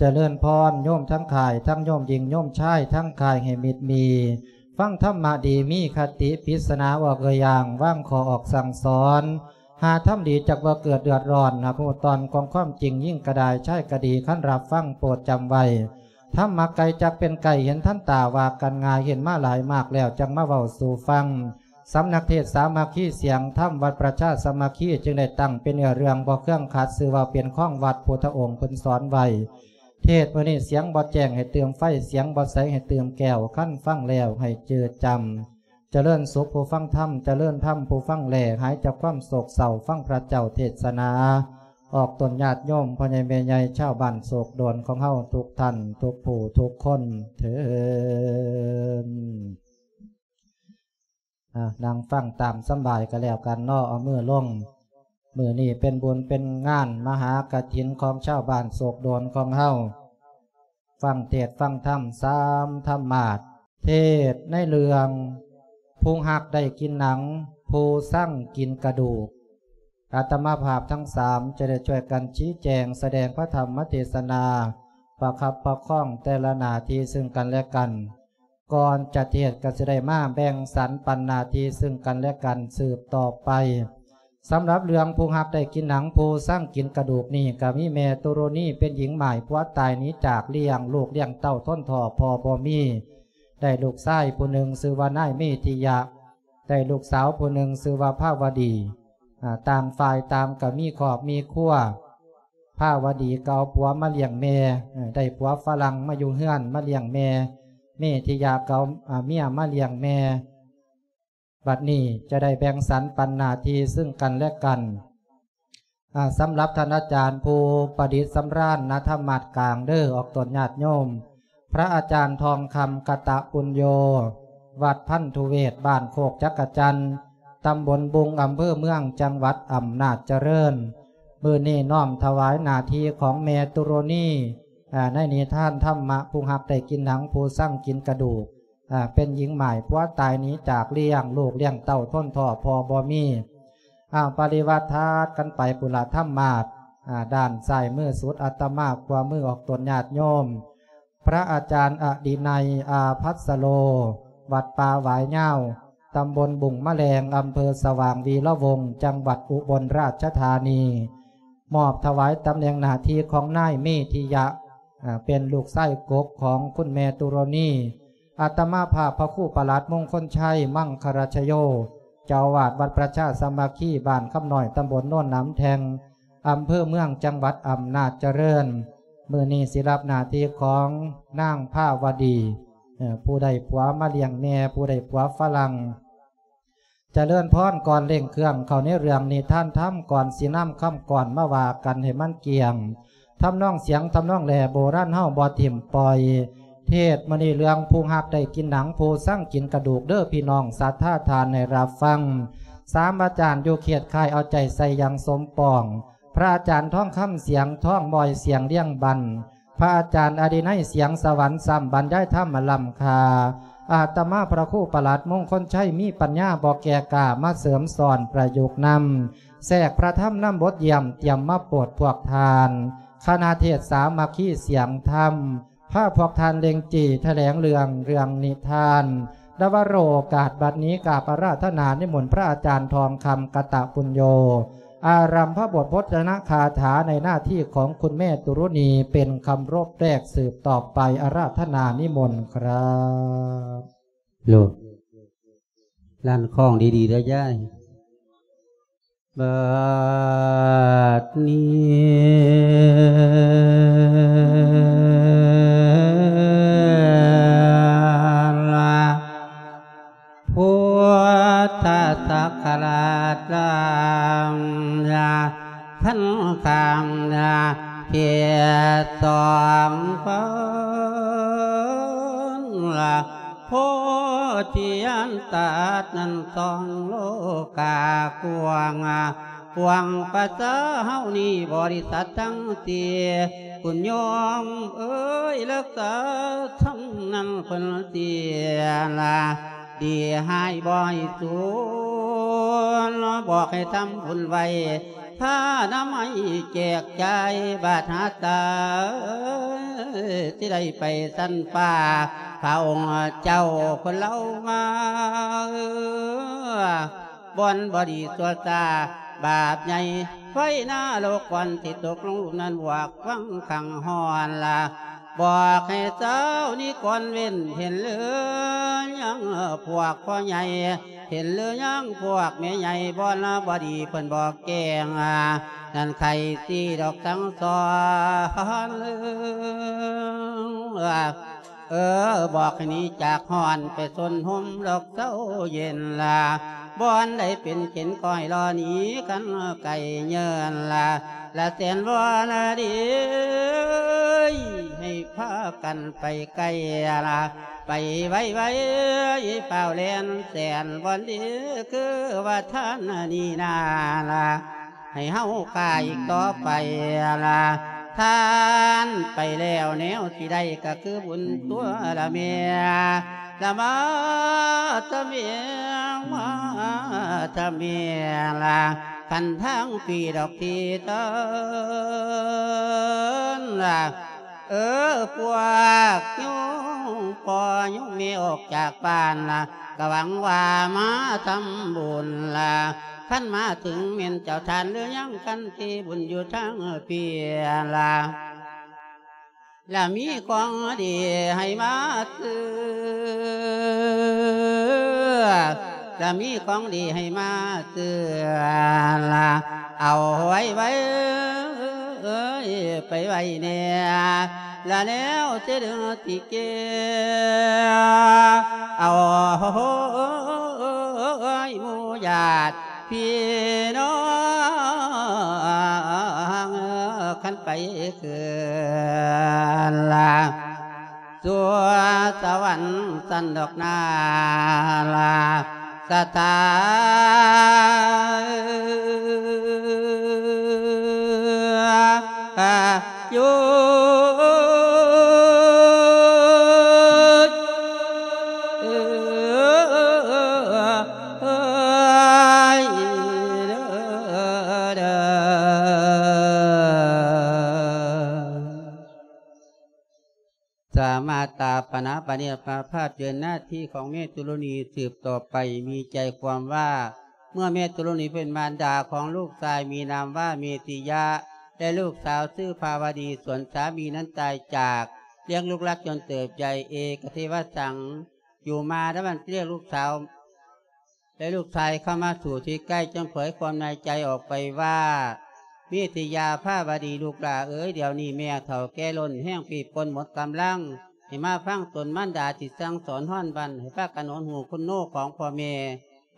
ຈະເລີນພອນ ໂຍມທັງຄ້າຍ ທັງໂຍມຍິງ ໂຍມຊາຍ ທັງຄ້າຍໃຫ້ມິດມີ ຟັງທຳມະດີ ມີຄະຕິ ປິດສະໜາອອກເອື້ອຍຢ່າງ ວາງຂໍ້ອອກສັ່ງສອນ ຫາທຳດີຈັກບໍ່ເກີດເດືອດຮ້ອນ ຫາກຮູ້ຕອນຂອງຄວາມຈິງ ຍິງກະດາຍ ຊາຍກະດີ ຄັນຮັບຟັງໂປດຈຳໄວ້ ທຳມະໄກຈັກເປັນໄກ ເຫັນທັນຕາວ່າກັນງ່າຍ ເຫັນມາຫຼາຍມາກແລ້ວ ຈັກມາເວົ້າສູ່ຟັງ. ສຳນັກເທດສາມັກຄີສຽງທຳ ວັດປະຊາສາມັກຄີ ຈຶ່ງໄດ້ຕັ້ງເປັນເນື້ອເລື່ອງບໍ່ເຄືອງຂັດ ຊື່ວ່າເປັນຂອງວັດ ພຸດທະອົງເພິ່ນສອນໄວ້ ເທດມື້ນີ້ສຽງບໍ່ແຈ້ງໃຫ້ຕື່ມໄຟ ສຽງບໍ່ໃສໃຫ້ຕື່ມແກ້ວ ຄັນຟັງແລ້ວໃຫ້ຈື່ຈຳ ຈະເລີນສຸກຜູ້ຟັງທຳ ຈະເລີນທຳຜູ້ຟັງແລ ຫາຍຈາກຄວາມໂສກເສົ້າ ຟັງພະເຈົ້າເທດສະໜາ ອອກຕົນຍາດໂຍມ ພໍ່ໃຫຍ່ແມ່ໃຫຍ່ ຊາວບ້ານໂສກໂດນຂອງເຮົາທຸກທ່ານ ທຸກຜູ້ທຸກຄົນເທີ້ນ. ອ່າ ນັ່ງຟັງຕາມສຳບາຍກໍແລ້ວກັນເນາະ ເອົາມືລົງ. ມື້ນີ້ເປັນບຸນເປັນງານມະຫາກະຖິນຂອງຊາວບ້ານໂສກໂດນຂອງເຮົາ ຟັງເທດຟັງທຳສາມທຳມາດ ເທດໃນເລື່ອງ ຜູ້ຮັກໄດ້ກິນໜັງ ຜູ້ຊັງກິນກະດູກ. ອາດຕະມາພາບທັງສາມຈະໄດ້ຊ່ວຍກັນຊີ້ແຈງສະແດງພະທຳມະເທດສະໜາ ປະຄັບປະຄອງແຕ່ລະໜ້າທີ່ເຊິ່ງກັນແລະກັນ. ກ່ອນຈະເທດກໍຊິໄດ້ມາແບ່ງສັນປັນໜ້າທີ່ເຊິ່ງກັນແລະກັນສືບຕໍ່ໄປ. ສຳລັບເລື່ອງຜູ້ຮັກໄດ້ກິນໜັງ ຜູ້ຊັງກິນກະດູກນີ້ ກໍມີແມ່ຕຸລຸນີເປັນຍິງໝ້າຍຜົວຕາຍໜີຈາກ ລ້ຽງລູກລ້ຽງເຕົ້າທົນທໍ້ພໍ່ບໍ່ມີ ໄດ້ລູກຊາຍຜູ້ໜຶ່ງຊື່ວ່ານາຍເມທິຍະ ໄດ້ລູກສາວຜູ້ໜຶ່ງຊື່ວ່າພາວະດີ ອ່າ ຕ່າງຝ່າຍຕ່າງກໍມີຄອບມີຄົວ. ພາວະດີກໍເອົາຜົວມາລ້ຽງແມ່ ເອີ ໄດ້ຜົວຝຣັ່ງມາຢູ່ເຮືອນມາລ້ຽງແມ່ ເມທິຍະກໍເອົາ ອ່າ ເມຍມາລ້ຽງແມ່. ບັດນີ້ຈະໄດ້ແບ່ງສັນປັນໜ້າທີ່ເຊິ່ງກັນແລະກັນ. ອ່າ ສຳລັບທ່ານອາຈານຜູ້ປະດິດສຳລານນະທຳມາດກາງເດີ ອອກຕົນຍາດໂຍມ ພະອາຈານທອງຄຳ ກະຕະປຸນໂຍ ວັດພັນທຸເວດ ບ້ານໂຄກຈັກກະຈັນ ຕຳບົນບຸງ ອຳເພີເມືອງ ຈັງຫວັດອຳນາດຈະເລີນ. ມື້ນີ້ນ້ອມຖວາຍໜ້າທີ່ຂອງແມ່ຕຸລຸນີ ອ່າ ໃນນິທານທຳມະ ຜູ້ຮັກໄດ້ກິນໜັງ ຜູ້ຊັງກິນກະດູກ ອ່າ ເປັນຍິງໝ້າຍຜົວຕາຍໜີຈາກ ລ້ຽງລູກລ້ຽງເຕົ້າທົນທໍ້ພໍ່ບໍ່ມີ. ອ້າວ ປະລິວາດທາດກັນໄປພຸ້ນລະ ທຳມາດ ອ່າ ດ້ານຊ້າຍມືສຸດອາດຕະມາ ຂວາມືອອກຕົນຍາດໂຍມ ພະອາຈານອະດິໄນ ອາພັດສະໂລ ວັດປ່າຫວາຍຍາວ ຕຳບົນບຸງມະແລງ ອຳເພີສະຫວ່າງວີລະວົງ ຈັງຫວັດອຸບົນລາຊະທານີ ມອບຖວາຍຕຳແໜ່ງໜ້າທີ່ຂອງນາຍເມທິຍະ ອ່າ ເປັນລູກຊາຍກົກຂອງຄຸນແມ່ຕຸລຸນີ. ອາດຕະມາພາບພະຄູປະຫຼັດມົງຄົນໄຊ ມັງຄະລະຊະໂຍ ເຈົ້າອາວາດວັດປະຊາສາມັກຄີ ບ້ານຄຳນ້ອຍ ຕຳບົນໂນນໜາມແທ່ງ ອຳເພີເມືອງ ຈັງຫວັດອຳນາດຈະເລີນ ມື້ນີ້ຊິຮັບໜ້າທີ່ຂອງນາງພາວະດີ ເອີ ຜູ້ໄດ້ຜົວມາລ້ຽງແມ່ ຜູ້ໄດ້ຜົວຝຣັ່ງ. ຈະເລີນພອນ ກ່ອນເລັ່ງເຄື່ອງເຂົ້າໃນເລື່ອງນິທານທຳ ກ່ອນຊິນຳຄຳກອນມາວ່າກັນໃຫ້ມັນກ້ຽງ ທຳນອງສຽງ ທຳນອງແລ ໂບລານເຮົາບໍ່ຖິ້ມປ່ອຍ. ເທດມື້ນີ້ເລື່ອງຜູ້ຮັກໄດ້ກິນໜັງ ຜູ້ຊັງກິນກະດູກເດີພີ່ນ້ອງສັດທາທ່ານໃຫ້ຮັບຟັງ. ສາມອາຈານຢູ່ເຂດຄ້າຍເອົາໃຈໃສ່ຢ່າງສົມປອງ ພະອາຈານທອງຄຳ ສຽງທອງ ບອຍ ສຽງລຽງບັນ ພະອາຈານອະດິໄນ ສຽງສະຫວັນ ຊ້ຳບັນຍາຍທຳມາລ້ຳຄ່າ. ອາດຕະມາພະຄູປະຫຼັດມົງຄົນໄຊ ມີປັນຍາບໍ່ແກ່ກ້າ ມາເສີມສອນປະຍຸກນຳ ແຊກພະທຳນຳບົດຢ້ຽມ ຕຽມມາໂປດພວກທ່ານ ຄະນະເທດສາມັກຄີສຽງທຳ ພາພວກທ່ານເລັ່ງຈີ່ຖະແຫຼງເລື່ອງ ເລື່ອງນິທານ ດາວະໂລກາດບັດນີ້ ກາບອາລາທະນານິມົນພະອາຈານທອງຄຳ ກະຕະປຸນໂຍ ອາລັມພະບົດພົດທະນະຄາຖາໃນໜ້າທີ່ຂອງຄຸນແມ່ຕຸລຸນີ ເປັນຄຳລົບແລກສືບຕໍ່ໄປ ອາລາທະນານິມົນ ຄຣັບ. ໂລດ ລັນຄອງດີໆ ເດີຍາຍ. ບັດນີ້ລະ ພຸດທະສັກກະລາດລາມຍາ ທັນຂ້າມຍາເຂດສອງຄົນລະ ໂພທິອັນຕາດນັ້ນສອງໂລກາກວ້າງ ກວ້າງພາສາເຮົານີ້ບໍລິສັດທັງສີ່ ຄຸນໂຍມເອີຍ ຮັກສາທຳນຳເພິ່ນເສຍລະ ດີຮ້າຍບໍ່ໃຫ້ສູນ ບອກໃຫ້ທຳບຸນໄວ້ ພານຳໃຫ້ແຈກຈ່າຍບາດຫາຕາ ຊິໄດ້ໄປຊັ້ນຟ້າ ພະອົງເຈົ້າເພິ່ນເລົ່າມາ ເອີ ບ່ອນບໍ່ດີຊົ່ວຊ້າບາບໃຫຍ່ ໄຟນະລົກກ່ອນຊິຕົກລົງຫຼຸມນັ້ນ ບວກຟັງຂັງຮ້ອນລະ ບອກໃຫ້ຊາວນິກອນເວັ້ນ ເຫັນຫຼືຍັງພວກພໍ່ໃຫຍ່ ເຫັນຫຼືຍັງພວກແມ່ໃຫຍ່ ບ່ອນລະບໍ່ດີເພິ່ນບອກແຈ້ງ ນັ້ນໃຄຊິດອກສັ່ງສອນ ເອີ ບອກໃຫ້ໜີຈາກຮ້ອນ ໄປຊົນຮົ່ມດອກເຊົາເຢັນລະ ບ່ອນໃດເປັນເຂັນກໍໃຫ້ລໍໜີກັນໄກເຍີນລະ ລະແສນວອນລະດີ ໃຫ້ພາກັນໄປໄກລະ ໄປໄວໆ ຟ້າວແລ່ນແສນວອນດີ ຄືວ່າທ່ານນີ້ນາລະ ໃຫ້ເຮົາຂ້າອີກຕໍ່ໄປລະ ທ່ານໄປແລ້ວແນວຊິໄດ້ກໍຄືບຸນຕົວລະແມ່ ລະມາທະເມ ມາທະເມລະ ຄັນທາງພີດອກທີ່ເດີນລະ ເອີ ພວກໂຍມພໍ່ໂຍມແມ່ອອກຈາກບ້ານລະ ກະຫວັງວ່າມາທຳບຸນລະ ຄັນມາເຖິງແມ່ນເຈົ້າທ່ານຫຼືຍັງ ຄັນທີ່ບຸນຢູ່ທາງພີລະ ລະມີຂອງດີໃຫ້ມາຊື້ ລະມີຂອງດີໃຫ້ມາຊື້ລະ ເອົາໄວ້ໄວ້ ເອີຍ ໄປໄວ້ແດ່ ລະແນວຊິດຶງຊິເກ ເອົາໝູ່ຍາດພີ່ນ້ອງ ຄັນໄປຄືນລະ ສູ່ສະຫວັນຊັ້ນດອກນາລະ ສະຖານຢູ່ ສາມາດຕາປະນາປະເນດພາພາບເຈີນໜ້າທີ່ຂອງແມ່ຕຸລະນີສືບຕໍ່ໄປ ມີໃຈຄວາມວ່າ ເມື່ອແມ່ຕຸລະນີເປັນມານດາຂອງລູກຊາຍ ມີນາມວ່າເມຕິຍະ ແລະລູກສາວຊື່ພາວະດີ ສ່ວນສາມີນັ້ນຕາຍຈາກ ລ້ຽງລູກລັດຈົນເຕີບໃຫຍ່ ເອກະເທວະສັງ ຢູ່ມາດາວັນ ລ້ຽງລູກສາວ ແລະລູກຊາຍເຂົ້າມາສູ່ທີ່ໃກ້ ຈຶ່ງເຜີຍຄວາມໃນໃຈອອກໄປວ່າ ເມຕິຍາພາວະດີ ລູກຫຼ້າເອີຍ ດຽວນີ້ແມ່ເຖົ້າແກ່ລົ້ນແຮງ ປີບປົນໝົດກຳລັງ ໃຫ້ມາຟັງຕົນມານດາທີ່ສັ່ງສອນຮ້ອນວັນ ໃຫ້ພາກັນຫົນຫູຄຸນໂນຂອງພໍ່ແມ່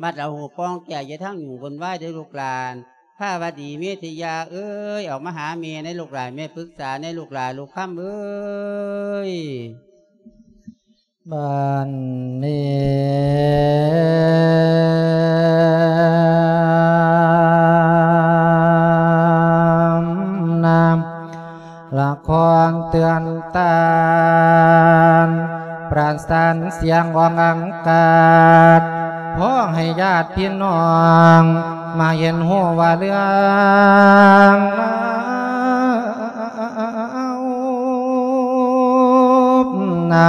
ມັດເອົາຫູປ່ອງແກ້ ຢ່າທັງຫຍຸ້ງວຸ່ນວາຍເດີລູກຫຼານ ພາວະດີ ເມຕິຍາເອີຍ ອອກມາຫາແມ່ແດ່ລູກຫຼ້າ ແມ່ປຶກສາແດ່ລູກຫຼ້າ ລູກຄຳເອີຍ. ບັດນີ້ນະ ລະຄອນເຕືອນຕານ ປະສານສຽງອອກອາກາດ ຂໍໃຫ້ຍາດພີ່ນ້ອງ ມາເຫັນຮູ້ວ່າເລື່ອງລາວ ນະ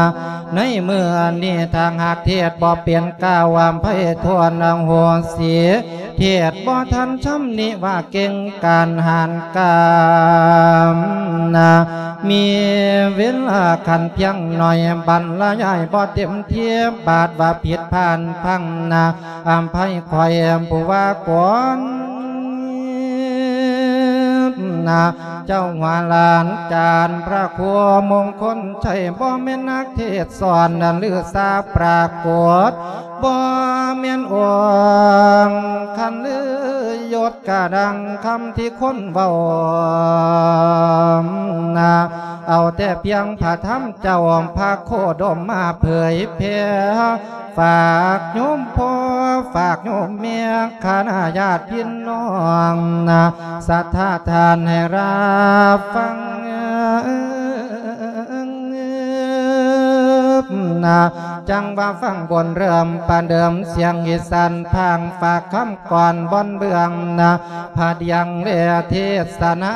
ໃນມື້ນີ້ ຖ້າຫາກເທດບໍ່ເປັນ ກ່າວອຳໄພໂທດອະໂຫສິ ເທດບໍ່ທັນຊຳນິວ່າເກັ່ງການຫານກາມນະ ມີເວລາຂັ້ນພຽງໜ້ອຍ ບັນລະຍາຍບໍ່ເຕັມທີ່ ບາດວ່າຜິດພາດພັງນະ ອຳໄພຂ້ອຍຜູ້ວ່າກ່ອນ ນະ ເຈົ້າວ່າຫຼານຈານພະຄູມົງຄົນໄຊ ບໍ່ແມ່ນນັກເທດສອນ ຫຼືສາປາກົດ ບໍ່ແມ່ນອົງຄັນ ຫຼືຍົດກະດັ່ງຄຳທີ່ຄົນເວົ້ານະ ເອົາແຕ່ພຽງພະທຳເຈົ້າພະໂຄດົມມາເຜີຍແຜ່ ຝາກໂຍມພໍ່ ຝາກໂຍມແມ່ ຄະນະຍາດພີ່ນ້ອງນະ ສັດທາທ່ານໃຫ້ຮັບຟັງນະ ຈັ່ງວ່າຟັງບົນເລີ່ມປະເດີມ ສຽງອີສານພາງຝາກຄຳກ່ອນບ່ອນເບື້ອງນະ ພະດຽງແລເທດສະນາ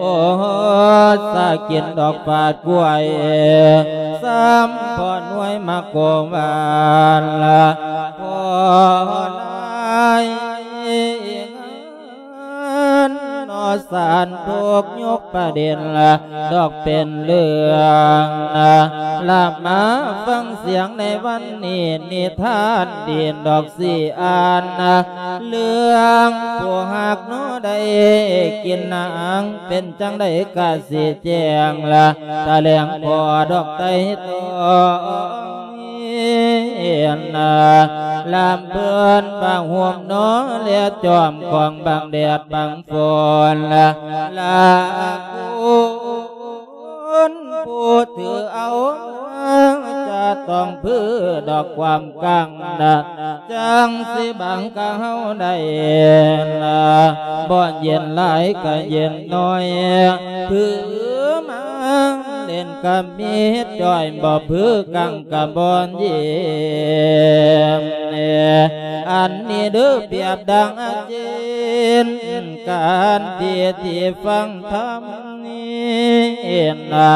ໂອສາກິນດອກປາດກ້ວຍ ຊ້ຳພໍໜ່ວຍມາໂກວານ ພໍຫຼາຍງານ ນອສານທຸກຍົກປະເດັນ ດອກເປັນເລື່ອງ ລະມາຟັງສຽງໃນວັນນີ້ ນິທານດີດອກຊິອ່ານ ເລື່ອງຜູ້ຮັກໜໍໄດ້ກິນນາງ ເປັນຈັ່ງໃດກະຊິແຈ້ງລະ ຕະແຫຼງຂໍດອກໄຕ່ຕອງ ລຳເພິ່ນປະໂຮມໜໍ ແລະຈອມຂອງບັງແດດບັງຝົນ ລະ ລະຄຸນຜູ້ຖືເອົາມາ ຈະຕ້ອງພືດອກຄວາມກັງນະ ຈັ່ງຊິບັງກະເຮົາໄດ້ນະ ບໍ່ເຢັນຫຼາຍກະເຢັນໜ້ອຍ ຖືມາເຫຼັ້ນກະມີຈ້ອຍ ບໍ່ພືກັງກະບໍ່ເຢັນ ອັນນີ້ເດີປຽບດັ່ງອາເຈນ ການທີ່ທີ່ຟັງທຳນີ້ນະ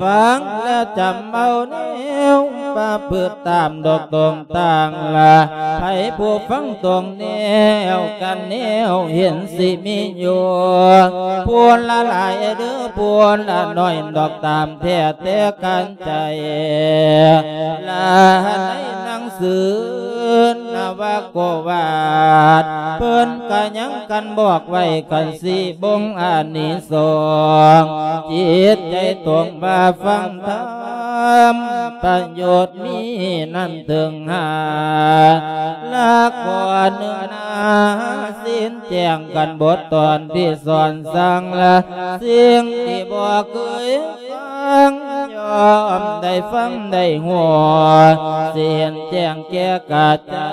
ຟັງແລ້ວຈຳເອົາແນວປະພຶດຕາມດອກຕົງຕ່າງລະ ໃຜຜູ້ຟັງຕົງແນວກັນແນວເຫັນຊິມີຢູ່ ຜູ້ລະຫຼາຍເດີ ຜູ້ລະໜ້ອຍດອກຕາມແທ້ແຕ່ກັນໃຈ ລະໃນໜັງສືນະວະໂກວາດ ເພິ່ນກະຍັງກັນບອກໄວ້ ຄັນຊິບົ່ງອານິສົງ ຈິດໃຈຕົງວ່າຟັງທຳ ປະໂຫຍດມີນັ້ນເຖິງຫາ ລະຂໍ້ໜຶ່ງນາ ສິ້ນແຈ້ງກັນບົດຕອນທີ່ສອນສັ່ງລະ ສິ່ງທີ່ບໍ່ເຄີຍຟັງ ຍ່ອມໄດ້ຟັງໄດ້ຮູ້ ສິ້ນແຈ້ງແກ່ກະຈາຍ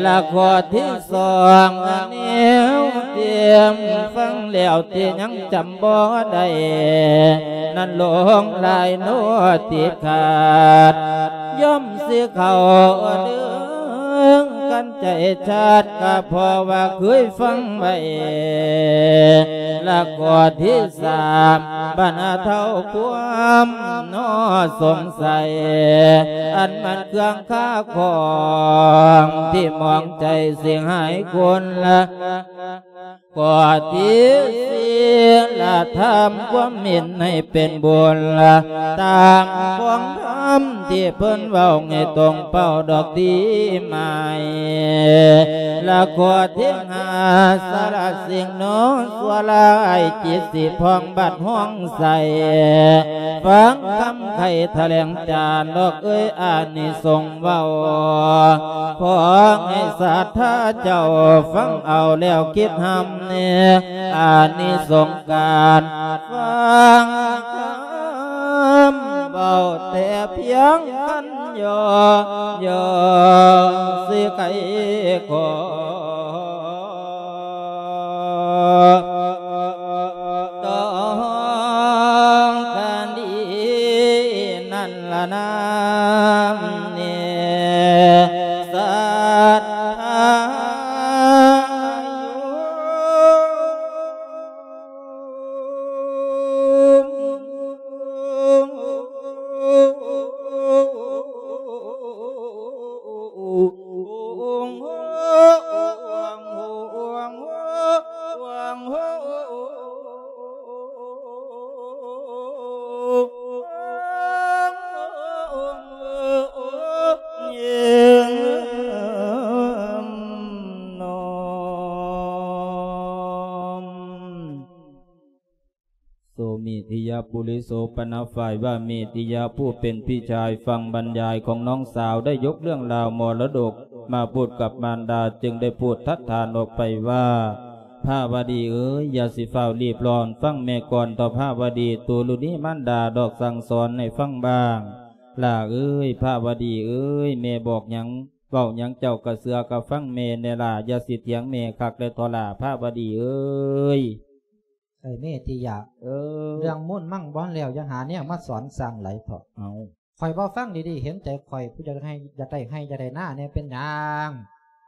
ລະຂໍ້ທີ່ສອງ ແນວທີ່ຟັງແລ້ວທີ່ຍັງຈຳບໍ່ໄດ້ ນັ້ນຫຼົງຫຼາຍໂນດຕິດຂາດ ຍ່ອມຊິເຂົ້າເດີງກັນໃຈຊາດ ກະເພາະວ່າເຄີຍຟັງໄວ້ ລະຂໍ້ທີ່ສາມ ບັນເທົາຄວາມໜໍສົງໄສ ອັນມັນເຄືອງຄາຂອງ ທີ່ໝອງໃຈເສຍຫາຍຄົນລະ ຂໍ້ທີສີ່ ລະທຳຄວາມເຫັນໃຫ້ເປັນບຸນ ລະຕາມຂອງທຳທີ່ເພິ່ນເວົ້າໃຫ້ຕົງເປົ້າດອກດີໝາຍ ລະຂໍ້ທີຫ້າ ສະລະສິ່ງໜໍຊົ່ວລາຍ ຈິດຊິຜ່ອງບັດຮອງໃສ ຟັງຄຳໄຂຖະແຫຼງຈານດອກເອີຍ ອານິສົງເວົ້າ ຂໍໃຫ້ສັດທາເຈົ້າຟັງເອົາແລ້ວຄິດຮຳແນ່ ອານິສົງການຟັງຄຳເວົ້າແຕ່ພຽງຄັນຍໍ ຍໍຊິໄກຂໍ ຕ້ອງການດີນັ້ນລະນາມເນສັດທາຢູ່ ໂສເມທິຍະປຸລິໂສ ປະນະຝ່າຍວ່າເມທິຍະ ຜູ້ເປັນພີ່ຊາຍ ຟັງບັນຍາຍຂອງນ້ອງສາວ ໄດ້ຍົກເລື່ອງລາວມໍລະດົກມາພູດກັບມານດາ ຈຶ່ງໄດ້ພູດທັດຖານອອກໄປວ່າ ພະວະດີເອີຍ ຢ່າຊິຟ້າວລີບຮ້ອນ ຟັງແມ່ກ່ອນເຖາະພະວະດີ ຕູລຸນີມານດາດອກສັ່ງສອນໃຫ້ຟັງບ້າງ ຫຼ້າເອີຍ ພະວະດີເອີຍ ແມ່ບອກຫຍັງ ເວົ້າຫຍັງເຈົ້າກະເຊື່ອກະຟັງແມ່ແດ່ຫຼ້າ ຢ່າຊິຖຽງແມ່ຄັກແດ່ເຖາະຫຼ້າ ພະວະດີເອີຍ. ເອີຍ ເມທິຍະ ເອີ ເລື່ອງມູນມັງບໍ່ທັນແລ້ວ ຢ່າຫາແນວມາສອນສ້າງຫຼາຍເຖາະ. ເອົ້າ ຂ້ອຍເວົ້າຟັງດີໆ ເຫັນໃຈຂ້ອຍ ຜູ້ຢາກໄຮ່ ຢາກໄດ້ໄຮ່ ຢາກໄດ້ນາແດ່ ເປັນຫຍັງ?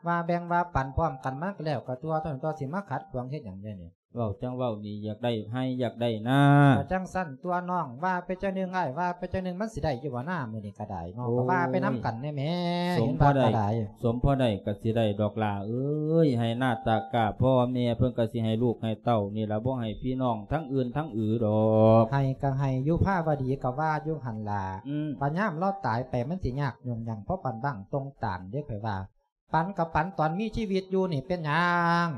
ວ່າແບ່ງວ່າປັນພ້ອມກັນ ມັນກໍແລ້ວກໍຕົວະ ຕົວະ ຕົວະ ຊິມາຂັດຂວາງເຮັດຫຍັງແດ່ນີ້? ເວົ້າຈັ່ງເວົ້ານີ້ ຢາກໄດ້ໄຮ່ຢາກໄດ້ນາ ກໍຈັ່ງຊັ້ນຕົວະນ້ອງ ວ່າໄປຈັ່ງໜຶ່ງ ອ້າຍວ່າໄປຈັ່ງໜຶ່ງ ມັນຊິໄດ້ຢູ່ບໍ່ນາ ມື້ນີ້ກໍໄດ້ເນາະ? ໂອ້ຍ ກໍວ່າໄປນຳກັນແດ່ແມ່ ສົມພໍໄດ້ ເຫັນວ່າກໍໄດ້ ສົມພໍໄດ້ກໍຊິໄດ້ດອກຫຼ້າເອີຍ ໄຮ່ນາຕາກ້າ ພໍ່ແມ່ເພິ່ນກໍຊິໃຫ້ລູກໃຫ້ເຕົ້ານີ້ລະ ບໍ່ໃຫ້ພີ່ນ້ອງທາງອື່ນທາງອື່ນດອກ ໃຫ້ກໍໃຫ້ຢູ່ ພາວະດີກໍວ່າຢູ່ຫັ້ນລະ ອືມ ບັດຍາມລາວຕາຍໄປ ມັນຊິຍາກຫຍຸ້ງຫຍັງ ເພາະປານບັ້ງຕົງຕານເດ້ ຂ້ອຍວ່າ ປັນກໍປັນຕອນມີຊີວິດຢູ່ນີ້ເປັນຫຍັງ?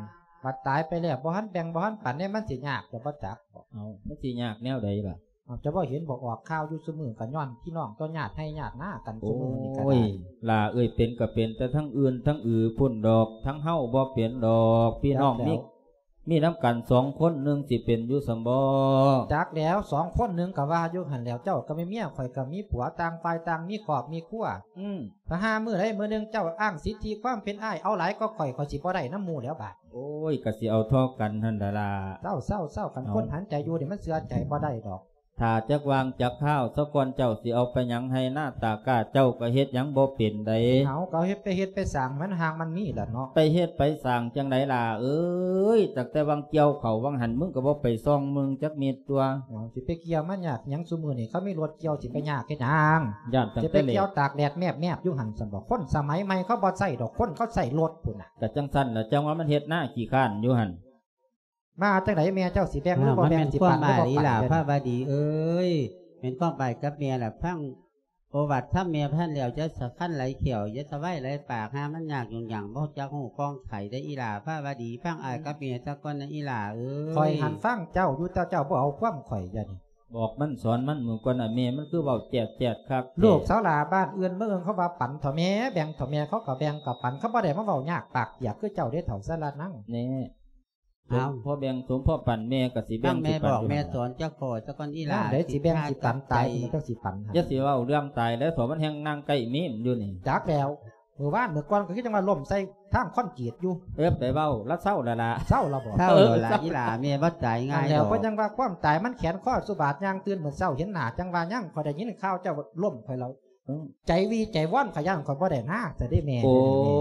ບັດຕາຍໄປແລ້ວບໍ່ທັນແບ່ງບໍ່ທັນປັນເດ້ ມັນຊິຍາກ ເຈົ້າບໍ່ຈັກບໍ? ເອົ້າ ມັນຊິຍາກແນວໃດລະ? ເອົ້າ ເຈົ້າບໍ່ເຫັນບໍ? ອອກຂ່າວຢູ່ຊຸມື້ກໍຍ້ອນພີ່ນ້ອງຕໍ່ຍາດໄຮ່ຍາດນາກັນຊຸມື້ນີ້ກໍໄດ້. ໂອ້ຍ ຫຼ້າເອີຍ ເປັນກໍເປັນແຕ່ທາງອື່ນທາງອື່ນພຸ້ນດອກ ທາງເຮົາບໍ່ເປັນດອກ ພີ່ນ້ອງ ຈັກແລ້ວ ມີ ມີນຳກັນສອງຄົນ ໜຶ່ງຊິເປັນຢູ່ຊັ້ນບໍ? ຈັກແລ້ວ ສອງຄົນໜຶ່ງກໍວ່າຢູ່ຫັ້ນແລ້ວ ເຈົ້າກໍມີເມຍ ຂ້ອຍກໍມີຜົວ ຕ່າງຝ່າຍຕ່າງມີຄອບມີຄົວ ອືມ ຖ້າຫາມື້ໃດມື້ໜຶ່ງເຈົ້າອ້າງສິດທິຄວາມເປັນອ້າຍ ເອົາຫຼາຍກວ່າຂ້ອຍ ຂ້ອຍຊິບໍ່ໄດ້ນຳໝູ່ແລ້ວບາດ. ໂອ້ຍ ກໍຊິເອົາທໍ່ກັນຫັ້ນລະລະ. ເຊົາ ເຊົາ ເຊົາ ຄັນ ເອົ້າ ຄົນຫັນໃຈຢູ່ນີ້ ມັນເຊື່ອໃຈບໍ່ໄດ້ດອກ. ຖ້າຈັກວາງຈັກຄາວຊະກ່ອນ ເຈົ້າຊິເອົາໄປຫຍັງໄຮ່ນາຕາກ້າ ເຈົ້າກໍເຮັດຫຍັງບໍ່ເປັນໃດ. ເຮົາກໍເຮັດໄປເຮັດໄປສ້າງ ມັນຫາກມັນມີລະເນາະ. ໄປເຮັດໄປສ້າງຈັ່ງໃດລະເອີຍ? ຕັ້ງແຕ່ຫວ່າງກ່ຽວເຂົ້າຫວ່າງຫັ້ນ ມຶງກໍບໍ່ໄປສ່ອງເບິ່ງຈັກເມັດຕົວະ. ເອົ້າ ຊິໄປກ່ຽວມາຍາກຫຍັງ? ຊຸມື້ນີ້ເຂົາມີລົດກ່ຽວ ຊິໄປຍາກເຮັດຫຍັງ? ຢ້ານຕັ້ງແຕ່ ຊິໄປກ່ຽວຕາກແດດແມບໆຢູ່ຫັ້ນຊັ້ນບໍ? ຄົນສະໄໝໃໝ່ເຂົາບໍ່ໃຊ້ດອກ ຄົນເຂົາໃຊ້ລົດພຸ້ນນະ. ກໍຈັ່ງຊັ້ນລະ ຈັ່ງວ່າມັນເຮັດນາຂີ້ຄ້ານຢູ່ຫັ້ນ. ວ່າຈັ່ງໃດແມ່ເຈົ້າ ຊິແບ່ງຫຼືບໍ່ແບ່ງ ຊິປັນຫຼືບໍ່ປັນ? ພາວະດີເອີຍ ແມ່ນຄວາມອ້າຍກັບແມ່ລະ ຟັງໂອວາດຄຳແມ່ພັນແລ້ວ ຢ່າສະຄັນຫຼາຍແຂ້ວ ຢ່າສະໄຫວ້ຫຼາຍປາກ ຫາມັນຍາກຫຍຸ້ງຍາກ ບໍ່ຈັກຮູ້ຄອງໄຂເດ້ອີ່ຫຼ້າພາວະດີ. ຟັງອ້າຍກັບແມ່ສາກ່ອນນະອີ່ຫຼ້າເອີຍ. ຂ້ອຍຫັ້ນຟັງເຈົ້າຢູ່ ແຕ່ເຈົ້າບໍ່ເອົາຄວາມຂ້ອຍດຽວນີ້. ບອກມັນສອນມັນມື້ກ່ອນນະ ແມ່ມັນຄືເວົ້າແຈດໆຄັກແທ້. ລູກສາວຫຼ້າ ບ້ານອື່ນເມືອງເຂົາວ່າປັນເຖາະແມ່ ແບ່ງເຖາະແມ່ ເຂົາກໍແບ່ງກໍປັນ ເຂົາບໍ່ໄດ້ມາເວົ້າຍາກປາກປຽກຄືເຈົ້າເດ້ ເຖົ້າສາລະນັງ. ແນ່ ເອົ້າ ສົມພໍແບ່ງສົມພໍປັນ ແມ່ກໍຊິແບ່ງ ຟັງແມ່ບອກແມ່ສອນຈັກຂໍ້ສາກ່ອນອີ່ຫຼ້າ. ຍາມໃດຊິແບ່ງ ຊິປັນຕາຍ ມັນຈັ່ງຊິປັນຫັ້ນ. ຢ່າຊິເວົ້າເລື່ອງຕາຍແລ້ວເຖາະ ມັນແຮ່ງນັ່ງໃກ້ເມມຢູ່ນີ້. ຈັກແລ້ວ ມື້ວານມື້ກ່ອນກໍຄືຈັ່ງວ່າລົ້ມໃສ່ທາງຄອນກຣີດຢູ່. ເອີ ໄປເວົ້າລະ ເຊົາລະລະ. ເຊົາລະບໍ? ເຊົາລະ ເອີ ເຊົາ ອີ່ຫຼ້າ ແມ່ບໍ່ຕາຍງ່າຍດອກ. ຫັ້ນແຫຼ້ວ ເພິ່ນຍັງວ່າຄວາມຕາຍມັນແຂນຄໍສະບາດ ຍ່າງຕື່ນມື້ເຊົ້າເຫັນໜ້າ ຈັ່ງວ່າຍັງ ຂ້ອຍໄດ້ຍິນຂ່າວເຈົ້າລົ້ມ ຂ້ອຍລະ ເອີ ໃຈວີໃຈວອນ ຂ້ອຍຢ້ານຂ້ອຍບໍ່ໄດ້ນາ ຊະເດ້ແມ່. ໂອ້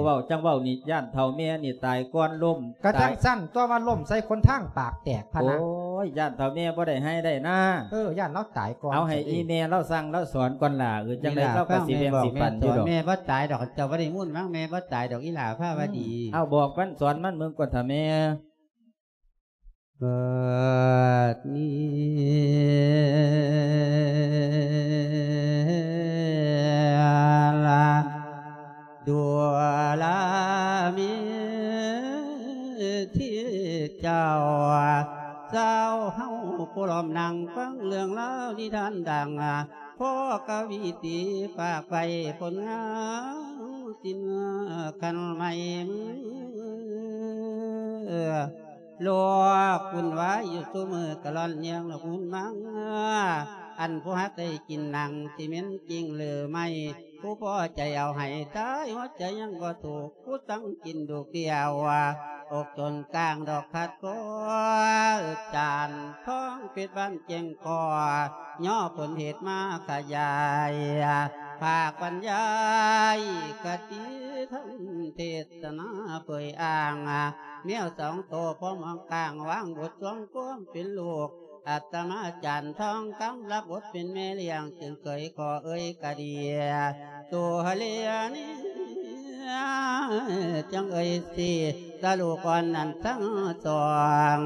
ເວົ້າຈັ່ງເວົ້ານີ້ ຢ້ານເຖົ້າແມ່ນີ້ຕາຍກ່ອນລົ້ມ. ກໍຈັ່ງຊັ້ນຕົວະ ວ່າລົ້ມໃສ່ຫົນທາງປາກແຕກພະນະ. ໂອ້ຍ ຢ້ານເຖົ້າແມ່ບໍ່ໄດ້ໄຮ່ໄດ້ນາ. ເອີ ຢ້ານລາວຕາຍກ່ອນ. ເອົາໃຫ້ອີ່ແມ່ລາວສັ່ງລາວສອນກ່ອນລະ. ເອີ ຈັ່ງໃດເຂົາກໍຊິແບ່ງຊິປັນຢູ່ດອກ. ແມ່ບໍ່ຕາຍດອກ ເຈົ້າບໍ່ໄດ້ມູນມັງ ແມ່ບໍ່ຕາຍດອກ ອີ່ຫຼ້າພາວະດີ. ອືມ ເອົາ ບອກມັນສອນມັນເບິ່ງກ່ອນເຖາະແມ່. ເກີດມີລະ ດູລາມີທີ່ເຈົ້າ ຊາວເຮົາຜູ້ລ້ອມນັ່ງຟັງເລື່ອງລາວນິທານດັງ ພໍ່ກະວີຕີຝາກໄວ້ຜົນງາມສິນຄັນໃໝ່ ໂລກວຸ່ນວາຍຢູ່ຊຸມື້ກະລ່ອນແຍງລະຮຸນມັງ ອັນຜູ້ຮັກໄດ້ກິນໜັງ ຊິແມ່ນຈິງຫຼືໄມ່ ຜູ້ພໍໃຈເອົາໃຫ້ຕາຍ ຫົວໃຈຍັງບໍ່ທຸກ ຜູ້ສັ່ງກິນດູກດຽວ ອົກຈົນກາງດອກຂາດຄໍ ຈານທອງເປັດບ້ານແຈ້ງຄໍ ຍໍຜົນເຫດມາຂະຫຍາຍ ພາກບັນຍາຍຄະຕິທຳເທດ ສະໜາເຜີຍອ້າງ ແມວສອງໂຕ ພ້ອມຫ້ອງກາງ ວາງບົດສວງຄວາມເປັນລູກ ອາດຕະມາຈານທອງຄຳ ລັບບົດເປັນແມ່ລ້ຽງ ຈຶ່ງເຄີຍຂໍເອີຍກະເດຍ ໂຕເລຍນີ້ ຈັ່ງເອີຍຊິ ຕະລູກອ່ອນນັ້ນທັງສອງ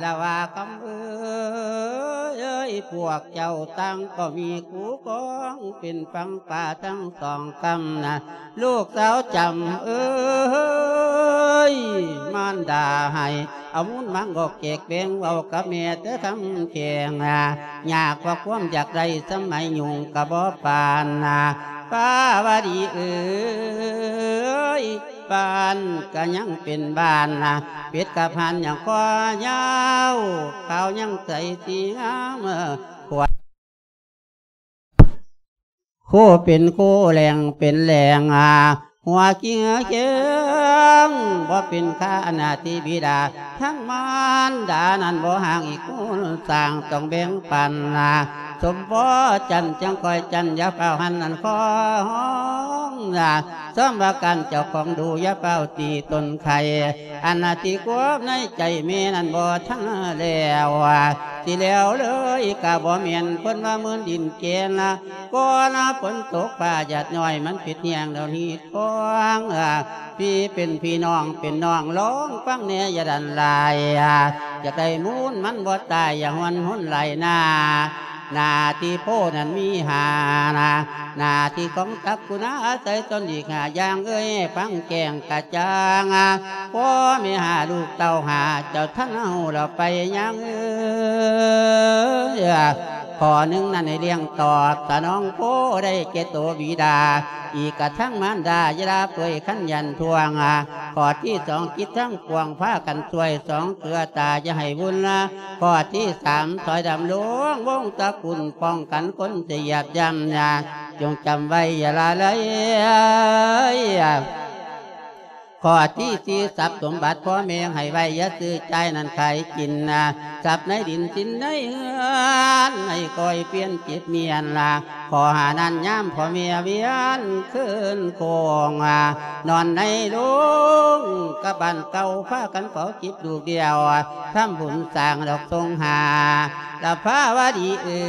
ລະວ່າຄຳເອີຍ ພວກເຈົ້າຕ່າງກໍມີຄູ່ຄອງ ເປັນຝັ່ງປ່າທັງສອງກຳນະ ລູກສາວຈຳເອີຍ ມານດາໃຫ້ ເອົາມູນມັງອອກແຈກແບ່ງ ເວົ້າກັບແມ່ແຕ່ຄຳແຂງ ຍາກເພາະຄວາມຢາກໄດ້ ສະໄໝຍຸ່ງກະບໍ່ປານນະ ພາວະດີເອີຍ ບ້ານກະຍັງເປັນບ້ານນະ ເປັດກັບຫ່ານຍັງຄອຍາວ ຂາວຍັງໃສສີງາມ ຂວດ ໂຄເປັນໂຄ ແຫຼງເປັນແຫຼງ ຫົວກິງຄຽງ ບໍ່ເປັນຄາອະນາຕິບິດາ ທັງມານດານັ້ນບໍ່ຫ່າງອີກ ຄູນສ້າງຕ້ອງແບ່ງປັນ ສົມພໍຈັນຈຶ່ງຄ່ອຍຈັນ ຢ່າຟ້າວຫັນອັນຄອງນາ ສົມວ່າການເຈົ້າຂອງດູ ຢ່າຟ້າວຕີຕົນໄຂ່ ອັນນາທີ່ຄວາມໃນໃຈແມ່ນັ້ນບໍ່ທັນແລ້ວ ຊິແລ້ວເລີຍກະບໍ່ແມ່ນ ເພິ່ນວ່າໝື່ນດິນແກ່ນ ກ່ອນຝົນຕົກຟ້າຢາດຍ້ອຍ ມັນຜິດແຮງດອກຮີດຄອງ ພີ່ເປັນພີ່ ນ້ອງເປັນນ້ອງ ລອງຟັງແດ່ ຢ່າດັນຫຼາຍ ຢາກໄດ້ມູນມັນບໍ່ຕາຍ ຢ່າຫວນຫົນຫຼາຍນາ ໜ້າທີ່ໂພນັ້ນມີຫ້ານາ ໜ້າທີ່ຂອງສັກກຸນາ ອາໄສຕົນອີກຫ້າຢ່າງ ເອີຍ ຟັງແຈ້ງກະຈ່າງ ພໍ່ແມ່ຫ້າ ລູກເຕົ້າຫ້າ ເຈົ້າທັນຮູ້ແລ້ວໄປຍັງ ເອີຍ ຂໍ້ໜຶ່ງນັ້ນໃຫ້ລ້ຽງຕອບສະໜອງໂພ ໄດ້ແກ່ໂຕບິດາ ອີກກະທັງມານດາ ຢ່າລະເປີຍຄັນຢັນທວງ ຂໍ້ທີສອງ ຈິດທັງປວງ ພາກັນຊ່ວຍສອງເຄືອຕາ ຢ່າໃຫ້ວຸ່ນລະ ຂໍ້ທີສາມ ຊ່ອຍດຳລົງວົງຕະກຸນ ປ້ອງກັນຄົນຈະຢຽບຢ່ຳນາ ຈົ່ງຈຳໄວ້ຢ່າລະເລີຍ ຂໍ້ທີສີ່ ຊັບສົມບັດພໍ່ແມ່ໃຫ້ໄວ້ ຢ່າຊື້ຈ່າຍນັ້ນຂາຍກິນນາ ຊັບໃນດິນສິນໃນເຮືອນ ໃຫ້ຄ່ອຍປ່ຽນຈິດມຽນລະ ຂໍ້ຫ້ານັ້ນຍາມພໍ່ແມ່ວຽນຄືນໂຄ້ງ ນອນໃນໂລງກັບບ້ານເກົ່າ ພາກັນເຝົ້າຈິດລູກດຽວ ທຳບຸນສ້າງດອກສົງຫາ ລະພາວະດີເອີ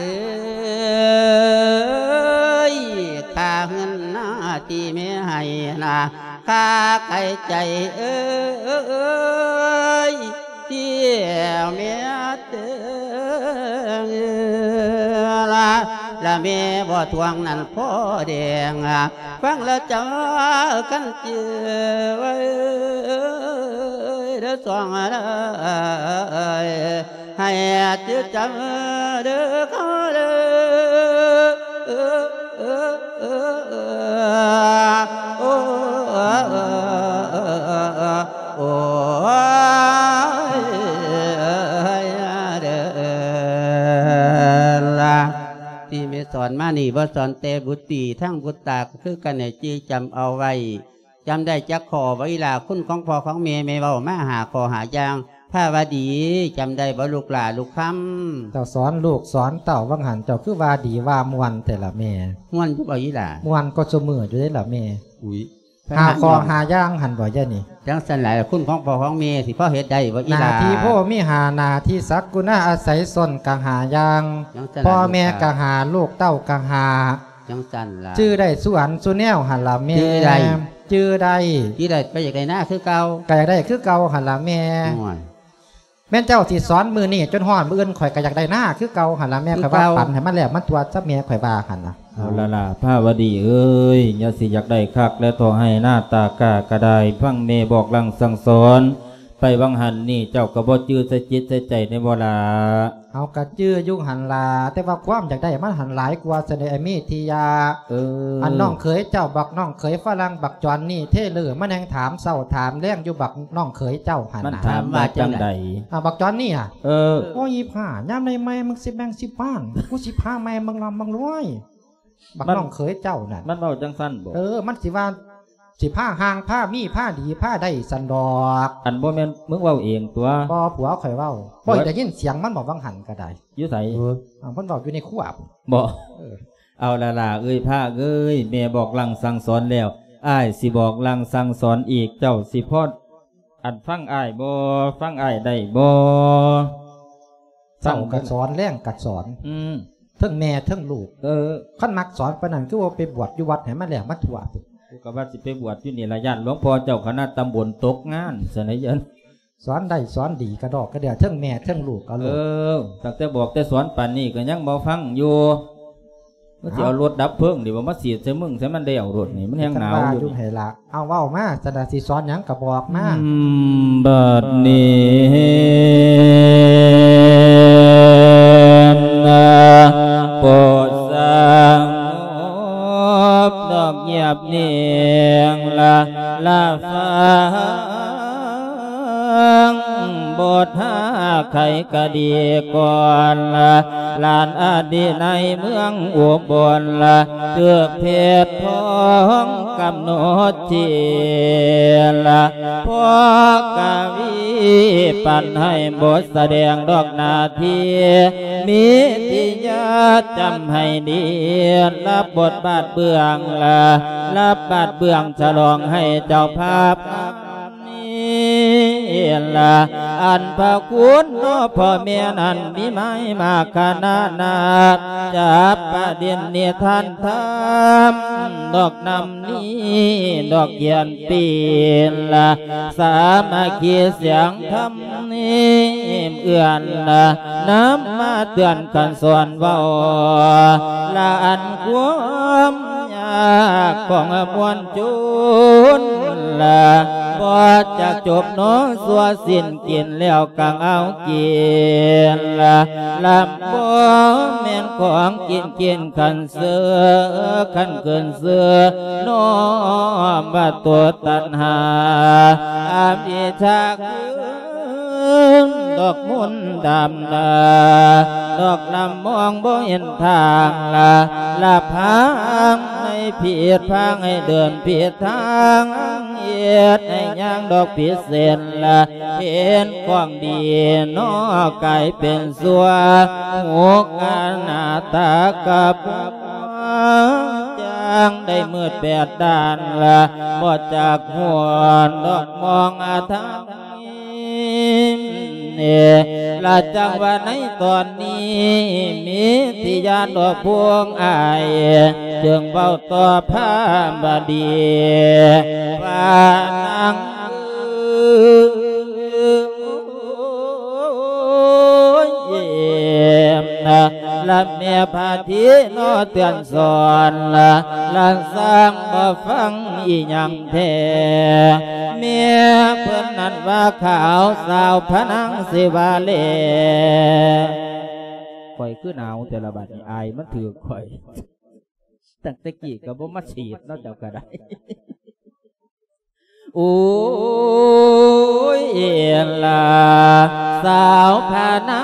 ຍ ຄ່າເຮືອນນາທີ່ແມ່ໃຫ້ນາ ຄ່າໄກ່ໃຈເອີຍ ທີ່ແມ່ເຕີງລະ ລະແມ່ບໍ່ທວງນັ້ນພໍ່ແດງ ຟັງລະເຈົ້າຄັນຈື່ໄວ້ເດີສອງເດີ ໃຫ້ຈື່ຈຳເດີເຂົາເດີ ໂອ້ ໂອ້ ຍ ເດີລະ ທີ່ແມ່ສອນມານີ້ ບໍ່ສອນແຕ່ບຸດຕີ ທັງບຸດຕາກໍຄືກັນ ໃຫ້ຈື່ຈຳເອົາໄວ້ ຈຳໄດ້ຈັກຂໍ້ບໍ່ອີ່ຫຼ້າ ຄຸນຂອງພໍ່ຂອງແມ່ ແມ່ເວົ້າມາຫ້າຂໍ້ຫ້າຢ່າງ ພາວະດີ ຈຳໄດ້ບໍ່ລູກຫຼ້າລູກຄຳ? ເຈົ້າສອນລູກສອນເຕົ້າ ວ່າງຫັ້ນເຈົ້າຄືວ່າດີວ່າມ່ວນແທ້ລະແມ່? ມ່ວນຢູ່ບໍ່ອີ່ຫຼ້າ? ມ່ວນກວ່າຊຸມື້ຢູ່ເດ້ລະແມ່. ອຸ້ຍ ຫ້າຂໍ້ຫ້າຢ່າງຫັ້ນບໍ່ຍານີ້? ຈັ່ງຊັ້ນລະ ຄຸນຂອງພໍ່ຂອງແມ່ຊິພໍເຮັດໄດ້ບໍ່ອີ່ຫຼ້າ? ໜ້າທີ່ພໍ່ມີຫ້າ ໜ້າທີ່ສັກກຸນາອາໄສຊົນກະຫ້າຢ່າງ ຈັ່ງຊັ້ນລະ ພໍ່ແມ່ກະຫ້າ ລູກເຕົ້າກະຫ້າ ຈັ່ງຊັ້ນລະ ຈື່ໄດ້ສູ່ອັນສູ່ແນວຫັ້ນລະແມ່. ຈື່ໄດ້ ຈື່ໄດ້ ຈື່ໄດ້ ໄປຢາກໄດ້ນາຄືເກົ່າ ກະຢາກໄດ້ຄືເກົ່າຫັ້ນລະແມ່. ໂອ້ຍ ແມ່ນເຈົ້າຊິສອນມື້ນີ້ຈົນຮອດມື້ອື່ນ ຂ້ອຍກະຢາກໄດ້ນາຄືເກົ່າຫັ້ນລະແມ່. ຂ້ອຍວ່າຝັນໃຫ້ມັນແລ້ວມັນທົ່ວຊະແມ່ ຂ້ອຍວ່າຫັ້ນນະ. ເອົາລະລະ ພາວະດີເອີຍ ຢ່າຊິຢາກໄດ້ຄັກແລະທໍ່ ໄຮ່ນາຕາກ້າກະໄດ້ ຟັງແມ່ບອກຫຼັ່ງສັ່ງສອນ ໄປຫວ່າງຫັ້ນນີ້ ເຈົ້າກໍບໍ່ຈື່ໃສ່ຈິດໃສ່ໃຈແນ່ບໍ່ລະ? ເຮົາກະຈື່ຢູ່ຫັ້ນລະ ແຕ່ວ່າຄວາມຢາກໄດ້ມັນຫັ້ນຫຼາຍກວ່າຊັ້ນເດ ໄອ້ເມທິຍາ. ເອີ ອັນນ້ອງເຂີຍເຈົ້າ ບັກນ້ອງເຂີຍຝຣັ່ງ ບັກຈອນນີ້ເທເລີ ມັນແຮ່ງຖາມເຊົ້າຖາມແລງຢູ່ ບັກນ້ອງເຂີຍເຈົ້າຫັ້ນນະ. ມັນຖາມວ່າຈັ່ງໃດ? ອ່າ ບັກຈອນນີ້ອະ. ເອີ ໂອ້ຍ ອີ່ພ້າ ຍາມໃດແມ່ມຶງຊິແບ່ງສິບລ້ານ ກູຊິພາແມ່ມຶງລ່ຳມັງລວຍ. ບັກນ້ອງເຂີຍເຈົ້ານັ້ນ ມັນເວົ້າຈັ່ງຊັ້ນບໍ? ເອີ ມັນຊິວ່າ ຊິພາຮ່າງພາມີພາດີພາໄດ້ຊັ້ນດອກ. ອັນບໍ່ແມ່ນມຶງເວົ້າເອງຕົວະ? ບໍ່ ຜົວຂ້ອຍເວົ້າ. ບໍ່ໄດ້ຍິນສຽງມັນບໍ ຫວ່າງຫັ້ນກະໄດ້? ຢູ່ໃສ? ເອີ ເອົາ ເພິ່ນເວົ້າຢູ່ໃນຄົວພຸ້ນບໍ? ເອີ ເອົາລະຫຼ້າເອີຍ ພາກເອີຍ ແມ່ບອກຫຼັ່ງສັ່ງສອນແລ້ວ ອ້າຍຊິບອກຫຼັ່ງສັ່ງສອນອີກ ເຈົ້າຊິພໍ ອັນ ຟັງອ້າຍບໍ່? ຟັງອ້າຍໄດ້ບໍ່? ເຊົ້າກະສອນ ແລງກະສອນ ອືມ ເທິງແມ່ເທິງລູກ. ເອີ ຄັນມັກສອນປານນັ້ນ ຄືວ່າໄປບວດຢູ່ວັດໃຫ້ມັນແລ້ວມັນທົ່ວພຸ້ນ. ກູກະວ່າຊິໄປບວດຢູ່ນີ້ລະ ຢ້ານຫຼວງພໍ່ເຈົ້າຄະນະຕຳບົນຕົກງານຊັ້ນນະ. ສອນໄດ້ສອນດີກະດອກກະເດືອ ເທິງແມ່ເທິງລູກເອົາໂລດ. ເອີ ຕັ້ງແຕ່ບອກແຕ່ສອນປານນີ້ກະຍັງບໍ່ຟັງຢູ່. ມັນຊິເອົາລົດດັບເພີງນີ້ບໍ່ມາສີດໃສ່ມຶງໃສ່ມັນແລ້ວໂລດນີ້ ມັນແຮ່ງໜາວຢູ່ນີ້. ເອົາເວົ້າມາ ຊັ້ນນະ ຊິສອນຫຍັງກະບອກມາ. ອືມ ບັດນີ້ນະ ໂປດສະຫງົບດອກງຽບນິ່ງລະ ລະຟັງ ບົດຫາໄຂກະດີກ່ອນລະ ຫຼານອະດີໃນເມືອງອຸບົນລະ ຖືກເພດທອງກຳນົດທີ່ລະ ພໍ່ກະວີ ປັນໃຫ້ບົດສະແດງດອກໜ້າທີ່ ມີທີ່ຍາຈຳໃຫ້ດີ ລັບບົດບາດເບື້ອງລະ ລັບບາດເບື້ອງສະຫຼອງໃຫ້ເຈົ້າພາບ ນີ້ລະ ອັນພະຄຸນເນາະພໍ່ແມ່ນັ້ນ ມີມາໃຫ້ມາຂະນະນາດ ຈັບປະດິນນິທານທຳ ດອກນຳນີ້ ດອກຂຽນປີນລະ ສາມັກຄີສຽງທຳ ນີ້ເອື້ອນລະ ນຳມາເຕືອນກັນສອນເວົ້າ ລະອັນຄວາມຍາກຂອງມວນຊົນລະ ບໍ່ຈັກຈົບເນາະ ຊົ່ວສິ້ນກິນແລ້ວກໍເອົາກິນລະ ລະບໍ່ແມ່ນຂອງກິນ ກິນຄັນເຊີ ຄັນເກີນເຊື່ອ ນ້ອມວ່າຕົວຕັນຫາ ອະວິຊຊາ ຄືດອກມົນດຳລະ ດອກລຳມອງບໍ່ເຫັນທາງລະ ລະພາໃຫ້ຜິດ ພາໃຫ້ເດີນຜິດທາງ ເຮັດໃຫ້ຍ່າງດອກຜິດເສັ້ນລະ ເຫັນຂອງດີເນາະ ກາຍເປັນຊົ່ວ ຫົກອະນາດຕາກັບ ຈັ່ງໄດ້ມືດແປດດ້ານລະ ບໍ່ຈັກຮູ້ດອກມອງອະທາງ ລະຈັ່ງວ່າໃນຕອນນີ້ ມີທີ່ຍາດອກພວງອ້າຍ ຈຶ່ງເວົ້າຕໍ່ພາບະດີ ວ່ານາງເອີຍ ລະແມ່ພາທີເນາະເຕືອນສອນລະ ລະຊ່າງບໍ່ຟັງອີ່ຫຍັງແທ້ ແມ່ເພິ່ນນັ້ນວ່າຂາວສາວພະນາງສິວ່າແລ ຂ້ອຍຄືໜາວແຕ່ລະບາດນີ້ ອາຍມັນຖືກຂ້ອຍ ຕັ້ງແຕ່ກີ້ກໍບໍ່ມາສີດເນາະ ເຈົ້າກໍໄດ້. ໂອ້ຍ ເອລາ ສາວພະນາ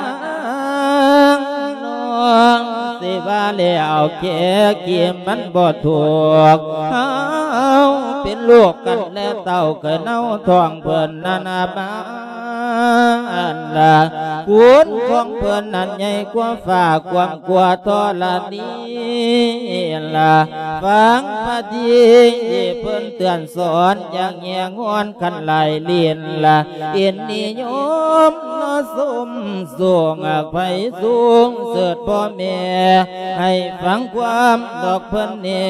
ງ ນ້ອງຊິວ່າແລ້ວແກກິນມັນບໍ່ຖືກ ເຮົາເປັນລູກກັນແລະເຕົ້າ ເກີດເອົາທ້ອງເພິ່ນນັ້ນມາ ອັນລະ ຄຸນຂອງເພິ່ນນັ້ນໃຫຍ່ກວ່າຟ້າ ກວ້າງກວ່າທໍລະນີລະ ຟັງພະທີ່ເພິ່ນເຕືອນສອນ ຢ່າງແຍງອນຄັນຫຼາຍຫຼິ້ນລະ ເປັນນິຍົມເນາະ ຊົມສູງໄຟສູງເສີດພໍ່ແມ່ ໃຫ້ຟັງຄວາມດອກເພິ່ນແດ່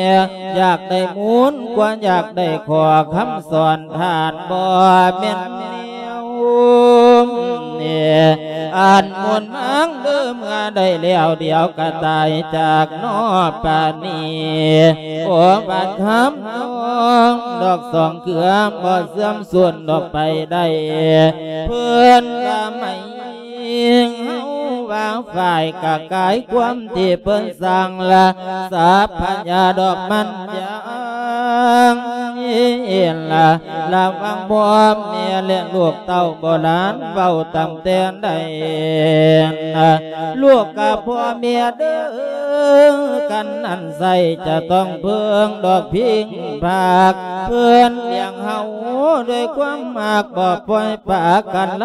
ຢາກໄດ້ມູນກວ່າ ຢາກໄດ້ຂໍ້ຄຳສອນ ທ່ານບໍ່ແມ່ນແນວ ອັນໝູນມາງເດີເມື່ອໃດແລ້ວ ດຽວກະຕາຍຈາກນອກປານນີ້ ໂອບາດຄຳນ້ອງດອກສອງເກືອ ບໍ່ເສື່ອມສູນດອກໄປໄດ້ ເພິ່ນລະໄໝ ເຮົາວ່າຝ່າຍກະກາຍຄວາມທີ່ເພິ່ນສ້າງລະ ສັບພະຍາດອກມັນຢ່າງລະ ລະວັງພໍ່ແມ່ແລະລູກເຕົ້າໂບລານເວົ້າຕັ້ງແຕ່ໃດ ລູກກັບພໍ່ແມ່ເດີ ກັນນັ້ນໃສຈະຕ້ອງເພິ່ງດອກພິງພາກ ເພິ່ນລ້ຽງເຮົາດ້ວຍຄວາມຮັກ ບໍ່ປ່ອຍປະກັນໄລ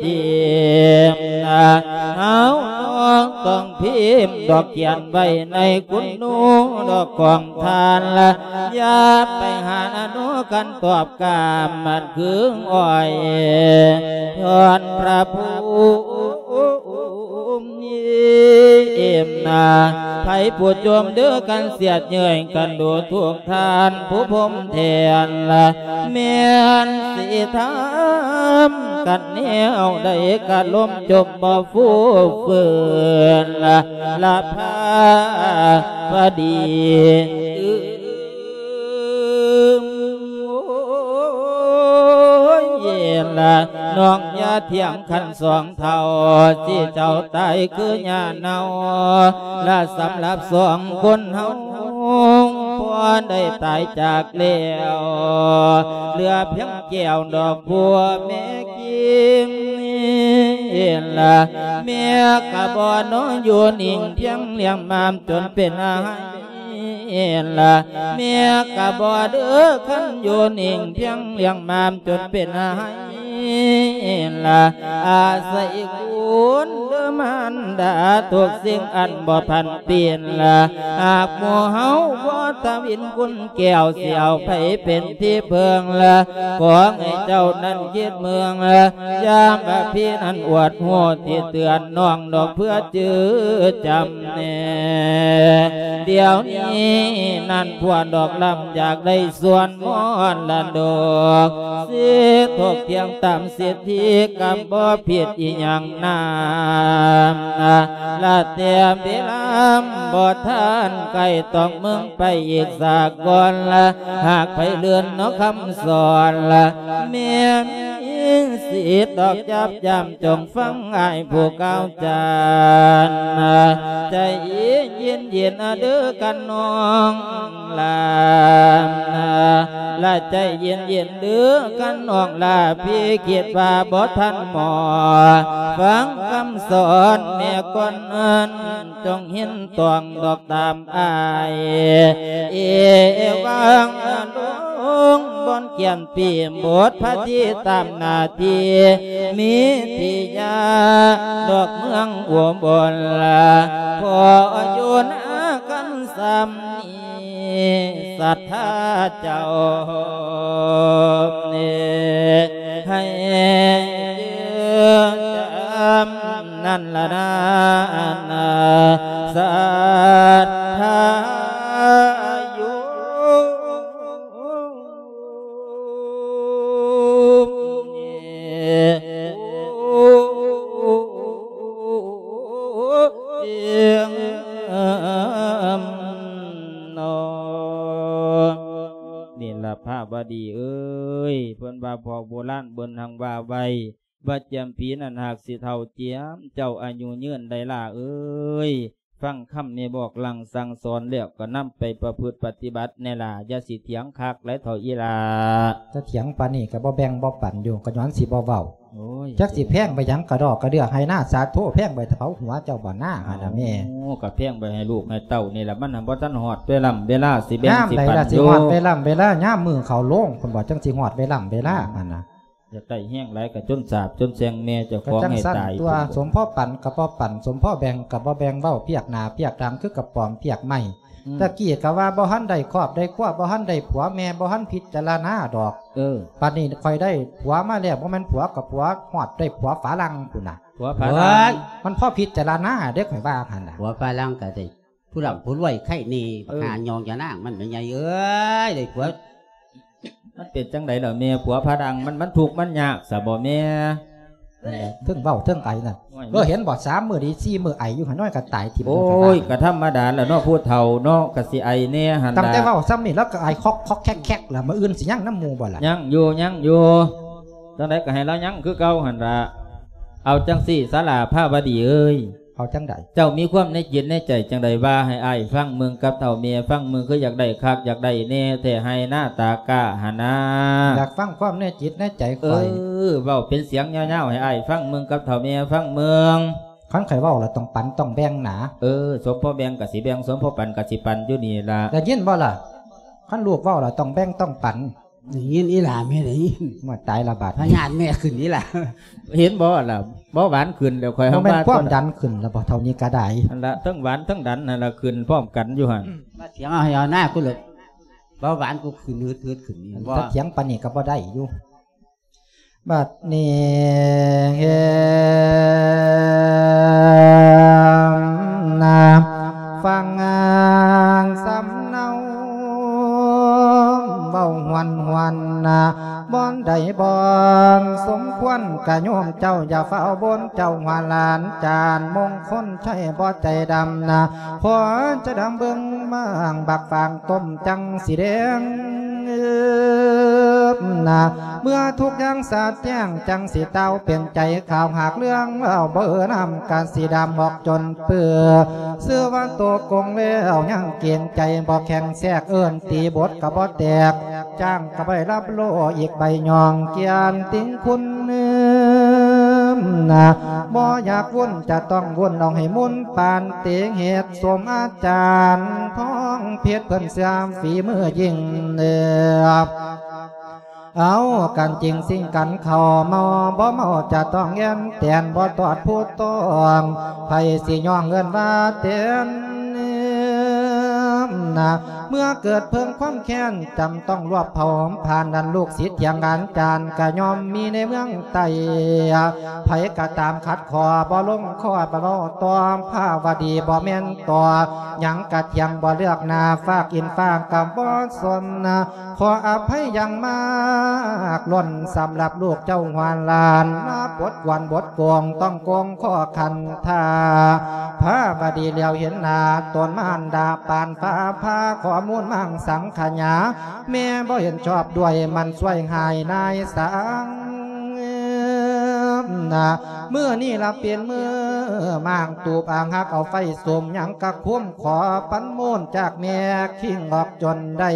ຕຽມນາ ເຮົານ້ອງຕ້ອງພິມດອກຂຽນໄວ້ໃນກຸນນູດອກຂອງທ່ານລະ ຢ່າໄປຫານະໂນ ຄັນຕອບກາມມັນຄືອ້ອຍ ຍ້ອນພະພູ ເອີມນາ ໃຜຜູ້ຈົ່ມເດີ ກັນສຽດເຍີ້ຍກັນດູ ທຸກທ່ານຜູ້ພົມແທນລະ ແມ່ນຊິທຳກັນແນວໃດ ກະລົມຈົມບໍ່ຟູຟື້ນລະ ລະພາບະດີ ໂອ້ຍ ເຢັນລະ ນ້ອງຢ່າຖຽງຄັນສອງເຖົ້າ ຊິເຈົ້າຕາຍຄືຫຍ້າເນົ່າ ລະສຳລັບສອງຄົນເຮົາ ພໍໄດ້ຕາຍຈາກແລ້ວ ເຫຼືອພຽງແກ້ວດອກຜົວແມ່ກິນ ເຫັນລະ ແມ່ກະບໍ່ນອນຢູ່ນິ່ງ ພຽງລ້ຽງມາມຈົນເປັນໄຮ ເຫັນລະ ແມ່ກະບໍ່ເດີ ຄັນຢູ່ນິ່ງ ພຽງລ້ຽງມາມຈົນເປັນໄຮ ລະ ອາໄສຄຸນເດີມານດາ ທຸກສິ່ງອັນບໍ່ຜັນປີນລະ ຫາກໝູ່ເຮົາບໍ່ທຳອິນຄຸນແກ້ວ ຊິເອົາໃຜເປັນທີ່ເພິ່ງລະ ຂໍໃຫ້ເຈົ້ານັ້ນຄິດເມືອງລະ ຍາມວ່າພີ່ນັ້ນອວດຮູ້ ທີ່ເຕືອນນ້ອງດອກເພື່ອຈື່ຈຳແນ່ ດຽວນີ້ນັ້ນພວກດອກລຳຢາກໄດ້ ສ່ວນມໍລະດົກ ສິດທົກທ່ຽງຕາມສິດທິ ກຳບໍ່ຜິດອີ່ຫຍັງນາ ລະແຕ່ເວລາບໍ່ທັນໃກ້ ຕ້ອງເມືອງໄປອີກສາກ່ອນລະ ຫາກໃຜເລື່ອນເນາະຄຳສອນລະ ແມ່ນມີສິດດອກຈັບຢ້ຳ ຈົ່ງຟັງອ້າຍຜູ້ກ່າວຈານ ໃຈເຢັນໆ ເດີກະນ້ອງຫຼ້າ ລະໃຈເຢັນໆ ເດີກະນ້ອງຫຼ້າ ພີ່ຄິດວ່າບໍ່ທັນໝໍ ຟັງຄຳສອນແມ່ກ່ອນນັ້ນ ຈົ່ງເຫັນຕ້ອງດອກຕາມອ້າຍ ເອວັງອະລຸງ ບ່ອນຂຽນປີບົດພະທີ່ຕາມໜ້າທີ່ ມີທີ່ຍາດອກເມືອງອຸບົນລະ ຂໍຢູ່ນາກັນສ່ຳນີ້ ສັດທາເຈົ້າ ໃຫ້ຈື່ຈຳນັ້ນລະນາ ສັດທາຢູ່ ນີ້ລະພະວະດີເອີຍ ເພິ່ນວ່າພວກໂບລານເພິ່ນຮັ່ງວ່າໄວ້ ວ່າຈຽມຜີນັ້ນຫາກຊິເຖົ້າຈຽມ ເຈົ້າອາຍຸຍືນໄດ້ຫຼ້າເອີຍ ຟັງຄຳແມ່ບອກຫຼັ່ງສັ່ງສອນແລ້ວ ກໍນຳໄປປະພຶດປະຕິບັດແນ່ຫຼ້າ ຢ່າຊິຖຽງຄັກຫຼາຍເຖົ້າອີ່ຫຼ້າ ຈະຖຽງປານນີ້ກໍບໍ່ແບ່ງບໍ່ປັນຢູ່ ກໍຍ້ອນຊິບໍ່ເວົ້າ ໂອ້ຍ ຈັກຊິແພງໄປຫຍັງກະດອກກະເດືອ ໄຮ່ນາສາໂທ ແພງໄປເຜົາຫົວເຈົ້າບໍ່ນາ ຫັ້ນນະແມ່ ໂອ້ ກໍແພງໄປໃຫ້ລູກໃຫ້ເຕົ້ານີ້ລະ ມັນຫັ້ນບໍ່ທັນຮອດເວລາເວລາ ຊິແບ່ງ ຍາມໃດລະ ຊິປັນ ຊິຮອດເວລາເວລາ ຍາມມື້ເຂົາໂລງ ເພິ່ນວ່າຈັ່ງຊິຮອດເວລາເວລາ ຫັ້ນນະ ຢາກໄດ້ແຮງຫຼາຍກໍຈົນສາບຈົນແຊ່ງແມ່ເຈົ້າຂອງໃຫ້ຕາຍ ຕົວະ ສົມພໍປັນກໍບໍ່ປັນ ສົມພໍແບ່ງກໍບໍ່ແບ່ງ ເວົ້າພຽກໜ້າພຽກຫຼັງ ຄືກະປອມພຽກໄມ້ ອືມ ຕະກີ້ກໍວ່າບໍ່ທັນໄດ້ຄອບໄດ້ຄົວ ບໍ່ທັນໄດ້ຜົວ ແມ່ບໍ່ທັນພິຈາລະນາດອກ ເອີ ບັດນີ້ຂ້ອຍໄດ້ຜົວມາແລ້ວ ບໍ່ແມ່ນຜົວກໍຜົວ ຮອດໄດ້ຜົວຝຣັ່ງພຸ້ນນະ ຜົວຝຣັ່ງ ເອີຍ ມັນພໍພິຈາລະນາເດ້ ຂ້ອຍວ່າຫັ້ນນະ ຜົວຝຣັ່ງກໍໄດ້ ຜູ້ລ່ຳຜູ້ລວຍໄຄແນ່ ບັກ ເອີ ຫ່າຍອງຍານາງມັນແມ່ໃຫຍ່ເອີຍ ໄດ້ຜົວ ມັນເປັນຈັ່ງໃດລະແມ່ ຜົວຝຣັ່ງມັນ ມັນທຸກມັນຍາກຊະບໍ່ແມ່ ເທິງເວົ້າເທິງໄອນັ້ນ ໂອ້ຍ ເອີ ເຫັນບໍ່ ສາມມື້ດີ ສີ່ມື້ໄອຢູ່ ຫານ້ອຍກໍຕາຍຖິ້ມ ໂອ້ຍ ກໍທຳມະດາລະເນາະ ຜູ້ເຖົ້າເນາະ ກໍຊິໄອແນ່ຫັ້ນລະ ຕັ້ງແຕ່ເວົ້າຊ່ຳນີ້ແລ້ວກໍໄອຄອກໆແຄກໆລະ ມື້ອື່ນຊິຍັງນຳໝູ່ບໍ່ລະ ຍັງຢູ່ ຍັງຢູ່ ຈັ່ງໃດກໍໃຫ້ລາວຍັງຄືເກົ່າຫັ້ນລະ ເອົາຈັ່ງຊີ້ສາລາພາວະດີເອີຍ ເອົາຈັ່ງໃດ ເຈົ້າມີຄວາມໃນຈິດໃນໃຈຈັ່ງໃດ ວ່າໃຫ້ອ້າຍຟັງເບິ່ງ ກັບເຖົ້າແມ່ຟັງເບິ່ງ ຄືຢາກໄດ້ຄັກຢາກໄດ້ແນ່ແທ້ ໄຮ່ນາຕາກ້າຫັ້ນນາ ຢາກຟັງຄວາມໃນຈິດໃນໃຈຂ້ອຍ ເອີ ເວົ້າເປັນສຽງຍາວໆ ໃຫ້ອ້າຍຟັງເບິ່ງ ກັບເຖົ້າແມ່ຟັງເບິ່ງ ຄັນຂ້ອຍເວົ້າລະຕ້ອງປັນຕ້ອງແບ່ງນາ ເອີ ສົມພໍແບ່ງກະຊິແບ່ງ ສົມພໍປັນກະຊິປັນຢູ່ນີ້ລະ ໄດ້ຍິນບໍ່ລະ ຄັນລູກເວົ້າລະຕ້ອງແບ່ງຕ້ອງປັນ ໄດ້ຍິນອີ່ຫຼ້າແມ່ໄດ້ຍິນ ມາຕາຍລະບາດ ພະຍາດແມ່ຂຶ້ນອີ່ຫຼ້າ ເຫັນບໍ່ລະ ເບົາຫວານຂຶ້ນແລ້ວ ຂ້ອຍ ບໍ່ແມ່ນ ຫາວ່າ ຄວາມດັນຂຶ້ນລະບໍ່ ເທົ່ານີ້ກະໄດ້ ຫັ້ນລະ ທັງຫວານທັງດັນຫັ້ນລະ ຂຶ້ນພ້ອມກັນຢູ່ຫັ້ນ ມາຖຽງເອົາໃຫ້ເອົາໜ້າກູໂລດ ເບົາຫວານກູຂຶ້ນຫືດໆຂຶ້ນນີ້ ອັນ ບໍ່ ຈະຖຽງປານນີ້ກະບໍ່ໄດ້ຢູ່ ບັດນີ້ເຫັນນາ ຟັງສຳເນົາ ເວົ້າຫວນໆນາ ບ່ອນໃດບໍ່ສົມຄວນກະໂຍມເຈົ້າ ຢ່າຟ້າວບົນເຈົ້າ ຫົວຫຼານຈານມົງຄົນໄຊບໍ່ໃຈດຳນາ ພໍຈະດຳເບິ່ງມາງບັກຟາງຕົ້ມ ຈັ່ງຊິແດງນາ ເມື່ອທຸກຢ່າງສາດແຈ້ງ ຈັ່ງຊິເຕົ້າເປັນໃຈຂາວ ຫາກເລື່ອງເວົ້າບໍ່ເອີນຳ ກະຊິດຳອອກຈົນເປືອ ຊື່ວ່າໂຕກົງແລ້ວຍັງເກງໃຈ ບໍ່ແຂງແຊກເອີ້ນຕີບົດກະບໍ່ແຕກ ຈ້າງກະບໍ່ໄດ້ຮັບໂລອີກໃບຍ່ອງ ກຽນຕິງຄຸນນາ ບໍ່ຢາກວຸ້ນຈະຕ້ອງວຸ້ນ ລອງໃຫ້ມຸນປານເຕງເຫດ ສົມອາຈານທອງເພັດ ເພິ່ນເຊື່ອຝີມືຍິ່ງເໜືອ ເອົາກັນຈິງຊິງກັນເຂົ້າເມົາ ບໍ່ເມົາຈະຕ້ອງແອ່ນແຕນ ບໍ່ຕອດຜູ້ຕ້ອງ ໃຜຊິຍ້ອງເອີ້ນວ່າແຕນນະ ເມື່ອເກີດເພິ່ງຄວາມແຄ້ນ ຈຳຕ້ອງລວບເຜົາ ຜ່ານນັ້ນລູກສິດຖຽງອາຈານ ກະຍ່ອມມີໃນເມືອງໃຕ້ ໃຜກະຕາມຂັດຂໍ້ ບໍ່ລົງຂໍ້ ບໍ່ເວົ້າຕໍ່ ພາວະດີບໍ່ແມ່ນຕໍ່ ຫຍັງກະຖຽງ ບໍ່ເລືອກໜ້າ ຟາກອິນຟາກກະບໍ່ສົນນະ ຂໍອະໄພຢ່າງມາກລ້ນ ສຳລັບລູກເຈົ້າຫົວຫຼານ ມາປົດກວນບົດໂກງ ຕ້ອງໂກງຂໍ້ຂັນທາ ພາວະດີຫຼຽວເຫັນໜ້າ ຕົນມານດາປານຟ້າ ພາຂໍ້ມູນມັງສັງຂະຫຍາ ແມ່ບໍ່ເຫັນຊອບດ້ວຍ ມັນຊ່ວຍຫາຍນາຍສັງນະ ມື້ນີ້ລະເປັນມື້ມ້າງຕູບອາງ ຫາກເອົາໄຟສຸມ ຫຍັງກະຄຸ້ມ ຂໍປັນມູນຈາກແມ່ຄິງອອກຈົນໄດ້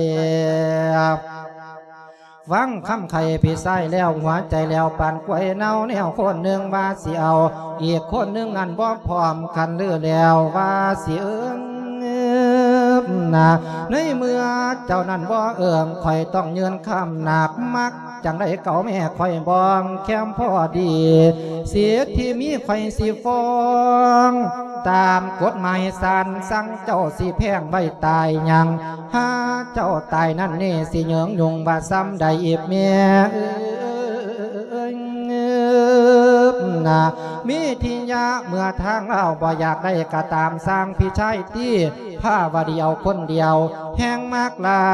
ຟັງຄຳໄຂພີ່ຊາຍແລ້ວ ຫົວໃຈແລ້ວປານກ້ວຍເນົ່າ ແນວຄົນໜຶ່ງວ່າຊິເອົາ ອີກຄົນໜຶ່ງນັ້ນບໍ່ພ້ອມກັນ ຫຼືແລ້ວວ່າຊິເອີ້ງນະ ໃນເມື່ອເຈົ້ານັ້ນບໍ່ເອີ້ງ ຂ້ອຍຕ້ອງຍື່ນຄຳໜັກ ມັກຈັ່ງໃດເຂົາແມ່ຂ້ອຍບ້ອງແຄມພໍດີ ສິດທີ່ມີຂ້ອຍຊິຟ້ອງ ຕາມກົດໝາຍສານສັ່ງ ເຈົ້າຊິແພງໄວ້ຕາຍຍັງ ຫາເຈົ້າຕາຍນັ້ນເນ ຊິເຍີງຍຸງວ່າສ່ຳໃດອີກແມ່ເອີຍນະ ມີທີ່ຍະເມື່ອທາງລາວບໍ່ຢາກໄດ້ກະຕາມ ສ້າງພີ່ຊາຍຕີ ພາວະດີເອົາຄົນດຽວ ແຮງມາກຫຼາ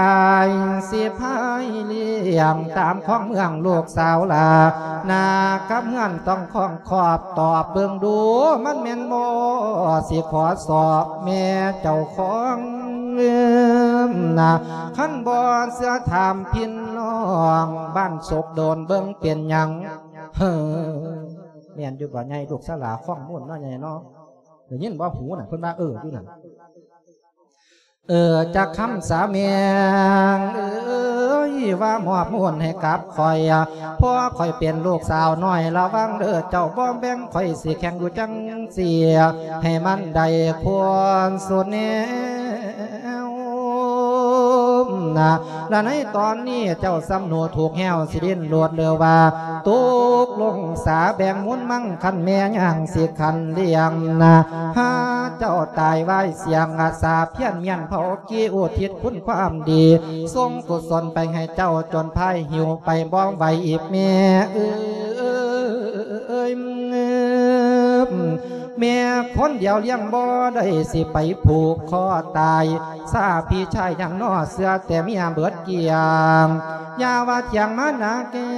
ຍ ຊິພາຍລ້ຽງ ຕາມຂອງເມືອງລູກສາວຫຼ້າ ໜ້າກັບເຮືອນຕ້ອງຄອງ ຂອບຕອບເບິ່ງດູ ມັນແມ່ນບໍ່ ຊິຂໍສອບແມ່ເຈົ້າຂອງນະ ຄັນບໍ່ເຊື່ອຖາມພີ່ນ້ອງບ້ານສົກໂດນ ເບິ່ງເປັນຫຍັງ ເຮີ ແມ່ນຢູ່ບໍ່ໃຫຍ່ ລູກສາວຫຼ້າຄອງມູນເນາະໃຫຍ່ເນາະ ໄດ້ຍິນບໍ່ຫູນະ ເພິ່ນວ່າເອີຢູ່ນັ້ນ ເອີ ຈັກຄຳສາແມງເອີຍ ວ່າມອບມູນໃຫ້ກັບຂ້ອຍ ເພາະຂ້ອຍເປັນລູກສາວນ້ອຍ ລະວັງເດີເຈົ້າບໍ່ແບ່ງ ຂ້ອຍຊິແຂ່ງຢູ່ຈັ່ງຊີ້ ໃຫ້ມັນໄດ້ຄວນສຸດແນວນະ ລະໃນຕອນນີ້ເຈົ້າສ່ຳໜູຖືກແຮ້ວ ຊິດີ້ນໂລດເລີວ່າ ຕົກລົງສາແບ່ງມູນມັງ ຄັນແມ່ຍ່າງຊິຂັນລ້ຽງນະ ຫາເຈົ້າຕາຍວາຍ ສຽງອາສາພຽນມ້ຽນເຜົາກີ້ ອຸທິດຄຸນຄວາມດີ ສົ່ງກຸສົນໄປໃຫ້ເຈົ້າ ຈົນພາຍຫິວໄປບໍ່ໄຫວອີກແມ່ເອີຍ ແມ່ຄົນດຽວລ້ຽງບໍ່ໄດ້ ຊິໄປຜູກຄໍຕາຍ ຊາພີ່ຊາຍຍັງໜໍ່ ເຊື່ອແຕ່ເມຍເບິດກ້ຽງ ຢ່າວ່າຖຽງມານາແກ້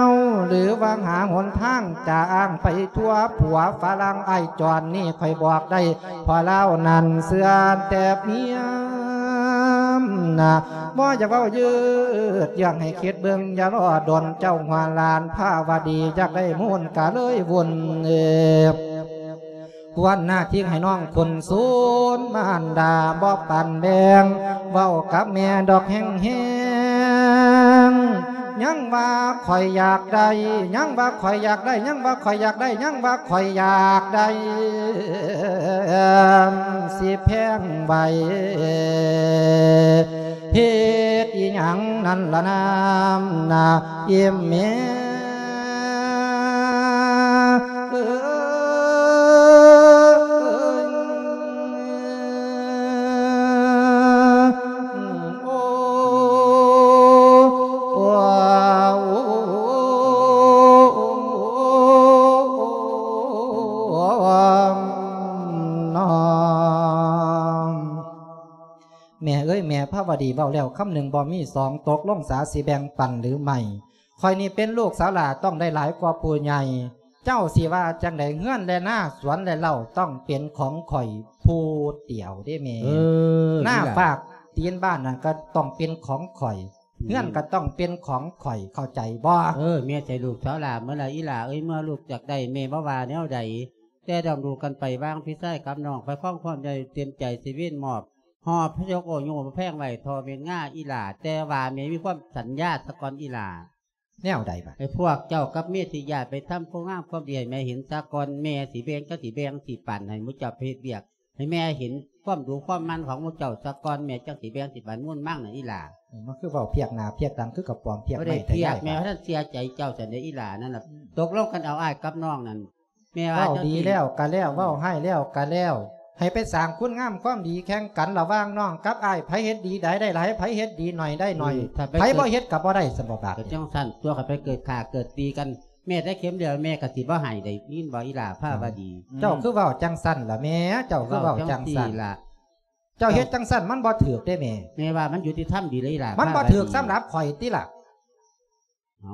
ວ ຫຼືວ່າຫາຫົນທາງຈາອ້າງໄປທົ່ວ ຜົວຝຣັ່ງອ້າຍຈອນນີ້ ຂ້ອຍບອກໄດ້ ເພາະລາວນັ້ນເຊື່ອແຕ່ເມຍນະ ບໍ່ຢາກເວົ້າຍືດເຢື້ອງໃຫ້ຄິດເບິ່ງ ຢ່າລໍດົນເຈົ້າຫົວຫຼານພາວະດີ ຢາກໄດ້ມູນກະເລີຍວຸ່ນເອີ ຄວນໜ້າທີ່ໃຫ້ນ້ອງຄົນສູນ ມານດາບໍ່ປັນແບ່ງ ເວົ້າກັບແມ່ດອກແຮງໆ ຍັງວ່າຂ້ອຍຢາກໄດ້ ຍັງວ່າຂ້ອຍຢາກໄດ້ ຍັງວ່າຂ້ອຍຢາກໄດ້ ຍັງວ່າຂ້ອຍຢາກໄດ້ ຊິແພງໄວ້ ເຮັດອີ່ຫຍັງນັ້ນລະນາມນາ ອີ່ແມ່ເອີຍ ໂອ້ ແມ່ເອີຍ ແມ່ພາວະດີເວົ້າແລ້ວຄຳໜຶ່ງບໍ່ມີສອງ ຕົກລົງສາຊິແບ່ງປັນຫຼືໄມ່ ຂ້ອຍນີ້ເປັນລູກສາວຫຼ້າ ຕ້ອງໄດ້ຫຼາຍກວ່າຜູ້ໃຫຍ່ ເຈົ້າຊິວ່າຈັ່ງໃດ ເຮືອນແລະນາ ສວນແລະເລົ້າ ຕ້ອງເປັນຂອງຂ້ອຍຜູ້ດຽວເດ້ແມ່ ເອີ ນາ ນີ້ລະ ຟາກຕີນບ້ານນັ້ນກໍຕ້ອງເປັນຂອງຂ້ອຍ ອືມ ເຮືອນກໍຕ້ອງເປັນຂອງຂ້ອຍ ເຂົ້າໃຈບໍ່? ເອີ ແມ່ໃຈລູກສາວຫຼ້າເມື່ອລະ ອີຫຼ້າເອີຍ ເມື່ອລູກຢາກໄດ້ ແມ່ບໍ່ວ່າແນວໃດ ແຕ່ດອງດູກັນໄປ ຫວ່າງພີ່ຊາຍກັບນ້ອງ ໄປຄອງຄວາມໃຫຍ່ ເຕັມໃຈຊິເວນມອບ ຫອບພະຍົກໂອໂຍ ແພງໄວ້ທໍ່ເມັນງາອີຫຼ້າ ແຕ່ວ່າແມ່ມີຄວາມສັນຍາສະກ່ອນອີຫຼ້າ ແນວໃດບາດ? ໃຫ້ພວກເຈົ້າກັບເມທິຍາດໄປທຳຄວາມງາມຄວາມດີໃຫ້ແມ່ເຫັນສາກ່ອນ ແມ່ຊິແບ່ງ ກໍຊິແບ່ງ ຊິປັນໃຫ້ໝູ່ເຈົ້າໄປເຮັດວຽກ ໃຫ້ແມ່ເຫັນຄວາມດຸຄວາມໝັ່ນຂອງໝູ່ເຈົ້າສາກ່ອນ ແມ່ຈັ່ງຊິແບ່ງສິບອັນມູນມັງນະອີ່ຫຼ້າ. ເອີ ມັນຄືເວົ້າພຽກໜ້າພຽກຫຼັງ ຄືກະປອມພຽກໄມ້ແທ້ຍາຍ. ແມ່ວ່າທ່ານເຊື່ອໃຈເຈົ້າຊັ້ນເດ້ອີ່ຫຼ້ານັ້ນນະ. ຕົກລົງກັນເອົາອ້າຍກັບນ້ອງນັ້ນ. ແມ່ວ່າເວົ້າດີແລ້ວກະແລ້ວ ເວົ້າຮ້າຍແລ້ວກະແລ້ວ ໃຫ້ໄປສ້າງຄຸນງາມຄວາມດີແຂ່ງກັນລະຫວ່າງນ້ອງກັບອ້າຍ ໃຜເຮັດດີໄດ້ໄດ້ຫຼາຍ ໃຜເຮັດດີໜ້ອຍໄດ້ໜ້ອຍ ໃຜບໍ່ເຮັດກະບໍ່ໄດ້ຊັ້ນບໍ່ບາດ. ກະຈັ່ງຊັ້ນຕົວະ ຄັນໄປເກີດຂ້າເກີດຕີກັນ ແມ່ແຕ່ເຂັມດຽວແມ່ກະຊິບໍ່ໃຫ້ໄດ້ຍິນບໍ່ອີ່ຫຼ້າພາວະດີ. ເຈົ້າຄືເວົ້າຈັ່ງຊັ້ນລະແມ່ ເຈົ້າຄືເວົ້າຈັ່ງຊັ້ນ. ເຈົ້າເຮັດຈັ່ງຊັ້ນມັນບໍ່ຖືກເດ້ແມ່. ແມ່ວ່າມັນຍຸຕິທຳດີແລ້ວອີ່ຫຼ້າ. ມັນບໍ່ຖືກສຳລັບຂ້ອຍຕິລະ.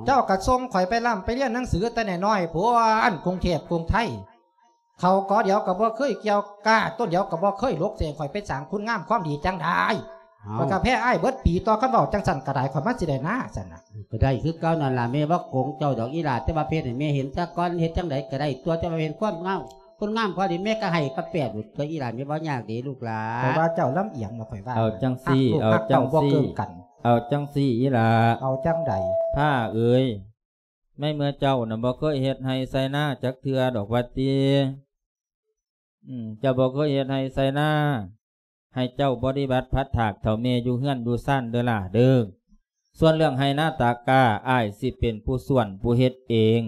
ເຈົ້າກະສົ່ງຂ້ອຍໄປລ່ຳໄປຮຽນໜັງສືແຕ່ນ້ອຍໆ ພຸ້ນ ກຸງເທບກຸງໄທ ເຂົ້າກໍດຽວກະບໍ່ເຄີຍກ່ຽວ ກ້າຕົ້ນດຽວກະບໍ່ເຄີຍຫຼົກ ຊິໃຫ້ຂ້ອຍໄປສ້າງຄຸນງາມຄວາມດີຈັ່ງໃດ? ຂ້ອຍກະແພ້ອ້າຍເບິດປີຕົວະ ຄັນເວົ້າຈັ່ງຊັ້ນກະໄດ້ ຂ້ອຍມັນຊິໄດ້ນາຊັ້ນນະ. ກະໄດ້ຄືເກົ່ານັ້ນລະ ແມ່ບໍ່ໂກງເຈົ້າດອກອີ່ຫຼ້າ ແຕ່ວ່າເຮັດໃຫ້ແມ່ເຫັນສາກ່ອນ ເຮັດຈັ່ງໃດກະໄດ້ຕົວະ ແຕ່ວ່າເຫັນຄວາມງາມ ຄຸນງາມຄວາມດີແມ່ກະໃຫ້ປະແປດໂລດຕົວະອີ່ຫຼ້າ ແມ່ບໍ່ຍາກເດ້ລູກຫຼ້າ. ຂ້ອຍວ່າເຈົ້າລຳອຽງນະ ຂ້ອຍວ່າ. ເອົາຈັ່ງຊີ້ ເອົາຈັ່ງຊີ້ ເອົາຈັ່ງຊີ້ອີ່ຫຼ້າ. ເອົາຈັ່ງໃດ? ພ້າເອີຍ ໃນເມື່ອເຈົ້ານະບໍ່ເຄີຍເຮັດໄຮ່ໄຖນາຈັກເທື່ອດອກວ່າຕິ. ອືມ ເຈົ້າບໍ່ເຄີຍເຮັດໄຮ່ໄຖນາ ໃຫ້ເຈົ້າບໍລິບັດພັດຖາກເຖົ້າແມ່ຢູ່ເຮືອນຢູ່ຊານເດີຫຼ້າເດີ. ສ່ວນເລື່ອງໄຮ່ນາຕາກ້າ ອ້າຍຊິເປັນຜູ້ສວນຜູ້ເຮັດເອງ.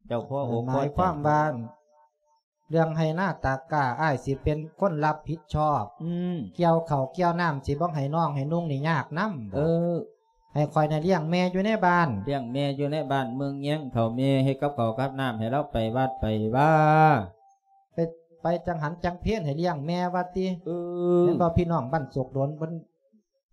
ເຈົ້າພໍອົກພໍໃຈ. ໝາຍຄວາມວ່າ ເລື່ອງໄຮ່ນາຕາກ້າ ອ້າຍຊິເປັນຄົນຮັບຜິດຊອບ. ອືມ ກ່ຽວເຂົ້າກ່ຽວນ້ຳ ຊິບໍ່ໃຫ້ນ້ອງໃຫ້ນຸ່ງນີ້ຍາກນຳບໍ? ເອີ ໃຫ້ຂ້ອຍນະລ້ຽງແມ່ຢູ່ໃນບ້ານ. ລ້ຽງແມ່ຢູ່ໃນບ້ານເມືອງແຍງ ເຖົ້າແມ່ເຮັດກັບເຂົ້າກັບນ້ຳ ໃຫ້ລາວໄປວັດໄປວາ. ໄປ ໄປຈັງຫັນຈັງເພນໃຫ້ລ້ຽງແມ່ວ່າຕິ. ເອີ ແມ່ນບໍ່ ພີ່ນ້ອງບ້ານໂສກໂດນເພິ່ນ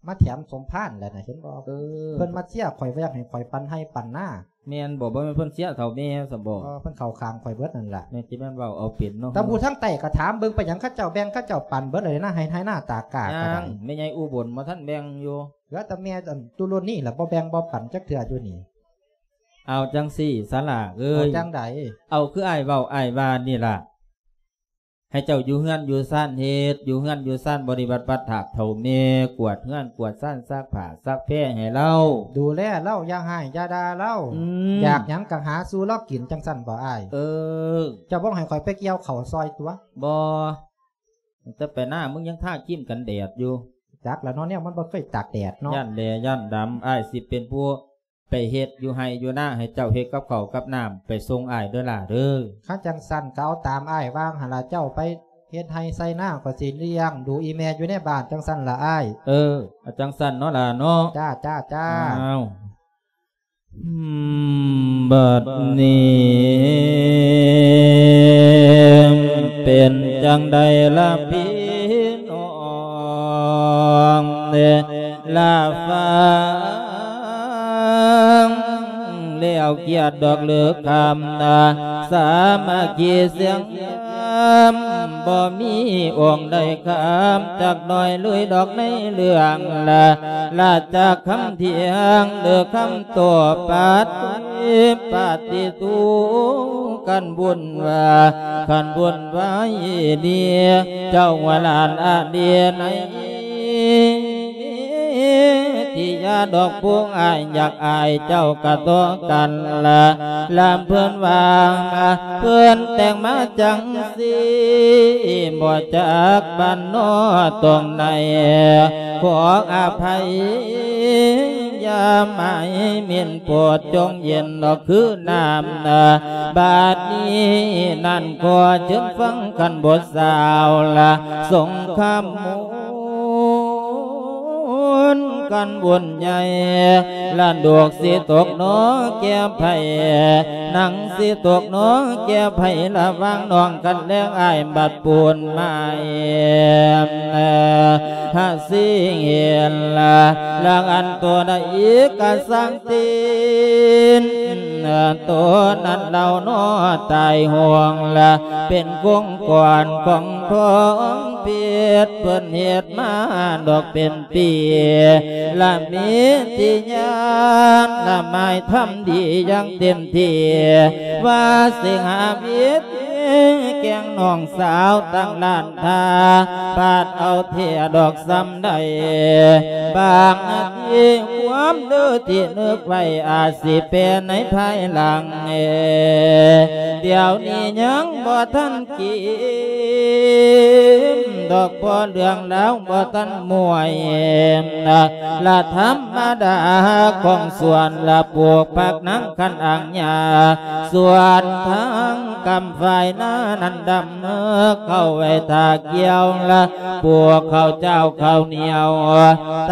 ມາແຖມສົມພານແຫຼະນະ ເຫັນບໍ່? ເອີ ເພິ່ນມາເຊຍຂ້ອຍວ່າຢາກໃຫ້ຂ້ອຍປັນໄຮ່ປັນນາ. ແມ່ນບໍ່? ບໍ່ແມ່ນເພິ່ນເຊຍເຖົ້າແມ່ຊັ້ນບໍ່? ເອີ ເພິ່ນເຂົ້າຂ້າງຂ້ອຍເບິດນັ້ນລະ. ແມ່ນຊິແມ່ນເວົ້າເອົາເປັນເນາະ. ແຕ່ຜູ້ທາງໃຕ້ກໍຖາມເບິ່ງ ເປັນຫຍັງເຂົາເຈົ້າແບ່ງ ເຂົາເຈົ້າປັນເບິດແລ້ວນະ ໄຮ່ ໄຮ່ນາຕາກ້າກໍໄດ້. ແມ່ໃຫຍ່ອຸບົນບໍ່ທັນແບ່ງຢູ່. ເຫຼືອແຕ່ແມ່ອັນຕຸລຸນນີ້ລະ ບໍ່ແບ່ງບໍ່ປັນຈັກເທື່ອຢູ່ນີ້. ເອົາຈັ່ງຊີ້ສາຫຼ້າເອີຍ. ເອົາຈັ່ງໃດ? ເອົາຄືອ້າຍເວົ້າອ້າຍວ່ານີ້ລະ. ໃຫ້ເຈົ້າຢູ່ເຮືອນຢູ່ຊານເຮັດ ຢູ່ເຮືອນຢູ່ຊານບໍລິບັດພັດຖາກເຖົ້າແມ່ ກວາດເຮືອນກວາດຊານ ຊັກຜ້າຊັກແພໃຫ້ລາວ ດູແລລາວ ຢ່າຮ້າຍຢ່າດ່າລາວ. ອືມ ຢາກຫຍັງກະຫາສູ່ລາວກິນ ຈັ່ງຊັ້ນບໍ່ອ້າຍ? ເອີ ເຈົ້າບໍ່ໃຫ້ຂ້ອຍໄປກ່ຽວເຂົ້າຊ່ອຍຕົວະ? ບໍ່ ແຕ່ໄປນາມຶງຍັງທາຄຣີມກັນແດດຢູ່. ຈັກລະເນາະ ແນວມັນບໍ່ເຄີຍຕາກແດດເນາະ. ຢ້ານແຫຼຢ້ານດຳ ອ້າຍຊິເປັນຜູ້ ໄປເຮັດຢູ່ໄຮ່ຢູ່ນາ ໃຫ້ເຈົ້າເຮັດກັບເຂົ້າກັບນ້ຳໄປສົ່ງອ້າຍເດີຫຼ້າເດີ. ຄັນຈັ່ງຊັ້ນກໍເອົາຕາມອ້າຍວ່າຫັ້ນລະ ເຈົ້າໄປເຮັດໄຮ່ໄຖນາ ຂ້ອຍຊິລ້ຽງດູອີ່ແມ່ຢູ່ໃນບ້ານ ຈັ່ງຊັ້ນລະອ້າຍ. ເອີ ເອົາຈັ່ງຊັ້ນເນາະຫຼ້າເນາະ. ຈ້າ ຈ້າ ຈ້າ. ອ້າວ ອືມ ບັດນີ້ເປັນຈັ່ງໃດລະພີ່ນ້ອງເອີຍ ລະຟັງແລ້ວຄຽດດອກເລີກຄຳນາ ສາມັກຄີສຽງຍາມ ບໍ່ມີອົງໃດຄຳຈັກໜ້ອຍເລີຍດອກໃນເລື່ອງລາ ລາຈາກຄຳຖຽງເລີກຄຳໂຕ້ປາດ ປາດຕິຕູ ຄັນບຸນວ່າ ຄັນບຸນໄວ້ດີ ເຈົ້າວ່າຫຼານອາດີໃນ ທີ່ຍາດອກພວງອ້າຍ ຢາກອາຍເຈົ້າກະຕໍ່ກັນລະ ລຳເພິ່ນວ່າ ເພິ່ນແຕ່ງມາຈັ່ງຊີ້ ບໍ່ຈັກບ້ານນອຕອງໃດ ຂໍອະໄພ ຢ່າໝາຍມິ່ນ ໂປດຈົ່ງເຢັນດອກຄືນ້ຳນາ ບາດນີ້ນັ້ນຂໍເຊີນຟັງຄັນບົດສາວລະ ສົງຄາມມູນ ຄັນບຸນໃຫຍ່ ລະດູກຊິຕົກໜໍແກ່ໃຜ ນາງຊິຕົກໜໍແກ່ໃຜ ລະຫວ່າງນ້ອງກັນແລງອ້າຍບັດປູນມາຍ ຫາຊິເຫັນລະ ລະອັນໂຕໃດກະຊ່າງ ຕີນ ໂຕນັ້ນເຫຼົ່າໜໍຕາຍຫ່ວງລະ ເປັນກົງກອນຂອງທອງເພັດ ເພິ່ນເຮັດມາດອກເປັນປີ ລະມີທີ່ຍານລະໝາຍທຳດີຢ່າງເຕັມທີ່ ວ່າຊິຫາວິດ ແກ່ງນ້ອງສາວຕັ້ງລ້ານທ່າ ບາດເອົາແທ້ດອກສ່ຳໃດ ບາງອາທິຄວາມເດີທີ່ນຶກໄວ້ ອາດຊິແປໃນພາຍຫຼັງ ດຽວນີ້ຍັງບໍ່ທັນກິນດອກ ເພາະເລື່ອງລາວບໍ່ທັນມ່ວນ ລະທຳມະດາຂອງສວນ ລະປູກຜັກນາງຄັນອາງຍາ ສ່ວນທາງກຳຝ້າຍນານັ້ນດຳ ເຂົ້າໄວ້ຖ້າກ່ຽວ ລະປູກເຂົ້າເຈົ້າເຂົ້າໜຽວ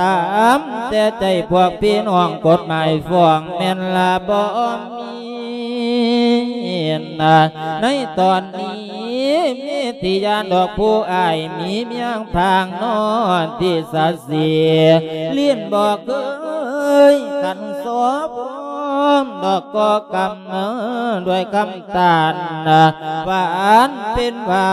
ຕາມແຕ່ໃຈພວກພີ່ນ້ອງ ກົດໝາຍຟ້ອງແມ່ນລະບໍ່ມີນະ ໃນຕອນນີ້ມີທີ່ຢ້ານດອກ ຜູ້ອ້າຍມີມຽງພາງນອນທີ່ສາສີ ຫຼິ້ນບໍ່ເຄີຍຂັນສອບ ດອກກໍກຳ ດ້ວຍຄຳຕານ ຫວານເປັນຫວາ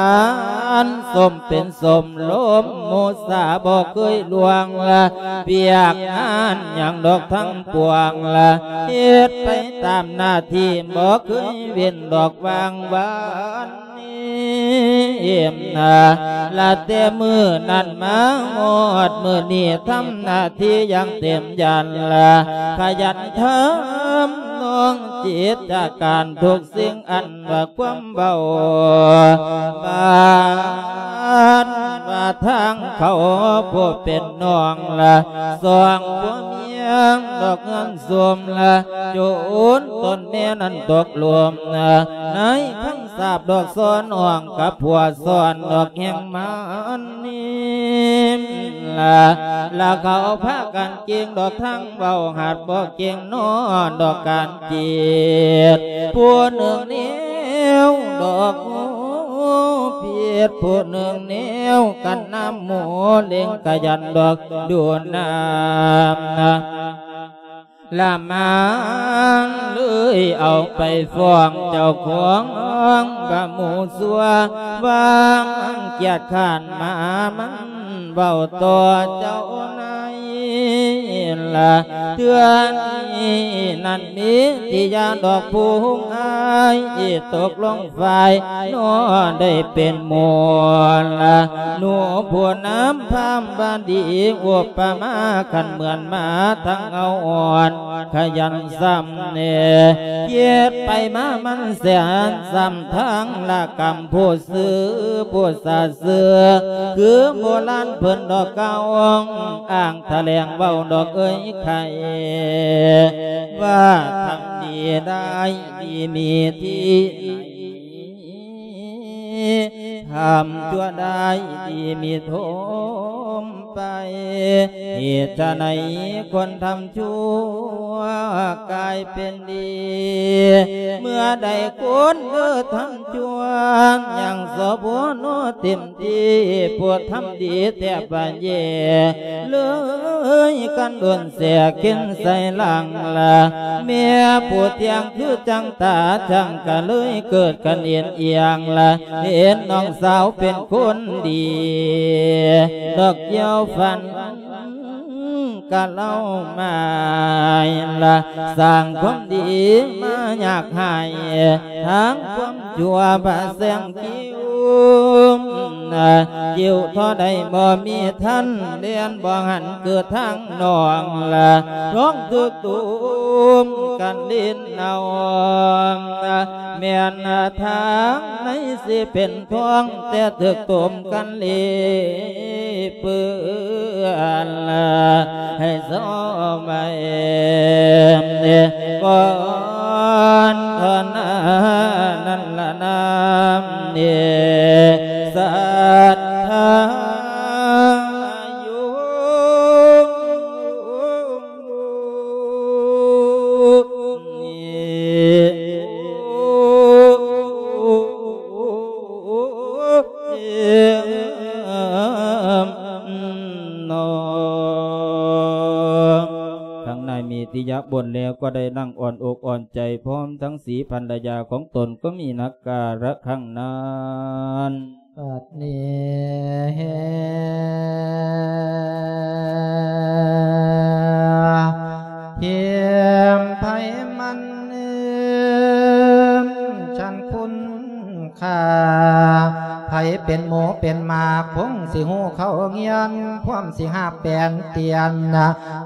ນ ສົ້ມເປັນສົ້ມ ລົມມຸສາບໍ່ເຄີຍລ່ວງລະ ວຽກງານຫຍັງດອກທັງປວງລະ ເຮັດໄປຕາມໜ້າທີ່ ບໍ່ເຄີຍເວັ້ນດອກ ວາງວັນ ລະແຕ່ມື້ນັ້ນມາຮອດມື້ນີ້ ທຳໜ້າທີ່ຢ່າງເຕັມຢັນລະ ຂະຫຍັນທຳນອງຈິດຈະການ ທຸກສິ່ງອັນວ່າຄວາມເວົ້າ ບາດວ່າທາງເຂົາຜູ້ເປັນນ້ອງລະ ສອງຜົວເມຍດອກເຮືອນໂຊມລະ ຈົນຕົນແມ່ນັ້ນຕົກລົມ ໃນຄຳສາບດອກ ສອນນ້ອງກັບຜົວ ສອນດອກແຫ່ງມານນີ້ລະ ລະເຂົາພາກັນ ເກັ່ງດອກທາງເວົ້າ ຫາກບໍ່ເກັ່ງນອນດອກການຈິດ ຜູ້ໜຶ່ງແນວດອກຜິດ ຜູ້ໜຶ່ງແນວກັນນຳໝູ່ ເລັ່ງຂະຫຍັນດອກດູນນຳ ລະມາງເລີຍເອົາໄປຟ້ອງເຈົ້າຂອງ ວ່າໝູ່ຊົ່ວ ວ່າມັນກຽດຄ້ານມາ ມັນເວົ້າຕໍ່ເຈົ້ານາຍລະ ເທື່ອນີ້ນັ້ນມີທີ່ຢາດອກຜູ້ອ້າຍ ຕົກລົງຝ່າຍນ້ອງໄດ້ເປັນໝູ່ລະ ໜູຜູ້ນຳພາມບາດີ ອຸປະມາຄັນເໝືອນໝາທັງເອົາອ່ອນ ຂະຫຍັນສ່ຳແດ່ ຄຽດໄປມາມັນແສນສ່ຳທາງລະກຳ ຜູ້ຊື່ຜູ້ສາຊື່ ຄືໂບລານເພິ່ນດອກກ່າວອ້າງຖະແຫຼງເວົ້າດອກເອີຍໄຂ ວ່າທຳດີໄດ້ດີມີທີ່ໃນ ທຳຊົ່ວໄດ້ດີມີຖົມໄປ ເຫດຈະໃດຄົນທຳຊົ່ວກາຍເປັນດີ ເມື່ອໃດຄົນເອີທຳຊົ່ວ ຍັງສະບົນເຕັມທີ່ ຜູ້ທຳດີແທບວ່າແຍ່ ເລີຍກັນດົນແສເຂັນໃສ່ຫຼັງລະ ແມ່ຜູ້ທ່ຽງຄືຈັ່ງຕາຊ່າງກະເລີຍເກີດກັນເອັນອຽງລະ ເຫັນນ້ອງສາວເປັນຄົນດີ ດອກກ່ຽວຝັນກະເລົ່າໝາຍລະ ສ້າງຄວາມດີມາຍາກຫາຍ ທາງຄວາມຊົ່ວພະແສງຄິ້ວ ຄິ້ວທໍ່ໃດບໍ່ມີທັນ ແລ່ນບໍ່ຫັນເກີດທາງນ້ອງລະ ທ້ອງຖືກຕຸມກັນຫຼິ້ນເອົາ ແມ່ນທາງໃນຊິເປັນທ້ອງ ແຕ່ຖືກຕຸມກັນຫຼິ້ນເປື້ອນລະ ໃຫ້ເຊົາໄວ້ກ່ອນເທົ່ານັ້ນລະນາມນີ້ ສັດທາໂຍ ທັງນາຍມີຕິຍະບົນແລ້ວກໍໄດ້ນັ່ງອ່ອນອົກອ່ອນໃຈ ພ້ອມທັງສີພັນລະຍາຂອງຕົນກໍມີນັກກາລະຄັ້ງນັ້ນ. ບັດນີ້ ທີມໃຜມັນ ເອີມ ຊັ້ນຄຸນຄ່າ ໃຜເປັນໝູເປັນໝາ ຄົງຊິຮູ້ເຂົ້າຮຽນ ພວມຊິຫາບແປນຕຽນ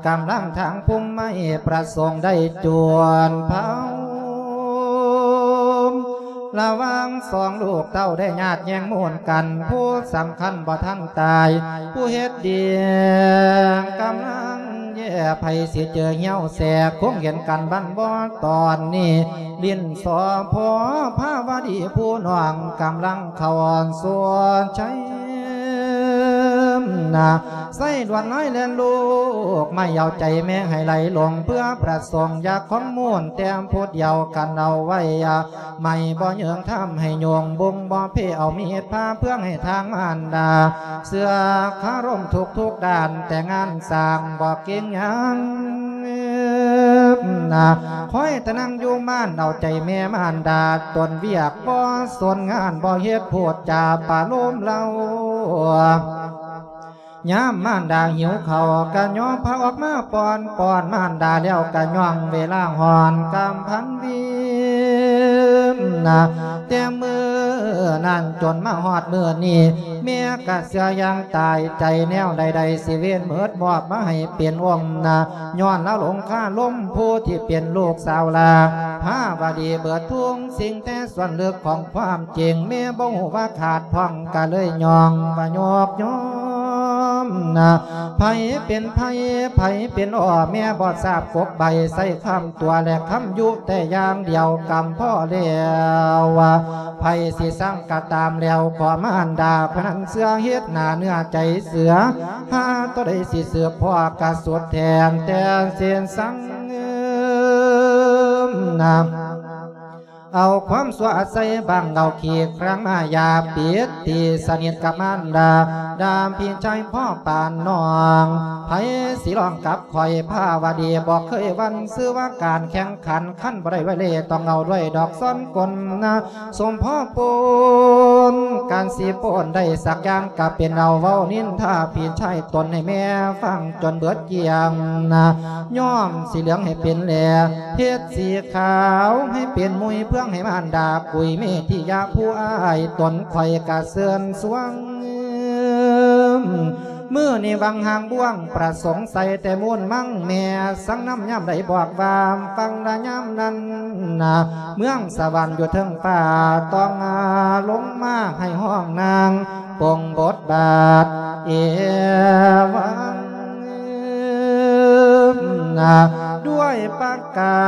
ກຳລັງທາງພູມໄມ້ ປະສົງໄດ້ຈວນເຜົາ ລະຫວ່າງສອງລູກເຕົ້າໄດ້ຍາດແຍ່ງມູນກັນ, ຜູ້ສຳຄັນບໍ່ທັນຕາຍ, ຜູ້ເຮັດດີກຳລັງແຍ່. ໃຜຊິເຈີຫ້ຽວແສກ ຄົງເຫັນກັນບັ້ນບໍ່ຕອນນີ້. ຫຼິ້ນສໍພໍພາວະດີຜູ້ນ້ອງກຳລັງເຂົ້າສວນໄຊນາ. ໃສ່ລວດລາຍແລ່ນລູກໄມ້ ເອົາໃຈແມ່ໃຫ້ໄຫຼຫຼົງ ເພື່ອປະສົງຢາກຂອງມູນແຕ້ມຜູ້ດຽວກັນເອົາໄວ້. ໄມ້ບໍ່ເຍີງທຳໃຫ້ໂຍງ ບຸງບໍ່ເພເອົາມີດພາເພື່ອໃຫ້ທາງມານດາ ເຊື່ອຄາລົມທຸກໆດ້ານ ແຕ່ງານສ້າງບໍ່ເກັ່ງຫຍັງນາ. ຄອຍແຕ່ນັ່ງຢູ່ມານເອົາໃຈແມ່ມານດາ ຕົນວຽກບໍ່ສົນງານ ບໍ່ເຮັດໂພດຈາປະໂລມເລົ່າ. ຍາມມານດາຫິວເຂົ້າກະຍໍພາອອກມາປ້ອນ, ປ້ອນມານດາແລ້ວກະຍ່ອງເວລາຮ້ອນກຳພັນວິນນາ. ແຕ່ມື້ນັ້ນຈົນມາຮອດມື້ນີ້ ແມ່ກະເຊື່ອຢ່າງຕາຍໃຈ ແນວໃດໆຊິເວນເໝິດ ມອບມາໃຫ້ເປັນອົມນາ. ຍ້ອນລາວຫຼົງຄາລົມຜູ້ທີ່ເປັນລູກສາວລາ ພາວະດີເບີດທຸກສິ່ງ ແຕ່ສ່ວນເລິກຂອງຄວາມຈິງ ແມ່ບໍ່ຮູ້ວ່າຂາດຜ່ອງ ກະເລີຍຍ້ອງວ່າຍອກຍ້ອມນາ. ໃຜເປັນໃຜ ໃຜເປັນອ້ອ ແມ່ບໍ່ຊາບກົກໃບ ໃຊ້ຄຳຕົວະແລະຄຳຍຸແຕ່ຢ່າງດຽວ ກຳພໍແລ້ວ. ໃຜຊິຊັງກະຕາມແລ້ວ ຂໍມານດາຜູ້ນັ້ນເຊື່ອເຮັດໜ້າເນື້ອໃຈເສືອ ຫາຕົວໃດຊິສືບພໍ້ກະສຸດແທນແຕ່ເສນສັງນາ. ເອົາຄວາມຊົ່ວໃສ່ບັງເອົາ ຂີ້ຄຣາງມາຢາປິດຕີສະໜິດກັບມານດາ ດາມພີ່ຊາຍພໍ່ປານນ້ອງ. ໃຜຊິລອງກັບຂ້ອຍພາວະດີ ບໍ່ເຄີຍຫວັ່ນຊື່ວ່າການແຂ່ງຂັນ ຄັນບໍ່ໄດ້ໄວເລ ຕ້ອງເອົາດ້ວຍດອກຊ້ອນກົນນາ. ສົມພໍປົນ ການຊິປົນໄດ້ສັກຢ່າງ ກະເປັນເອົາເວົ້ານິນທາພີ່ຊາຍຕົນໃຫ້ແມ່ຟັງຈົນເບິດກ້ຽງນາ. ຍອມສີເຫຼືອງໃຫ້ເປັນແຫຼ ເຮັດສີຂາວໃຫ້ເປັນມຸຍ ເພື່ອໃຫ້ມານດາກຸຍເມທິຍາຜູ້ອ້າຍຕົນ ຂ້ອຍກະເຊີນຊວນ ມື້ນີ້ຫວັງຫາງບ່ວງປະສົງໃສ່ແຕ່ມູນມັງ ແມ່ສັງນຳຍາມໃດບອກວ່າ ຟັງລະຍາມນັ້ນນາ ເມືອງສະຫວັນຢູ່ເທິງຟ້າ ຕ້ອງລົງມາໃຫ້ຫ້ອງນາງ ປົງບົດບາດເອວັງນາ ດ້ວຍປະກາ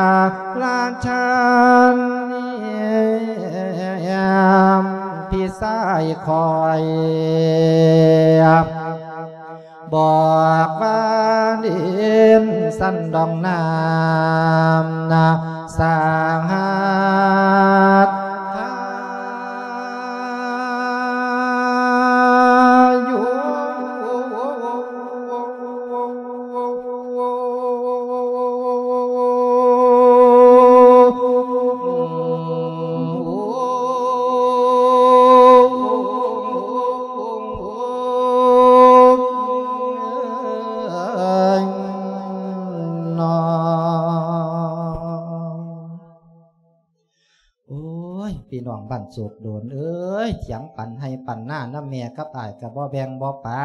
ລະຊານ ພີ່ຊາຍຂ້ອຍ ບອກວ່າດິນສັນດອງນ້ຳນາ ສາຫັດທາຍຸ. ໂອ້ຍ ພີ່ນ້ອງບ້ານໂສກໂດນເອີຍ ຖຽງປັນໄຮ່ປັນນານຳແມ່ກັບອ້າຍກະບໍ່ແບ່ງບໍ່ປັ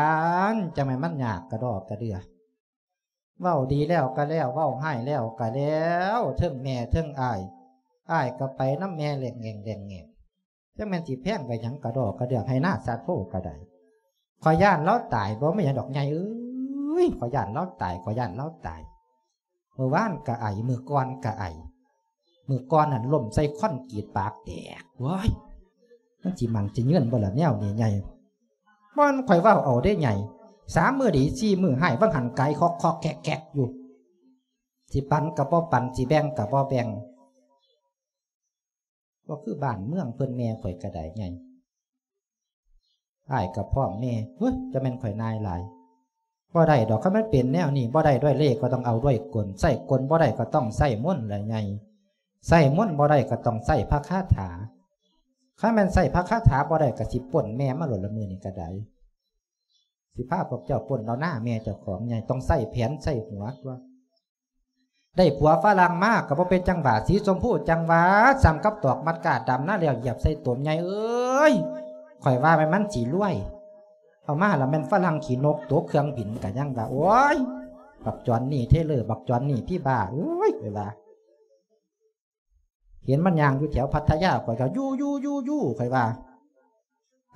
ນ ຈັ່ງແມ່ນມັນຍາກກະດໍກະເດືອ. ເວົ້າດີແລ້ວກະແລ້ວ ເວົ້າຮ້າຍແລ້ວກະແລ້ວ ເທິງແມ່ເທິງອ້າຍ ອ້າຍກະໄປນຳແມ່ແຫຼງແງ່ງແຫຼງແງ່ງ. ຈັກແມ່ນຊິແພງໄປຫຍັງ ກະດໍກະເດືອ ໄຮ່ນາສາໂທກະໄດ້. ຂ້ອຍຢ້ານລາວຕາຍ ບໍ່ແມ່ນຫຍັງດອກໃຫຍ່ເອີຍ ຂ້ອຍຢ້ານລາວຕາຍ ຂ້ອຍຢ້ານລາວຕາຍ. ມື້ວານກະໄອ ມື້ກ່ອນກະໄອ ມື້ກ່ອນນັ້ນລົ້ມໃສ່ຄອນກຣີດປາກແຕກ. ໂອ້ຍ ມັນຊິໝັ້ນຊິເງືອນບໍ່ລະແນວນີ້ໃຫຍ່. ບໍ່ແມ່ນຂ້ອຍເວົ້າເອົາເດ້ໃຫຍ່ ສາມມື້ດີ ສີ່ມື້ຮ້າຍ ວ່າງຫັ້ນກາຍຄອກໆແຄກໆຢູ່. ຊິປັນກະບໍ່ປັນ ຊິແບ່ງກະບໍ່ແບ່ງ. ບໍ່ຄືບ້ານເມືອງເພິ່ນ ແມ່ຂ້ອຍກະໄດ້ໃຫຍ່ ອ້າຍກະພ້ອມແມ່. ເຮີ້ຍ ຈະແມ່ນຂ້ອຍນາຍຫຼາຍ. ບໍ່ໄດ້ດອກ ຄັນມັນເປັນແນວນີ້ ບໍ່ໄດ້ດ້ວຍເລກ ກະຕ້ອງເອົາດ້ວຍກົນ ໃຊ້ກົນບໍ່ໄດ້ກະຕ້ອງໃຊ້ມົນລະໃຫຍ່ ໃຊ້ມົນບໍ່ໄດ້ກະຕ້ອງໃຊ້ພະຄາຖາ. ຄັນແມ່ນໃຊ້ພະຄາຖາບໍ່ໄດ້ ກະຊິປົນແມ່ມາໂລດລະ ມື້ນີ້ກະໄດ້. ຊິພາພວກເຈົ້າປົນເອົານາແມ່ເຈົ້າຂອງໃຫຍ່ ຕ້ອງໃຊ້ແຜນໃຊ້ຫົວຕົວະ. ໄດ້ຜົວຝຣັ່ງມາກະບໍ່ເປັນຈັ່ງຫວາ ສີຊົມພູຈັ່ງຫວາ ສ່ຳກັບຕອກມັດກ້າດຳນາແລ້ວຢຽບໃສ່ຕົມໃຫຍ່ເອີຍ. ຂ້ອຍວ່າແມ່ນມັນຊິລວຍ ເອົາມາລະແມ່ນຝຣັ່ງຂີ້ນົກຕົກເຄື່ອງບິນກະຍັງວ່າ ໂອ້ຍ ບັກຈອນນີ້ເທເລີ ບັກຈອນນີ້ພີບ້າ ໂອ້ຍ ຂ້ອຍວ່າ. ເຫັນມັນຍ່າງຢູ່ແຖວພັດທະຍາ ຂ້ອຍກໍຢູ່ໆໆໆ ຂ້ອຍວ່າ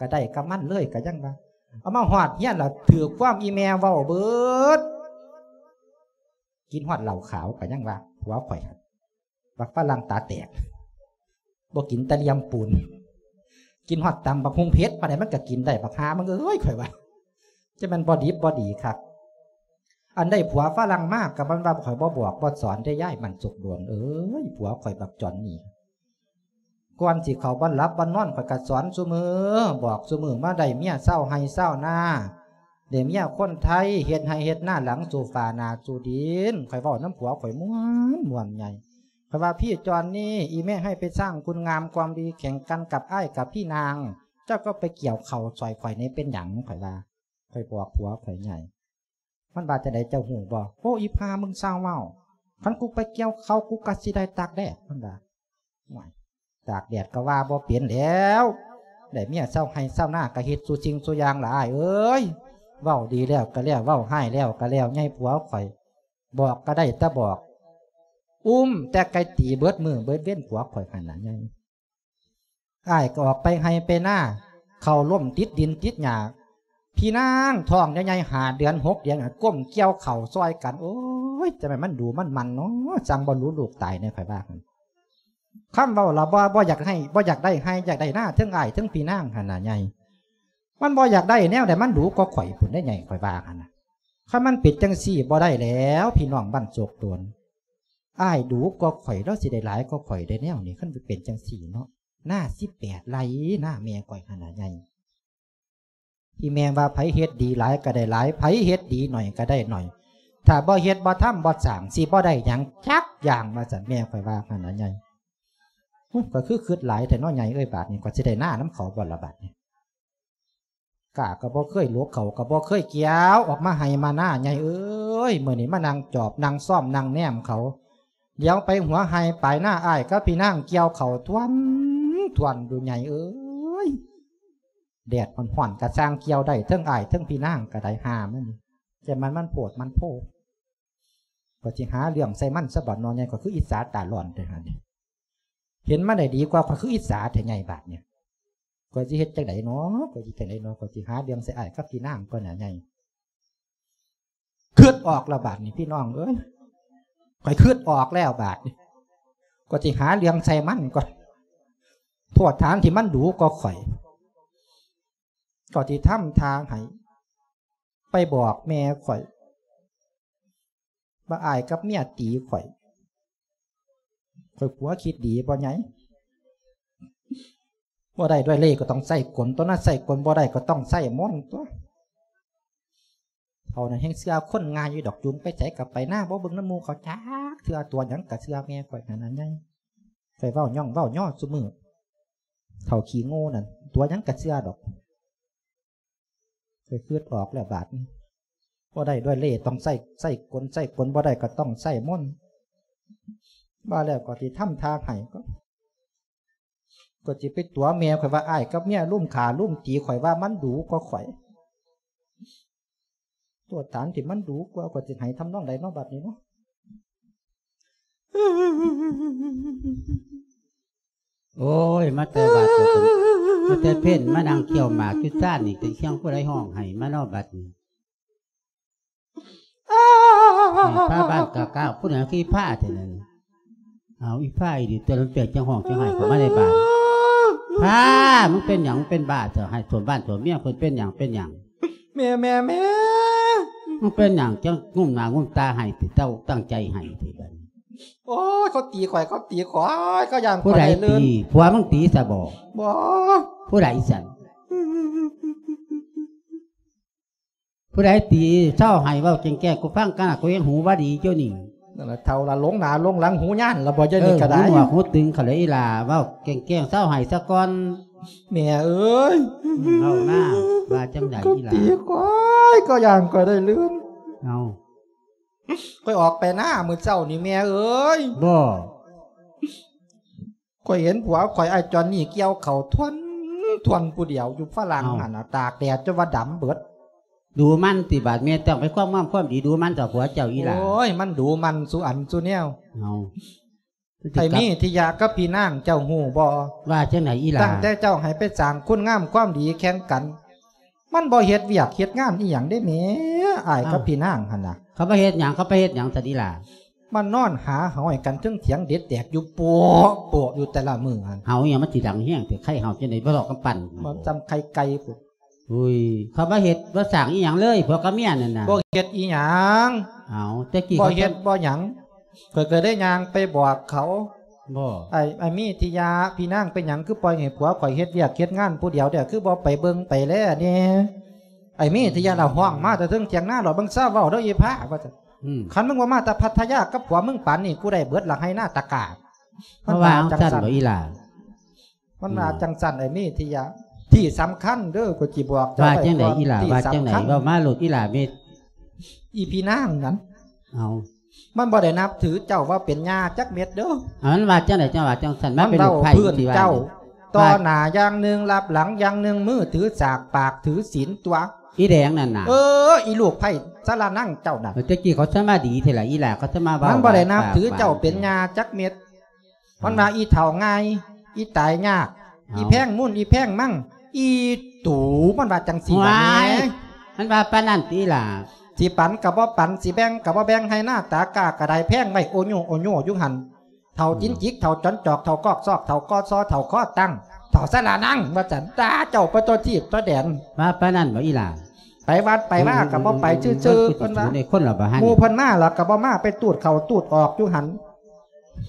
ກໍໄດ້ກັບມັນເລີຍ ກໍຍັງວ່າ ເອົາມາຮອດເຮືອນລະຖືກຄວາມອີ່ແມ່ເວົ້າເບິດ ກິນຮອດເຫຼົ້າຂາວ ກໍຍັງວ່າ ຜົວຂ້ອຍ ບັກຝຣັ່ງຕາແຕກ ບໍ່ກິນແຕ່ລຽມປູນ ກິນຮອດຕຳບັກຫຸ່ງເຜັດປານໃດມັນກໍກິນໄດ້ ບັກຫ່າມຶງເອີຍ ຂ້ອຍວ່າ ຈະແມ່ນບໍ່ດິບບໍ່ດີຄັກ. ອັນໄດ້ຜົວຝຣັ່ງມາກໍມັນວ່າຂ້ອຍບໍ່ບອກບໍ່ສອນເດ້ ຍາຍໝັ້ນສຸກດວນເອີຍ ຜົວຂ້ອຍບັກຈອນນີ້ ກ່ອນຊິເຂົ້າບ່ອນຫຼັບບ່ອນນອນ ຂ້ອຍກໍສອນຊຸມື້ ບອກຊຸມື້ ມາໄດ້ເມຍຊາວໄຮ່ຊາວນາ ໄດ້ເມຍຄົນໄທ ເຮັດໄຮ່ເຮັດນາ ຫຼັງສູ່ຟ້າໜ້າສູ່ດິນ. ຂ້ອຍເວົ້ານຳຜົວຂ້ອຍມ່ວນ ມ່ວນໃຫຍ່ ຂ້ອຍວ່າ ພີ່ຈອນນີ້ ອີແມ່ໃຫ້ໄປສ້າງຄຸນງາມຄວາມດີແຂ່ງກັນກັບອ້າຍກັບພີ່ນາງ ເຈົ້າກໍໄປກ່ຽວເຂົ້າຊ່ອຍຂ້ອຍແດ່ ເປັນຫຍັງ? ຂ້ອຍວ່າ ຂ້ອຍບອກຜົວຂ້ອຍໃຫຍ່ ມັນວ່າຈັ່ງໃດເຈົ້າຮູ້ບໍ່? ໂອ້ ອີ່ຫ່າ ມຶງຊ່າງເວົ້າ ຄັນກູໄປກ່ຽວເຂົ້າ ກູກໍຊິໄດ້ຕາກແດດ ມັນວ່າ. ໂອ້ຍ ຕາກແດດກໍວ່າບໍ່ເປັນແລ້ວ ໄດ້ເມຍຊາວໄຮ່ຊາວນາກໍເຮັດສູ່ສິ່ງສູ່ຢ່າງລະອ້າຍເອີຍ. ເວົ້າດີແລ້ວກໍແລ້ວ ເວົ້າຮ້າຍແລ້ວກໍແລ້ວ ໃຫຍ່ຜົວຂ້ອຍ ບອກກໍໄດ້ແຕ່ບອກ ອຸ້ມແຕ່ໄກ່ຕີເບິດມື້ເບິດເວັນ ຜົວຂ້ອຍຫັ້ນນະໃຫຍ່. ອ້າຍກໍອອກໄປໄຮ່ໄປນາ ເຂົ້າລົ້ມຕິດດິນຕິດຫຍ້າ ພີ່ນາງທ້ອງໃຫຍ່ໆ ຫ້າເດືອນຫົກເດືອນ ກົ້ມກ່ຽວເຂົ້າຊ່ອຍກັນ. ໂອ້ຍ ຈະແມ່ນມັນດູມັນໝັ່ນເນາະ ຈັ່ງບໍ່ຮູ້ລູກຕາຍແດ່ ຂ້ອຍວ່າ. ຄຳເວົ້າລະບໍ່ ບໍ່ຢາກໃຫ້ ບໍ່ຢາກໄດ້ໄຮ່ ຢາກໄດ້ນາ ເທິງອ້າຍເທິງພີ່ນາງຫັ້ນນະໃຫຍ່ ມັນບໍ່ຢາກໄດ້ແນວໃດ ມັນດູກວ່າຂ້ອຍພຸ້ນເດ້ໃຫຍ່ ຂ້ອຍວ່າຫັ້ນນະ. ຄັນມັນເປັນຈັ່ງຊີ້ບໍ່ໄດ້ແລ້ວ ພີ່ນ້ອງບ້ານໂຊກໂດນ ອ້າຍດູກວ່າຂ້ອຍ ລາວຊິໄດ້ຫຼາຍກວ່າຂ້ອຍໄດ້ແນວນີ້ ຄັນເປັນຈັ່ງຊີ້ເນາະ. ນາສິບແປດໄຮ່ ນາແມ່ຂ້ອຍຫັ້ນນະໃຫຍ່ ທີ່ແມ່ວ່າ ໃຜເຮັດດີຫຼາຍກໍໄດ້ຫຼາຍ ໃຜເຮັດດີໜ້ອຍກໍໄດ້ໜ້ອຍ ຖ້າບໍ່ເຮັດບໍ່ທຳບໍ່ສ້າງ ຊິບໍ່ໄດ້ຫຍັງຈັກຢ່າງ ວ່າຊັ້ນ ແມ່ຂ້ອຍວ່າຫັ້ນນະໃຫຍ່. ໂອ້ຍ ຂ້ອຍຄືຄຶດຫຼາຍແທ້ເນາະໃຫຍ່ເອີຍ ບາດນີ້ ຂ້ອຍຊິໄດ້ນານຳເຂົາບໍ່ລະບາດນີ້. ກ້າກໍບໍ່ເຄີຍຫຼົກ ເຂົ້າກໍບໍ່ເຄີຍກ່ຽວ ອອກມາໄຮ່ມານາ ໃຫຍ່ເອີຍ ມື້ນີ້ມານັ່ງຈອບ ນັ່ງຊອມ ນັ່ງແນມເຂົາ ຫຼຽວໄປຫົວໄຮ່ປາຍນາ ອ້າຍກັບພີ່ນາງກ່ຽວເຂົ້າຖ້ວນໆຢູ່ ໃຫຍ່ເອີຍ. ແດດຮ້ອນໆກໍຊ່າງກ່ຽວໄດ້ ເທິງອ້າຍເທິງພີ່ນາງກໍໄດ້ ຫ່າມັນ ແຕ່ມັນ ມັນໂພດມັນໂພ ກໍຊິຫາເລື່ອງໃສ່ມັນຊະບັດເນາະໃຫຍ່ ກໍຄືອິດສາຕາຮ້ອນແທ້ຫັ້ນ. ເຫັນມັນໄດ້ດີກວ່າ ຂ້ອຍຄືອິດສາແທ້ໃຫຍ່ ບາດນີ້ ຂ້ອຍຊິເຮັດຈັ່ງໃດເນາະ ຂ້ອຍຊິຈັ່ງໃດເນາະ ຂ້ອຍຊິຫາເລື່ອງໃສ່ອ້າຍກັບພີ່ນາງກ່ອນນະໃຫຍ່. ຄຶດອອກແລ້ວບາດນີ້ ພີ່ນ້ອງເອີຍ ຂ້ອຍຄຶດອອກແລ້ວບາດນີ້ ຂ້ອຍຊິຫາເລື່ອງໃສ່ມັນກ່ອນ. ໂທດຖານທີ່ມັນດູກວ່າຂ້ອຍ ກໍຊິທຳທ່າໃຫ້ ໄປບອກແມ່ຂ້ອຍວ່າ ອ້າຍກັບເມຍຕີຂ້ອຍ. ຂ້ອຍຜົວຄິດດີບໍ່ໃຫຍ່? ບໍ່ໄດ້ດ້ວຍເລ່ ກໍຕ້ອງໃຊ້ກົນຕົວະນະ ໃຊ້ກົນບໍ່ໄດ້ກໍຕ້ອງໃຊ້ມົນຕົວະ. ເຖົ້ານັ້ນແຮ່ງເຊື່ອຄົນງ່າຍຢູ່ດອກ ຈູງໄປໃສກໍໄປນາ ບໍ່ເບິ່ງນຳໝູ່ເຂົາຈັກເທື່ອ ຕົວະຫຍັງກໍເຊື່ອແມ່ຂ້ອຍຫັ້ນນະໃຫຍ່. ຂ້ອຍເວົ້າຍ້ອງເວົ້າຍໍ້ຊຸມື້ ເຖົ້າຂີ້ໂງ່ນັ້ນ ຕົວະຫຍັງກໍເຊື່ອດອກ. ຂ້ອຍຄຶດອອກແລ້ວບາດນີ້ ບໍ່ໄດ້ດ້ວຍເລ່ ຕ້ອງໃຊ້ ໃຊ້ກົນ ໃຊ້ກົນບໍ່ໄດ້ກໍຕ້ອງໃຊ້ມົນ. ວ່າແລ້ວກໍຊິທຳທ່າໃຫ້ ກໍ ກໍຊິໄປຕົວະແມ່ຂ້ອຍວ່າ ອ້າຍກັບເມຍລຸມຂ້າລຸມຕີຂ້ອຍ ວ່າມັນດູກວ່າຂ້ອຍ. ຕົວະຖານທີ່ມັນດູກວ່າ ຂ້ອຍຊິໃຫ້ທຳນອງໃດເນາະ ບາດນີ້ເນາະ. ໂອ້ຍ ມາແຕ່ວັດ ມາແຕ່ເພັນ ມານັ່ງຄ້ຽວໝາກຢູ່ຊານນີ້ ເປັນສຽງຜູ້ໃດຮ້ອງໄຫ້ມາເນາະບັດນີ້. ອ້າ ຟ້າບ້ານກາກາ ຜູ້ໃດຂີ້ຟ້າແທ້ນັ້ນ. ເອົາ ອີຟ້າອີ່ຫຼີ ຕົວນັ້ນເປັນຈັ່ງຮ້ອງຈັ່ງໄຫ້ເຂົ້າມາໃນບ້ານ. ຟ້າ ມຶງເປັນຫຍັງ? ມຶງເປັນບ້າເຖາະ ໃຫ້ຖ້ວມບ້ານຖ້ວມເມືອງ ເພິ່ນເປັນຫຍັງ? ເປັນຫຍັງ? ແມ່ ແມ່ ແມ່ ມຶງເປັນຫຍັງ? ຈັ່ງງຸ້ມໜ້າງຸ້ມຕາໄຫ້ຕິ ເຈົ້າຕັ້ງໃຈໄຫ້ຕິບັດນີ້. ໂອ້ຍ ເຂົາຕີຂ້ອຍ ເຂົາຕີຂ້ອຍ ເຂົາຢ້ານຂ້ອຍໄດ້ລື່ນ. ຜູ້ໃດຕີ? ຜົວມຶງຕີຊະບໍ? ບໍ່. ຜູ້ໃດຊັ້ນ? ຜູ້ໃດຕີ? ເຊົາໃຫ້ເວົ້າແຈ້ງໆ ກູຟັງກັນນະ ກູເຫັນຫູວ່າດີຢູ່ນີ້. ນັ້ນລະເຖົ້າລະ ຫຼົງໜ້າຫຼົງຫຼັງ ຫູຍານລະບໍ່ ເຈົ້ານີ້ກໍໄດ້. ເອີ ຫູໜວກຫູຕຶງເຂົາເລີຍອີ່ຫຼ້າ ເວົ້າແກ້ງໆ ເຊົາໃຫ້ຊະກ່ອນ. ແມ່ເອີຍ ເວົ້າມາ ວ່າຈັ່ງໃດອີ່ຫຼ້າ? ເຂົາຕີຂ້ອຍ ເຂົາຢ້ານຂ້ອຍໄດ້ລື່ນ. ເອົາ ຂ້ອຍອອກໄປນາມື້ເຊົ້ານີ້ ແມ່ເອີຍ. ບໍ່. ຂ້ອຍເຫັນຜົວຂ້ອຍ ອ້າຍຈອນນີ້ ກ່ຽວເຂົ້າຖ້ວນໆ ຜູ້ດຽວຢູ່ຝຣັ່ງ ເອົ້າ ຫັ້ນນະ ຕາກແດດຈົນວ່າດຳເບິດ. ດູໝັ່ນຕິບາດ ແມ່ຕ້ອງໄປຄວາມງາມຄວາມດີ ດູໝັ່ນຕໍ່ຜົວເຈົ້າອີ່ຫຼ້າ. ໂອ້ຍ ມັນດູໝັ່ນສູ່ອັນສູ່ແນວ. ເອົ້າ ໄອ້ມີທິຍາກັບພີ່ນາງເຈົ້າຮູ້ບໍ່? ວ່າຈັ່ງໃດອີ່ຫຼ້າ? ຕັ້ງແຕ່ເຈົ້າໃຫ້ໄປສ້າງຄຸນງາມຄວາມດີແຂ່ງກັນ ມັນບໍ່ເຮັດວຽກເຮັດງານອີ່ຫຍັງເດ້ແໝ ອ້າຍກັບພີ່ນາງຫັ້ນນະ. ເຂົາບໍ່ເຮັດຫຍັງ ເຂົາໄປເຮັດຫຍັງຊັ້ນອີ່ຫຼ້າ? ມານອນຫາເຫົາໃຫ້ກັນເທິງຖຽງເດັດແຕກຢູ່ໂປະໂປະຢູ່ແຕ່ລະມື້ຫັ້ນ. ເຫົາອີ່ຫຍັງມັນຊິດັງແຮງແຕ່ ໃຄເຫົາຈັ່ງໃດບໍ່ລອກກຳປັ່ນ ມັນຈຳໄຂ່ໄກ່ພຸ້ນ. ອຸ້ຍ ເຂົາບໍ່ເຮັດບໍ່ສ້າງອີ່ຫຍັງເລີຍ ຜົວກັບເມຍນັ້ນນະ. ບໍ່ເຮັດອີ່ຫຍັງ. ເອົາ ແຕ່ກີ້ ບໍ່ເຮັດບໍ່ຫຍັງ ຂ້ອຍກໍໄດ້ຍ່າງໄປບອກເຂົາ ບໍ່ ໄອ້ ໄອ້ມີທິຍາ ພີ່ນາງເປັນຫຍັງຄືປ່ອຍໃຫ້ຜົວຂ້ອຍເຮັດວຽກເຮັດງານຜູ້ດຽວແທ້ ຄືບໍ່ໄປເບິ່ງໄປແລແດ່? ໄອ້ມີທິຍາລະຮ້ອງມາແຕ່ເທິງຖຽງນາ ລະເບິ່ງຊາວເວົ້າເດີອີ່ພ້າ ວ່າຊັ້ນ. ອືມ ຄັນມຶງບໍ່ມາແຕ່ພັດທະຍາກັບຜົວມຶງປານນີ້ ກູໄດ້ເບິດລະໄຮ່ນາຕາກາ. ມັນວ່າຈັ່ງຊັ້ນບໍ່ອີ່ຫຼ້າ? ມັນວ່າ ອືມ ຈັ່ງຊັ້ນ ໄອ້ມີທິຍາ ທີ່ສຳຄັນເດີ ຂ້ອຍຊິບອກເຈົ້າ ວ່າຈັ່ງໃດອີ່ຫຼ້າ? ທີ່ສຳຄັນ ວ່າຈັ່ງໃດ? ເວົ້າມາໂລດອີ່ຫຼ້າເມັດ. ອີ່ພີ່ນາງນັ້ນ ເອົາ ມັນບໍ່ໄດ້ນັບຖືເຈົ້າວ່າເປັນຍ່າຈັກເມັດເດີ. ເອົາ ມັນວ່າຈັ່ງໃດ? ຈັ່ງວ່າຈັ່ງຊັ້ນ ມັນເວົ້າພື້ນເຈົ້າ ຕໍ່ໜ້າຢ່າງໜຶ່ງ ລັບຫຼັງຢ່າງໜຶ່ງ ມືຖືສາກ ປາກຖືສີນຕົວະ ອີ່ແດງນັ້ນນະ. ເອີ ອີ່ລູກໄພ້ສາລະນັງເຈົ້ານັ້ນ. ເອີ ແຕ່ກີ້ເຂົາສາມາດດີແທ້ລະອີ່ຫຼ້າ ເຂົາສາມາດເວົ້າ ມັນບໍ່ໄດ້ນັບຖືເຈົ້າເປັນຍ່າຈັກເມັດ. ມັນວ່າ ອືມ ອີ່ເຖົ້າງ່າຍ ອີ່ຕາຍຍາກ ເອົາ ອີ່ແພງມູນ ອີ່ແພງມັງ ອີ່ຕູ ມັນວ່າຈັ່ງຊີ້ລະແໝ. ມັນວ່າປານນັ້ນຕິອີ່ຫຼ້າ? ຊິປັນກໍບໍ່ປັນ ຊິແບ່ງກໍບໍ່ແບ່ງ ໄຮ່ນາຕາກ້າກໍໄດ້ແພງໄວ້ໂອໂຍໂອໂຍຢູ່ຫັ້ນ. ເຖົ້າ ອືມ ຈິນຈິກ ເຖົ້າຈອນຈອກ ເຖົ້າກອກຊອກ ເຖົ້າກໍຊໍ ເຖົ້າຄໍຕັ້ງ ເຖົ້າສາລະນັງ ວ່າຊັ້ນ. ຕາເຈົ້າໄປທົ່ວທີບທົ່ວແດນ ວ່າປານນັ້ນບໍ່ອີ່ຫຼ້າ? ໄປວັດໄປວາກໍບໍ່ໄປ ອືມ ຊື່ໆ ເພິ່ນວ່າ ໃນຄົນລະບໍ່ຫັ້ນ ໝູ່ເພິ່ນມາລະກໍບໍ່ມາ ໄປຕູດເຂົ້າຕູດອອກຢູ່ຫັ້ນ.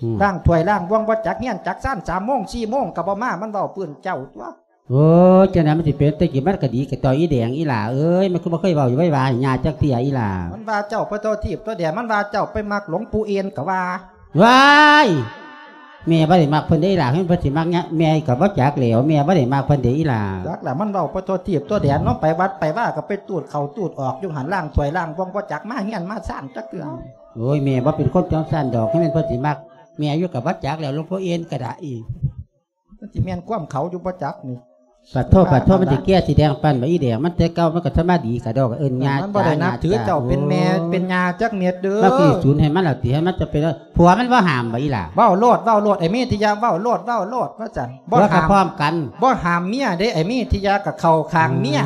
ອືມ ລ້າງຖ້ວຍລ້າງບ່ວງ ບໍ່ຈັກເຮືອນຈັກຊານ ສາມໂມງສີ່ໂມງກໍບໍ່ມາ ມັນເວົ້າພື້ນເຈົ້າຕົວະ. ໂອ້ຍ ຈັ່ງນັ້ນມັນຊິເປັນ ແຕ່ກີ້ມັນກໍດີກັບຕໍ່ອີ່ແດງອີ່ຫຼ້າເອີຍ ມັນຄືບໍ່ເຄີຍເວົ້າຢູ່ໄວ້ວາໃຫ້ຍ່າຈັກເທື່ອອີ່ຫຼ້າ? ມັນວ່າເຈົ້າໄປທົ່ວທີບທົ່ວແດນ ມັນວ່າເຈົ້າໄປມັກຫຼວງປູ່ເອນກໍວ່າ. ວ້າຍ ແມ່ບໍ່ໄດ້ມັກເພິ່ນເດ້ອີ່ຫຼ້າ ເພິ່ນ ເພິ່ນຊິມັກຍະ ແມ່ກໍບໍ່ຈັກແລ້ວ ແມ່ບໍ່ໄດ້ມັກເພິ່ນເດ້ອີ່ຫຼ້າ. ຈັກລະ ມັນເວົ້າໄປທົ່ວທີບທົ່ວແດນເນາະ ໄປວັດໄປວາກໍໄປຕູດເຂົ້າຕູດອອກຢູ່ຫັ້ນ ລ້າງຖ້ວຍລ້າງບ່ວງ ບໍ່ຈັກມາເຮືອນມາຊານຈັກເທື່ອ. ໂອ້ຍ ແມ່ບໍ່ເປັນຄົນຈັ່ງຊັ້ນດອກ ຄັນແມ່ນເພິ່ນຊິມັກແມ່ຢູ່ກໍບໍ່ຈັກແລ້ວ ຫຼວງພໍ່ເອນກໍໄດ້. ມັນຊິແມ່ນຄວາມເຂົາຢູ່ບໍ່ຈັກນີ້. ປະໂທ ປະໂທ ມັນຊິແກ່ຊິແດງປານໃດອີ່ແດງ ມັນແຕ່ເກົ່າມັນກໍສຳມາດີກະດອກ ເອີ້ນຍ່າ ມັນບໍ່ໄດ້ນັບຖືເຈົ້າເປັນແມ່ເປັນຍ່າຈັກເມັດເດີ. ມັນຊິສູນໃຫ້ມັນລະຕິ ໃຫ້ມັນຈະເປັນ ຜົວມັນບໍ່ຫ້າມບໍ່ອີ່ຫຼ້າ? ເວົ້າໂລດ ເວົ້າໂລດ ໄອ້ເມທິຍາ ເວົ້າໂລດ ເວົ້າໂລດ ວ່າຊັ້ນ. ບໍ່ຫ້າມ ພ້ອມກັນ ບໍ່ຫ້າມເມຍເດ້ ໄອ້ເມທິຍາກໍເຂົ້າຂ້າງເມຍ. ອື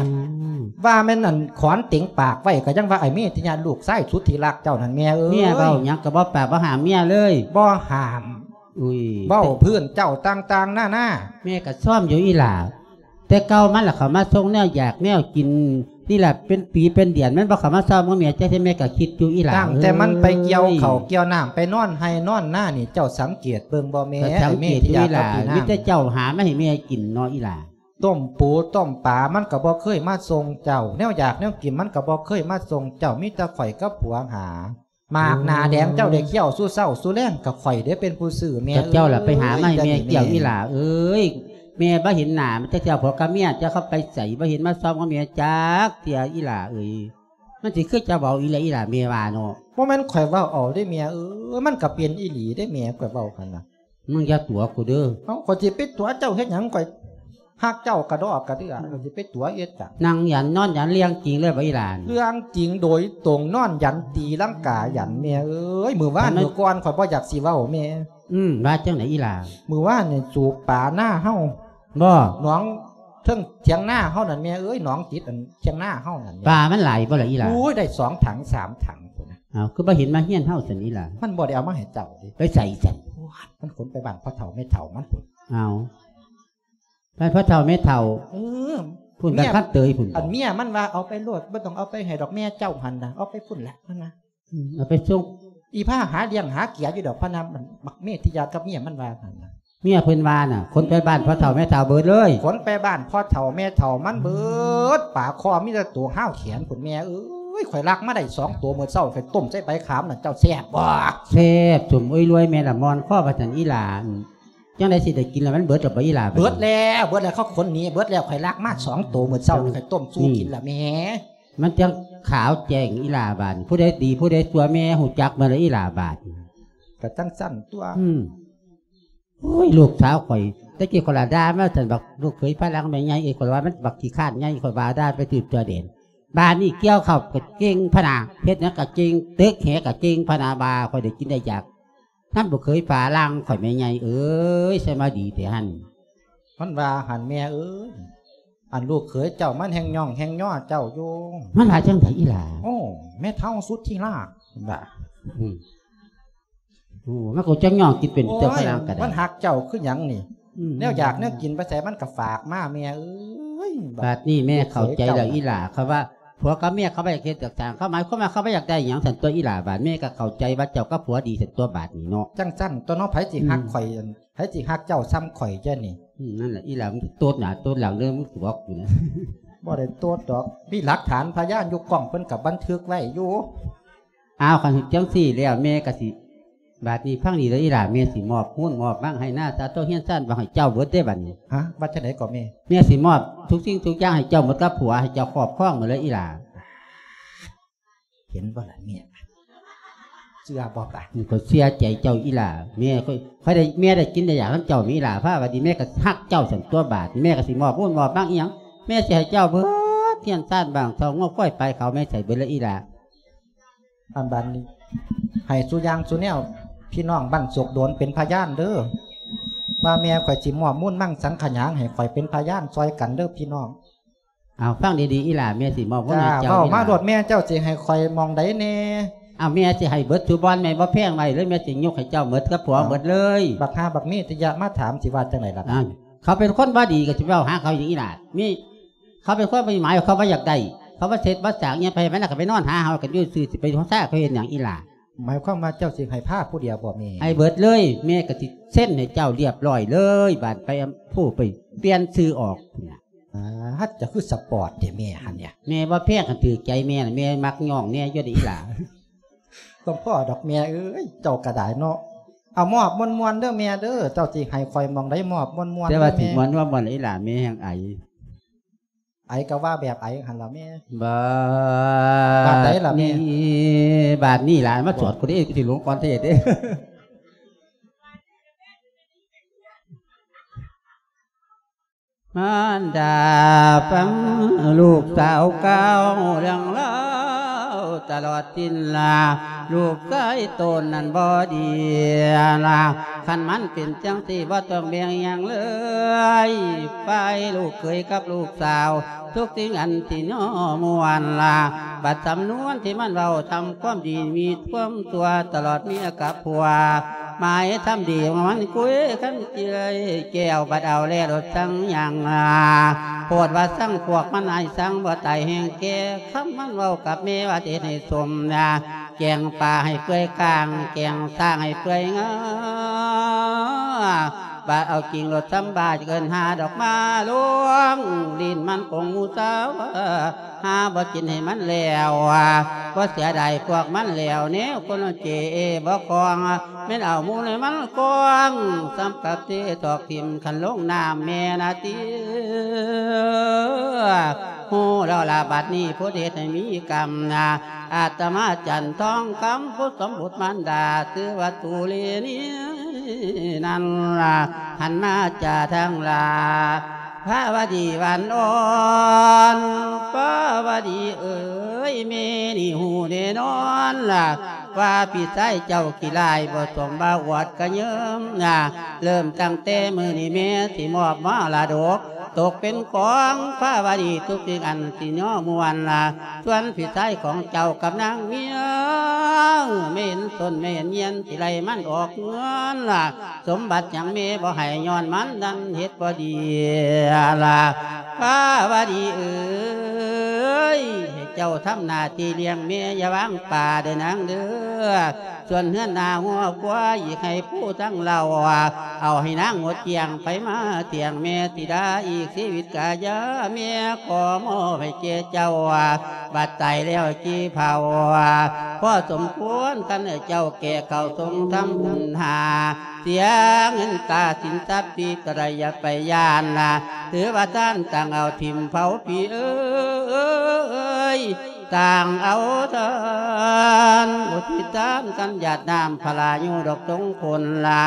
ມ ວ່າແມ່ນອັນຂອນເຕັງປາກໄວ້ ກໍຍັງວ່າໄອ້ເມທິຍາ ລູກຊາຍສຸດທີ່ຮັກເຈົ້ານັ້ນ ແມ່ເອີຍ. ເມຍເວົ້າຫຍັງກໍບໍ່ປາກ ບໍ່ຫ້າມເມຍເລີຍ ບໍ່ຫ້າມ. ອຸ້ຍ ເວົ້າພື້ນເຈົ້າຕ່າງໆນານາ. ແມ່ກໍຊອມຢູ່ອີ່ຫຼ້າ ແຕ່ເກົ່າມັນລະເຂົ້າມາສົ່ງແນວຢາກແນວກິນນີ້ລະ ເປັນປີເປັນເດືອນ ມັນບໍ່ເຂົ້າມາຊອມກັບແມ່ຈັກເທື່ອ ແມ່ກໍຄິດຢູ່ອີ່ຫຼ້າ. ຕັ້ງແຕ່ມັນໄປກ່ຽວເຂົ້າ ເອີຍ ກ່ຽວນ້ຳ ໄປນອນໄຮ່ນອນນານີ້ ເຈົ້າສັງເກດເບິ່ງບໍ່ແມ່? ກໍສັງເກດຢູ່ອີ່ຫຼ້າ ມີແຕ່ເຈົ້າຫາມາໃຫ້ແມ່ກິນເນາະອີ່ຫຼ້າ. ຕົ້ມປູຕົ້ມປາມັນກໍບໍ່ເຄີຍມາສົ່ງເຈົ້າ ແນວຢາກແນວກິນມັນກໍບໍ່ເຄີຍມາສົ່ງເຈົ້າ ມີແຕ່ຂ້ອຍກັບຜົວຫາ. ໝາກໜ້າແດງເຈົ້າໄດ້ຄ້ຽວສູ່ເຊົ້າສູ່ແລງ ກໍຂ້ອຍເດ້ເປັນຜູ້ຊື້ແມ່ເອີຍ. ເຈົ້າລະໄປຫາມາໃຫ້ແມ່ກ້ຽວອີ່ຫຼ້າເອີຍ. ແມ່ບໍ່ເຫັນໜ້າມັນຈັກເທື່ອ ຜົວກັບເມຍເຈົ້າເຂົາໄປໃສ ບໍ່ເຫັນມາຊອມກັບແມ່ຈັກເທື່ອອີ່ຫຼ້າເອີຍ. ມັນຊິຄືເຈົ້າເວົ້າອີ່ຫຼະອີ່ຫຼ້າ ແມ່ວ່າເນາະ. ບໍ່ແມ່ນຂ້ອຍເວົ້າເອົາເດ້ແມ່ເອີຍ ມັນກໍເປັນອີ່ຫຼີເດ້ແມ່ ຂ້ອຍເວົ້າຫັ້ນນະ. ມຶງຢ່າຕົວະກູເດີ. ເອົ້າ ຂ້ອຍຊິໄປຕົວະເຈົ້າເຮັດຫຍັງ ຂ້ອຍຮັກເຈົ້າກະດອກກະເດື່ອ ຂ້ອຍຊິໄປຕົວະເຮັດຫຍັງ. ນັ່ງຢັນນອນຢັນ ເລື່ອງຈິງເລີຍບໍ່ອີ່ຫຼ້າ? ເລື່ອງຈິງໂດຍຕົງ ນອນຢັນຕີລັງກາຢັນແມ່ເອີຍ. ມື້ວານມື້ກ່ອນຂ້ອຍບໍ່ຢາກຊິເວົ້າແມ່. ອືມ ວ່າຈັ່ງໃດອີ່ຫຼ້າ? ມື້ວານນີ້ສູບປານາເຮົາ ບໍ່ ໜອງເທິງຖຽງນາເຮົານັ້ນແມ່ເອີຍ ໜອງຕິດອັນຖຽງນາເຮົານັ້ນແມ່. ປາມັນຫຼາຍບໍ່ລະອີ່ຫຼ້າ? ໂອ້ຍ ໄດ້ສອງຖັງສາມຖັງພຸ້ນນະ. ອ້າວ ຄືບໍ່ເຫັນມາເຮືອນເຮົາຊັ້ນອີ່ຫຼ້າ? ມັນບໍ່ໄດ້ເອົາມາໃຫ້ເຈົ້າເດ້. ໄປໃສຊັ້ນ? ມັນຂົນໄປບ້ານພໍ່ເຖົ້າແມ່ເຖົ້າມັນພຸ້ນ. ອ້າວ ບ້ານພໍ່ເຖົ້າແມ່ເຖົ້າ. ເອີ ພຸ້ນ ບ້ານຄັນເຕີຍພຸ້ນ. ອັນເມຍມັນວ່າ ເອົາໄປໂລດ ບໍ່ຕ້ອງເອົາໄປໃຫ້ດອກ ແມ່ເຈົ້າຫັ້ນນະ ເອົາໄປພຸ້ນລະ ມັນວ່າ. ອືມ ເອົາໄປສົ່ງ. ອີ່ພ້າຫາລ້ຽງຫາເກຍຢູ່ດອກ ພະນາ ບັກເມທິຍາກັບເມຍມັນວ່າຫັ້ນນະ. ເມຍເພິ່ນວ່ານະ ຂົນໄປບ້ານພໍ່ເຖົ້າແມ່ເຖົ້າເບິດເລີຍ. ຂົນໄປບ້ານພໍ່ເຖົ້າແມ່ເຖົ້າມັນເບິດ. ປາຄໍມີແຕ່ໂຕ ຮາວແຂນພຸ້ນແມ່ເອີຍ. ຂ້ອຍລັກມາໄດ້ສອງໂຕ ມື້ເຊົ້າຂ້ອຍຕົ້ມໃສ່ໃບຂາມນັ້ນ ເຈົ້າແຊບບໍ່? ແຊບ ສົມເອີຍ ລວຍ ແມ່ລະມ່ອນຄໍວ່າຊັ້ນອີ່ຫຼ້າ. ຈັ່ງໃດຊິໄດ້ກິນລະ ມັນເບິດລະບໍ່ອີ່ຫຼ້າ? ເບິດແລ້ວ ເບິດແລ້ວ ເຂົາຂົນໜີເບິດແລ້ວ. ຂ້ອຍລັກມາສອງໂຕ ມື້ເຊົ້າຂ້ອຍຕົ້ມສູ່ກິນລະແມ່. ມັນຈັ່ງຂາວແຈ້ງອີ່ຫຼ້າບາດ. ຜູ້ໃດດີຜູ້ໃດຊົ່ວແມ່ຮູ້ຈັກເບິດລະອີ່ຫຼ້າບາດ. ກະຈັ່ງຊັ້ນຕົວະ. ອືມ ໂອ້ຍ ລູກສາວຂ້ອຍ ແຕ່ກີ້ຂ້ອຍລະດ່າມາຊັ້ນ ບັກລູກເຂີຍຝຣັ່ງແມ່ໃຫຍ່ເອີຍ ຂ້ອຍວ່າມັນບັກຂີ້ຄ້ານໃຫຍ່ ຂ້ອຍວ່າດ່າໄປຕື່ມຕົວແດນ. ບາດນີ້ກ່ຽວເຂົ້າກໍເກັ່ງພະນາ ເຮັດຫຍັງກໍເກັ່ງ ຕຶກແຫກໍເກັ່ງພະນາ ວ່າຂ້ອຍໄດ້ກິນໄດ້ຢາກ. ນຳລູກເຂີຍຝຣັ່ງຂ້ອຍແມ່ໃຫຍ່ເອີຍ ໃສ່ມາດີແທ້ຫັ້ນ. ມັນວ່າຫັ້ນແມ່ເອີຍ ອັນລູກເຂີຍເຈົ້າມັນແຮ່ງຍ້ອງແຮ່ງຍໍເຈົ້າຢູ່. ມັນວ່າຈັ່ງໃດອີ່ຫຼ້າ? ໂອ້ ແມ່ເຖົ້າສຸດທີ່ລາກ ວ່າ ອືມ ໂອ້ ມັນກໍຈັກຍ້ອງກິນເປັນເຈົ້າຝຣັ່ງກໍໄດ້. ມັນຮັກເຈົ້າຄືຫຍັງນີ້? ອືມ ແນວຢາກແນວກິນໄປໃສມັນກໍຝາກມາແມ່ເອີຍ. ບາດນີ້ແມ່ເຂົ້າໃຈແລ້ວອີ່ຫຼ້າ ເຂົາວ່າ ຜົວກັບເມຍເຂົາບໍ່ຢາກເຮັດຢາກສ້າງ ເຂົາໝາຍຄວາມວ່າເຂົາບໍ່ຢາກໄດ້ຫຍັງຊັ້ນຕົວະອີ່ຫຼ້າ. ບາດເມຍກໍເຂົ້າໃຈວ່າເຈົ້າກັບຜົວດີຊັ້ນຕົວະບາດນີ້ເນາະ. ຈັ່ງຊັ້ນຕົວະເນາະ ໃຜຊິຮັກ ອືມ ຂ້ອຍ ໃຜຊິຮັກເຈົ້າສ່ຳຂ້ອຍແທ້ນີ້? ອືມ ນັ້ນແຫຼະອີ່ຫຼ້າ ມຶງໂຕດໜ້າໂຕດຫຼັງເດີ ມຶງຕົວະກູນະ. ບໍ່ໄດ້ຕົວະດອກ ມີຫຼັກຖານພະຍານຢູ່ ກ້ອງເພິ່ນກໍບັນທຶກໄວ້ຢູ່. ອ້າວ ຄັນຈັ່ງຊີ້ແລ້ວແມ່ກໍຊິ ບາດນີ້ຟັງດີເດີອີ່ຫຼ້າ ແມ່ຊິມອບມູນມອບມັງໄຮ່ນາ ຊາໂຕ ເຮືອນຊານ ວ່າໃຫ້ເຈົ້າເບິດເດ້ບາດນີ້. ຮະ ວ່າຈັ່ງໃດກໍແມ່? ແມ່ຊິມອບທຸກສິ່ງທຸກຢ່າງໃຫ້ເຈົ້າໝົດກັບຜົວ ໃຫ້ເຈົ້າຄອບຄອງໝົດເລີຍອີ່ຫຼ້າ. ເຫັນບໍ່ລະເມຍ ເຊື່ອບໍ່ບາດ? ຂ້ອຍເຊື່ອໃຈເຈົ້າອີ່ຫຼ້າ ແມ່ຂ້ອຍ ຂ້ອຍໄດ້ ແມ່ໄດ້ກິນໄດ້ຢາກນຳເຈົ້າແມ່ອີ່ຫຼ້າ. ພາວ່າດີ ແມ່ກໍຮັກເຈົ້າຊັ້ນຕົວະບາດ ແມ່ກໍຊິມອບມູນມອບມັງອີ່ຫຍັງ ແມ່ຊິໃຫ້ເຈົ້າເບິດ ເຮືອນຊານ ບ້ານຊ່ອງງົວຄວາຍໄປ ເຂົາແມ່ໃສ່ເບິດເລີຍອີ່ຫຼ້າ. ອັນບາດນີ້ ໃຫ້ສູ່ຢ່າງສູ່ແນວ ພີ່ນ້ອງບ້ານໂສກໂດນເປັນພະຍານເດີ ວ່າແມ່ຂ້ອຍຊິມອບມູນມັງສັງຂະຫຍາງໃຫ້ ຂ້ອຍເປັນພະຍານຊ່ອຍກັນເດີພີ່ນ້ອງ. ເອົາ ຟັງດີໆ ອີ່ຫຼ້າ ແມ່ຊິມອບເງິນໃຫ້ເຈົ້າ. ເວົ້າມາໂລດ ແມ່ເຈົ້າຊິໃຫ້ຂ້ອຍໝ່ອງໃດແດ່? ເອົາ ແມ່ຊິໃຫ້ເບິດທຸບ່ອນ ແມ່ບໍ່ແພງໄວ້ເລີຍ ແມ່ຊິຍົກໃຫ້ເຈົ້າໝົດກັບຜົວໝົດເລີຍ. ບັກຫ່າບັກມີ ທີ່ຢາກມາຖາມ ຊິວ່າຈັ່ງໃດລະ? ເຂົາເປັນຄົນບໍ່ດີ ກໍຊິເວົ້າຫາເຂົາຫຍັງອີ່ຫຼ້າ? ມີ ເຂົາເປັນຄົນບໍ່ມີໝາຍ ເຂົາບໍ່ຢາກໄດ້ ເຂົາບໍ່ເຮັດບໍ່ສ້າງຫຍັງ ໄປໃຫ້ມັນ ແລ້ວກໍໄປນອນຫາເຮົາກັນຢູ່ຊື່ ຊິໄປຫົວຊາເຂົາເຮັດຫຍັງອີ່ຫຼ້າ? ໝາຍຄວາມວ່າເຈົ້າຊິໃຫ້ພາຜູ້ດຽວບໍ່ແມ່? ໃຫ້ເບິດເລີຍ ແມ່ກໍຊິເຊັນໃຫ້ເຈົ້າລຽບຮ້ອຍເລີຍ. ບາດໄປ ອຳ ຜູ້ໄປປ່ຽນຊື່ອອກ. ອາ ເຈົ້າຄືສະປອດແທ້ແມ່ຫັ້ນເນຍ. ແມ່ບໍ່ແພງ ຄັນຖືກໃຈແມ່ນະ ແມ່ມັກຍ້ອງແນ່ຢູ່ເດອີ່ຫຼ້າ. ຕ້ອງພໍດອກແມ່ເອີຍ ເຈົ້າກໍໄດ້ເນາະ. ເອົາມອບມ່ວນໆເດີແມ່ເດີ ເຈົ້າຊິໃຫ້ຂ້ອຍໝ່ອງໃດມອບມ່ວນໆ. ແຕ່ວ່າຊິມ່ວນບໍ່ມ່ວນອີ່ຫຼ້າ ແມ່ແຮ່ງໄອ. ໄອກໍວ່າແບບໄອຫັ້ນລະແມ່. ບາ ບາດໃດລະແມ່? ນີ້ ບາດນີ້ຫຼານມາສວດກູເດ້ ກູຊິຫຼົງກ່ອນເທດເດ້. ມານດາຟັງລູກສາວກ່າວເລື່ອງລາວຕະຫຼອດສິ້ນລາ ລູກຊາຍຕົນນັ້ນບໍ່ດີລາ ຄັນມັນເປັນຈັ່ງຊີ້ບໍ່ຕ້ອງແບ່ງຫຍັງເລີຍ ຝ່າຍລູກເຂີຍກັບລູກສາວ ທຸກສິ່ງອັນທີ່ຍໍມ່ວນລາ ບັດສຳນວນທີ່ມັນເວົ້າທຳຄວາມດີ ມີຄວາມຊົ່ວຕະຫຼອດເມຍກັບຜົວ ໝາຍທຳດີຂອງມັນຄຸຍຄັນເຈື່ອຍແກ້ວ ບັດເອົາແລ້ວລົດສັງຫຍັງ ໂພດວ່າສັງພວກມັນອາຍສັງບໍ່ຕາຍແຮງແກ່ ຄຳມັນເວົ້າກັບແມ່ວ່າຊິເຮັດໃຫ້ສົມນາ ແກງປາໃຫ້ເປື່ອຍກາງ ແກງຊ້າງໃຫ້ເປື່ອຍງາ ບາດເອົາຈິງໂລດສຳບາຍ ເອີ້ນຫາດອກມາລວງ ລີ້ນມັນຄົງໝູ່ສາວ ຫາບໍ່ກິນໃຫ້ມັນແລ້ວ ບໍ່ເສຍດາຍພວກມັນແລ້ວ ແນວຄົນເຈບໍ່ຄອງ ແມ່ນເອົາມູນໃຫ້ມັນກອງ ສ່ຳກັບເຕະຖອກຖິ້ມຄັນລົງນ້ຳແມ່ນາຕິ ຮູ້ແລ້ວລະບັດນີ້ ຜູ້ເຮັດໃຫ້ມີກຳນາ ອາດຕະມາຈັນທອງຄຳ ຜູ້ສົມບົດມານດາ ຊື່ວ່າຕູເລນີນັ້ນລະ ຫັນມາຈາທາງລາ ພາວະດີຫວານອ່ອນ ພາວະດີເອີຍ ແມ່ນີ້ຮູ້ແນ່ນອນລະ ວ່າພີ່ຊາຍເຈົ້າຂີ້ລ້າຍ ບໍ່ສົມວ່າອວດກະເຍີ້ມນະ ເລີ່ມຕັ້ງແຕ່ມື້ນີ້ແມ່ຊິມອບມໍລະດົກ ຕົກເປັນຂອງພາວະດີ ທຸກສິ່ງອັນຊິຍໍມ່ວນລະ ສ່ວນພີ່ຊາຍຂອງເຈົ້າກັບນາງເມຍ ແມ່ເຫັນຕົ້ນແມ່ເຫັນຍຽນ ຊິໄລ່ມັນອອກເຮືອນລະ ສົມບັດຫຍັງແມ່ບໍ່ໃຫ້ ຍ້ອນມັນນັ້ນເຮັດບໍ່ດີລະ ພາວະດີເອີຍ ໃຫ້ເຈົ້າທຳໜ້າທີ່ລ້ຽງແມ່ ຢ່າວາງປາເດີນາງເດີ ສ່ວນເຮືອນນາຫົວຄວາ ອີກໃຫ້ຜູ້ທັງເຫຼົ່າ ເອົາໃຫ້ນາງໝົດກ້ຽງ ໃຜມາທ່ຽງແມ່ທິດາ ອີກຊີວິດກະຢ່າ ແມ່ຂໍມອບໃຫ້ແກ່ເຈົ້າ ບັດຕາຍແລ້ວຈີ່ເຜົາ ພໍສົມຄວນ ຄັນເຈົ້າແກ່ເຂົ້າຊົງທຳບຸນຫາ ເສຍເງິນຕາສິນຊັບປີກະໄດ້ ຢ່າໄປຢ້ານນະ ຖືວ່າທ່ານຕ່າງເອົາຖິ້ມເຜົາ ພີ່ເອີຍ ຕ່າງເອົາທານ ອຸທິດທານກັນຫຍາດນ້ຳພະລາ ຢູ່ດອກສົງຜົນລາ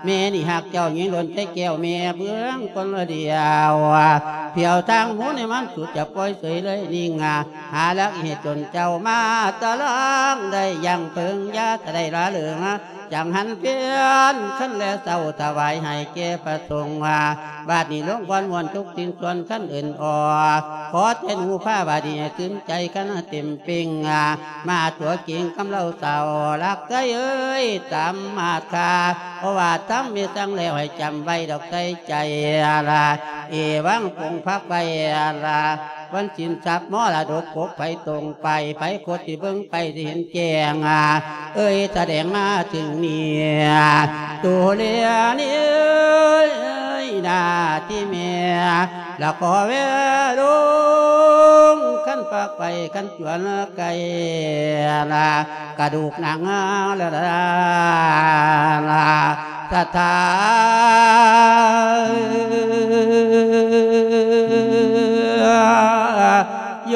ແມ່ນີ້ຮັກເຈົ້າຍິ່ງລົ້ນໃຈແກ້ວ ແມ່ເບື້ອງຄົນລະດຽວ ພຽວທາງໝູນໃຫ້ມັນສຸດ ຈະປ່ອຍເສີຍເລີຍນິ່ງ ຫາຫຼັກເຫດຈົນເຈົ້າມາຕະລາງ ໄດ້ຢັ້ງເພິງ ຢ່າໄດ້ລະເລີງ ຈັງຫັນພຽນຄັນແລເຊົ້າຖວາຍໃຫ້ແກ່ພະສົງວ່າ ບາດນີ້ລົງບ່ອນມ່ວນທຸກສິ່ງສ່ວນຄັນເອີ້ນອອກ ຂໍແຕ່ໜູພາວະດີໃຫ້ຕື່ມໃຈຄັນເຕັມເປັງ ມາຕົວເກັ່ງກຳເລົາເຕົ້າ ລັກໃຈເອີຍຕາມມາດຄາ ເພາະວ່າທຳມີສັງແລ້ວໃຫ້ຈຳໄວ້ດອກໃສ່ໃຈລະ ເອວັງປົງພັກໄວ້ລະ ວັນສິນຊັບມໍລະດົກປົກໄຜຕົງໄປ ໃຜຄົດທີ່ເບິ່ງໄປທີ່ເຫັນແຈ້ງ ເອີຍສະແດງມາເຖິງນີ້ ໂຕເລນີ້ເອີຍໜ້າທີ່ແມ່ ລະຂໍແວລົງຄັນປາກໄປຄັນຈວນໄກລະ ກະດູກໜັງລະລາລາສະຖາໂຍ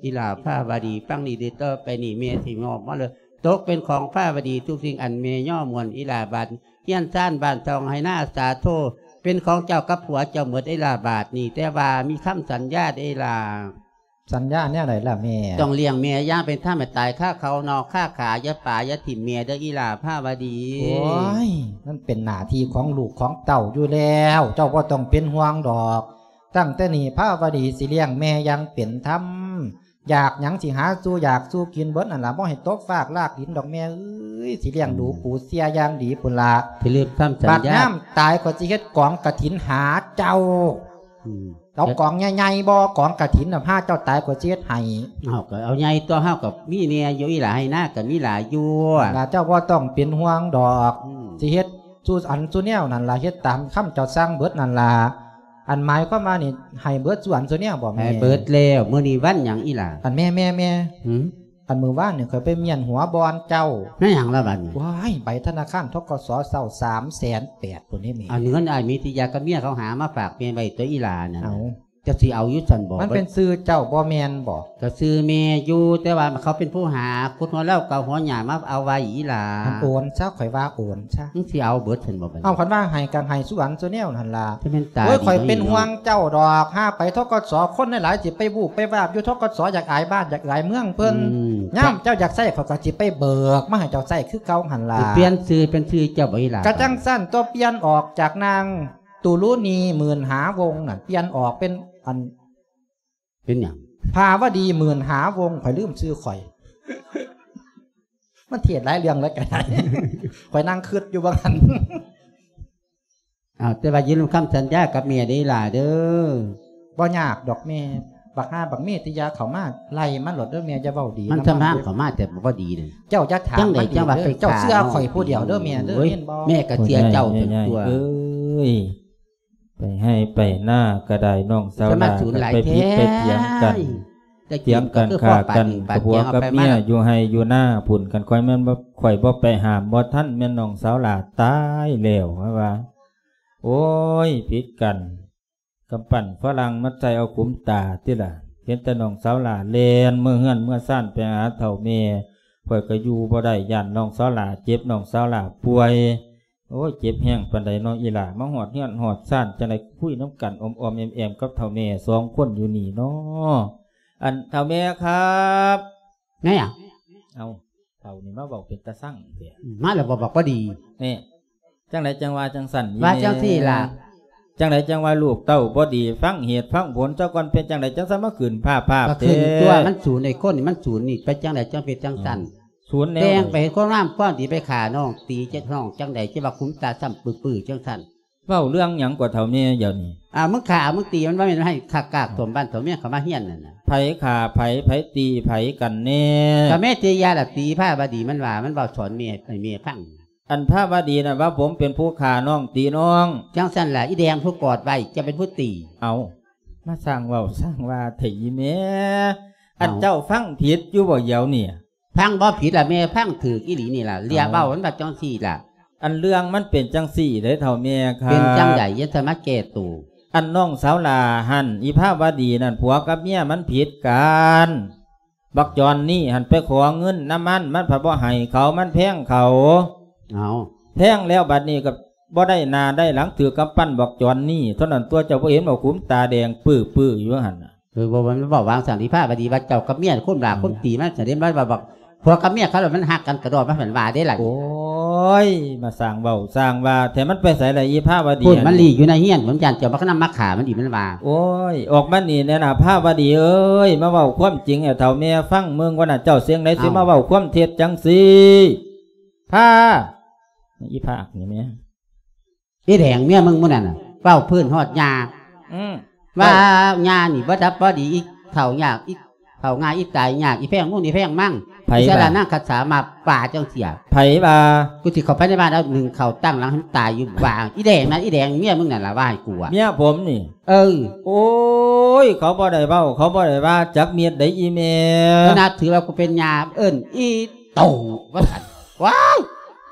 ອີ່ຫຼ້າພາວະດີ ຟັງນີ້ເດີ ຕໍ່ໄປນີ້ແມ່ຊິມອບມາເລີຍ ຕົກເປັນຂອງພາວະດີທຸກສິ່ງອັນແມ່ຍໍມ່ວນ ອີ່ຫຼ້າບາດ ເຮືອນຊານບ້ານຊ່ອງໄຮ່ນາສາໂທ ເປັນຂອງເຈົ້າກັບຜົວເຈົ້າໝົດ ອີ່ຫຼ້າບາດນີ້ ແຕ່ວ່າມີຄຳສັນຍາເດີ ອີ່ຫຼ້າ. ສັນຍາແນວໃດລະແມ່? ຕ້ອງລ້ຽງແມ່ຢ່າງເປັນທຳ ໃຫ້ຕາຍຄາເຂົານອກຄາຂາ ຢ່າປາຢ່າຖິ້ມແມ່ເດີ ອີ່ຫຼ້າພາວະດີ. ໂອ້ຍ ມັນເປັນໜ້າທີ່ຂອງລູກຂອງເຕົ້າຢູ່ແລ້ວ ເຈົ້າບໍ່ຕ້ອງເປັນຫ່ວງດອກ. ຕັ້ງແຕ່ນີ້ພາວະດີຊິລ້ຽງແມ່ຢ່າງເປັນທຳ ຢາກຫຍັງຊິຫາສູ່ຢາກສູ່ກິນເບິດນັ້ນລະ ບໍ່ໃຫ້ຕົກຟາກລາກດິນດອກແມ່ເອີຍ ຊິລ້ຽງດູປູເສຍຢ່າງດີພຸ້ນລະ. ຊິລືມຄຳສັນຍາ ບັດຍາມຕາຍຂ້ອຍຊິເຮັດກອງກະຖິນຫາເຈົ້າ. ອືມ ເອົາກອງໃຫຍ່ໆບໍ່ ກອງກະຖິນນະ ພາເຈົ້າຕາຍຂ້ອຍຊິເຮັດໃຫ້. ເຮົາກໍເອົາໃຫຍ່ຕົວະ ເຮົາກໍມີແດ່ຢູ່ ອີ່ຫຼ້າໄຮ່ນາກໍມີຫຼາຍຢູ່ລະ ເຈົ້າບໍ່ຕ້ອງເປັນຫ່ວງດອກ. ອືມ ຊິເຮັດສູ່ອັນສູ່ແນວນັ້ນລະ ເຮັດຕາມຄຳເຈົ້າສັ່ງເບິດນັ້ນລະ. ອັນໝາຍຄວາມວ່ານີ້ ໃຫ້ເບິດສ່ວນສ່ວນແນວບໍ່ແມ່? ໃຫ້ເບິດແລ້ວ. ມື້ນີ້ວັນຫຍັງອີ່ຫຼ້າ? ອັນແມ່ ແມ່ ແມ່ ຫື? ອັນມື້ວານນີ້ຂ້ອຍໄປມ້ຽນຫົວບ່ອນເຈົ້າ. ແມ່ນຫຍັງລະບັດນີ້? ວ້າຍ ໃບທະນາຄານ ທກສ ເຊົ້າ ສາມແສນແປດພຸ້ນເດ້ແມ່. ອັນເງິນອ້າຍມີຕິຍາກັບເມຍເຂົາຫາມາຝາກແມ່ໄວ້ຕົວະ ອີ່ຫຼ້ານັ້ນ. ເອົາ ເຈົ້າຊິເອົາຢູ່ຊັ້ນບໍ່? ມັນເປັນຊື່ເຈົ້າບໍ່ແມ່ນບໍ່? ກໍຊື່ແມ່ຢູ່ ແຕ່ວ່າເຂົາເປັນຜູ້ຫາ ຂຸດຫົວເລົາເກົາຫົວຫຍ້າມາເອົາໄວ້ ອີ່ຫຼ້າ. ອັນໂອນຊະ ຂ້ອຍວ່າໂອນຊະ. ມຶງຊິເອົາເບິດຊັ້ນບໍ່ບັດນີ້? ເອົາ ຄັນວ່າໃຫ້ກໍໃຫ້ສ່ວນສ່ວນແນວຫັ້ນລະ. ຈະແມ່ນຕາ ໂອ້ຍ ດີ ຂ້ອຍເປັນຫ່ວງເຈົ້າດອກ ຫາໄປ ທກສ ຄົນຫຼາຍໆ ຊິໄປວູບໄປວາບຢູ່ ທກສ ຢາກອາຍບ້ານຢາກອາຍເມືອງເພິ່ນ. ອືມ ຍາມເຈົ້າຢາກໃຊ້ ຂ້ອຍກໍຊິໄປເບີກມາໃຫ້ເຈົ້າໃຊ້ຄືເກົ່າຫັ້ນລະ. ຊິປ່ຽນຊື່ເປັນຊື່ເຈົ້າບໍ່ ອີ່ຫຼ້າ? ກໍຈັ່ງຊັ້ນຕົວະ ປ່ຽນອອກຈາກນາງ ຕຸລຸນີ ໝື່ນຫາວົງນັ້ນ ປ່ຽນອອກເປັນອັນ ເປັນຫຍັງ? ພາວະດີ ໝື່ນຫາວົງ ຂ້ອຍລືມຊື່ຂ້ອຍ. ມັນເທດຫຼາຍເລື່ອງແລ້ວກໍໄດ້ ຂ້ອຍນັ່ງຄຶດຢູ່ວ່າຫັ້ນ. ອ້າວ ແຕ່ວ່າຢ່າລືມຄຳສັນຍາກັບແມ່ເດີ ອີ່ຫຼ້າເດີ. ບໍ່ຍາກດອກແມ່. ບັກຫ່າບັກເມຕິຍາເຂົ້າມາ ໄລ່ມັນໂລດເດີແມ່ ຢ່າເວົ້າດີ ມັນນຳ ສຳຮາງ ເຂົ້າມາແຕ່ບໍ່ດີເລີຍ. ເຈົ້າຢ່າຖາມ ຈັ່ງໃດ ມັນອີກ ຈັ່ງວ່າ ເດີ ໄປ ເຈົ້າເຊື່ອຂ້ອຍຜູ້ດຽວເດີແມ່ເດີ. ໂອ້ຍ ເຫັນບໍ່? ແມ່ກໍເຊື່ອເຈົ້າ ໂອ້ຍ ຕົວະ ເອີຍ ໄປໄຮ່ໄປນາກໍໄດ້ ນ້ອງສາວຫຼ້າ ໄປຜິດໄປຖຽງກັນ ຖຽງກັນຂ້າກັນກັບຜົວກັບເມຍຢູ່ໄຮ່ຢູ່ນາພຸ້ນ. ຄັນຂ້ອຍແມ່ນບໍ່ ຂ້ອຍບໍ່ໄປຫ້າມບໍ່ທັນ ແມ່ນນ້ອງສາວຫຼ້າຕາຍແລ້ວ ວ່າ. ໂອ້ຍ ຜິດກັນ ກຳປັ່ນຝຣັ່ງມາໃສ່ເອົາຂຸມຕາຕິລະ. ເຫັນແຕ່ນ້ອງສາວຫຼ້າແລ່ນເມືອເຮືອນເມືອຊານໄປຫາເຖົ້າແມ່ ຂ້ອຍກໍຢູ່ບໍ່ໄດ້ ຢ້ານນ້ອງສາວຫຼ້າເຈັບ ນ້ອງສາວຫຼ້າປ່ວຍ. ໂອ້ຍ ເຈັບແຮງປານໃດເນາະອີ່ຫຼ້າ ມາຮອດເຮືອນຮອດຊານ ຈັ່ງໃດຄຸຍນຳກັນອ້ອມໆແອ້ມໆກັບເຖົ້າແມ່ສອງຄົນຢູ່ນີ້ເນາະ. ອັນ ເຖົ້າແມ່ຄັບ ແມ່ຫຍັງ? ເອົາ ເຖົ້ານີ້ມາເວົ້າເປັນຕາຊັງແທ້. ມາແລ້ວບໍ່ບອກບໍ່ດີ. ແນ່ ຈັ່ງໃດຈັ່ງວ່າຈັ່ງຊັ້ນ ວ່າຈັ່ງຊີ້ລະ. ຈັ່ງໃດຈັ່ງວ່າລູກເຕົ້າບໍ່ດີ ຟັງເຫດຟັງຜົນຊະກ່ອນ. ເປັນຈັ່ງໃດຈັ່ງຊັ້ນມາຂຶ້ນພາບໆ ກໍຂຶ້ນຕົວະ ເດ້ ມັນສູນ ໄອ້ຄົນນີ້ມັນສູນນີ້ ເປັນຈັ່ງໃດຈັ່ງເປັນຈັ່ງຊັ້ນ? ສູນແນວ ແຕ່ງໄປເຮັດຄວາມງາມຄວາມດີ ໄປຂ້ານ້ອງ ຕີເຈັບນ້ອງ ຈັ່ງໃດຈະວ່າຂຸມຕາຊ້ຳປືໆຈັ່ງຊັ້ນ? ເວົ້າເລື່ອງຫຍັງກວ່າເຖົ້າແມ່ດຽວນີ້? ອ້າວ ມຶງຂ້າເອົາ ມຶງຕີມັນ ບໍ່ແມ່ນໃຫ້ຂ້າກາກຖົມບ້ານຖົມເມືອງເຂົ້າມາເຮືອນນັ້ນນະ. ໃຜຂ້າໃຜ ໃຜຕີໃຜກັນແນ່? ກໍແມ່ຕີຢາລະຕີພາວະດີ ມັນວ່າ ມັນເວົ້າສອນແມ່ ໃຫ້ແມ່ຟັງ. ອັນພາວະດີນັ້ນວ່າ ຜົມເປັນຜູ້ຂ້ານ້ອງຕີນ້ອງ. ຈັ່ງຊັ້ນລະ ອີແດງຜູ້ກອດໄວ້ ເຈົ້າເປັນຜູ້ຕີ. ເອົາ ມາສ້າງເວົ້າສ້າງວ່າແທ້ອີແມ່. ອັນ ເອົ້າ ເຈົ້າຟັງຜິດຢູ່ບໍ່ດຽວນີ້? ຟັງບໍ່ຜິດລະແມ່ ຟັງຖືກອີ່ຫຼີນີ້ລະ ເລື່ອງເວົ້າມັນວ່າຈັ່ງຊີ້ລະ. ອັນເລື່ອງມັນເປັນຈັ່ງຊີ້ເດ້ເຖົ້າແມ່ຄັບ. ເປັນຈັ່ງໃດ? ຢ່າສາມາດແກ້ໂຕ. ອັນນ້ອງສາວຫຼ້າຫັ້ນ ອີພາວະດີນັ້ນ ຜົວກັບເມຍມັນຜິດກັນ. ບັກຈອນນີ້ຫັ້ນໄປຂໍເງິນນຳມັນ ມັນພັດບໍ່ໃຫ້ເຂົາ ມັນແພງເຂົາ. ເອົາ ແພງແລ້ວບັດນີ້ກໍ ບໍ່ໄດ້ໜ້າໄດ້ຫຼັງ ຖືກກຳປັ້ນບັກຈອນນີ້ເທົ່ານັ້ນຕົວະ ເຈົ້າບໍ່ເຫັນບໍ່ ຂຸມຕາແດງປື້ໆຢູ່ຫັ້ນນະ. ເອີ ບໍ່ ມັນເວົ້າວາງຊັ້ນ ອີພາວະດີວ່າເຈົ້າກັບເມຍຄົນຫຼ້າ ອືມ ຄົນຕີມັນ ສະເດັນວ່າ ວ່າບັກຜົວກັບເມຍເຂົາລະມັນຮັກກັນກະດອກ ມັນເພິ່ນວ່າເດ້ລະ. ໂອ້ຍ ມາສ້າງເວົ້າສ້າງວ່າແທ້ ມັນໄປໃສລະອີພາວະດີ? ພຸ້ນ ອັນນີ້ ມັນຫຼີ້ຢູ່ໃນເຮືອນ ຜົນຢ້ານເຈົ້າມານຳມາຂ້າມັນອີກ ມັນວ່າ. ໂອ້ຍ ອອກມານີ້ແດ່ນະພາວະດີເອີຍ ມາເວົ້າຄວາມຈິງໃຫ້ເຖົ້າແມ່ຟັງເບິ່ງກ່ອນນະ ເຈົ້າສຽງໃດຊິ ເອົ້າ ມາເວົ້າຄວາມເທັດຈັ່ງຊີ້? ພາ ອີພາກນີ້ແມ່ ອີແດງເມຍມຶງມື້ນັ້ນນະ ເວົ້າພື້ນຮອດຍ່າ ອືມ ວ່າ ເວົ້າ ຍ່ານີ້ບໍ່ດັບບໍ່ດີ ອີເຖົ້າຍາກ ອີເຖົ້າງ່າຍ ອີຕາຍຍາກ ອີແພງມູນ ອີແພງມັງ ໃຜວ່າ ອີສະລະນາງຄັດສາມາປ່າຈັ່ງເສຍ. ໃຜວ່າ? ກູຊິເຂົ້າໄປໃນບ້ານເອົາໜຶ້ງເຂົ້າຕັ້ງຫຼັງໃຫ້ມັນຕາຍຢູ່ບ້ານ. ອີແດງນັ້ນ ອີແດງເມຍມຶງນັ້ນລະວ່າໃຫ້ກູອະ. ເມຍຜົມນີ້? ເອີ. ໂອ້ຍ ເຂົາບໍ່ໄດ້ເວົ້າ ເຂົາບໍ່ໄດ້ວ່າຈັກເມັດໃດອີແມ່. ຂະໜາດຖືວ່າກູເປັນຍ່າ ເອີ້ນອີ ຕູວ່າຊັ້ນ. ວ້າຍ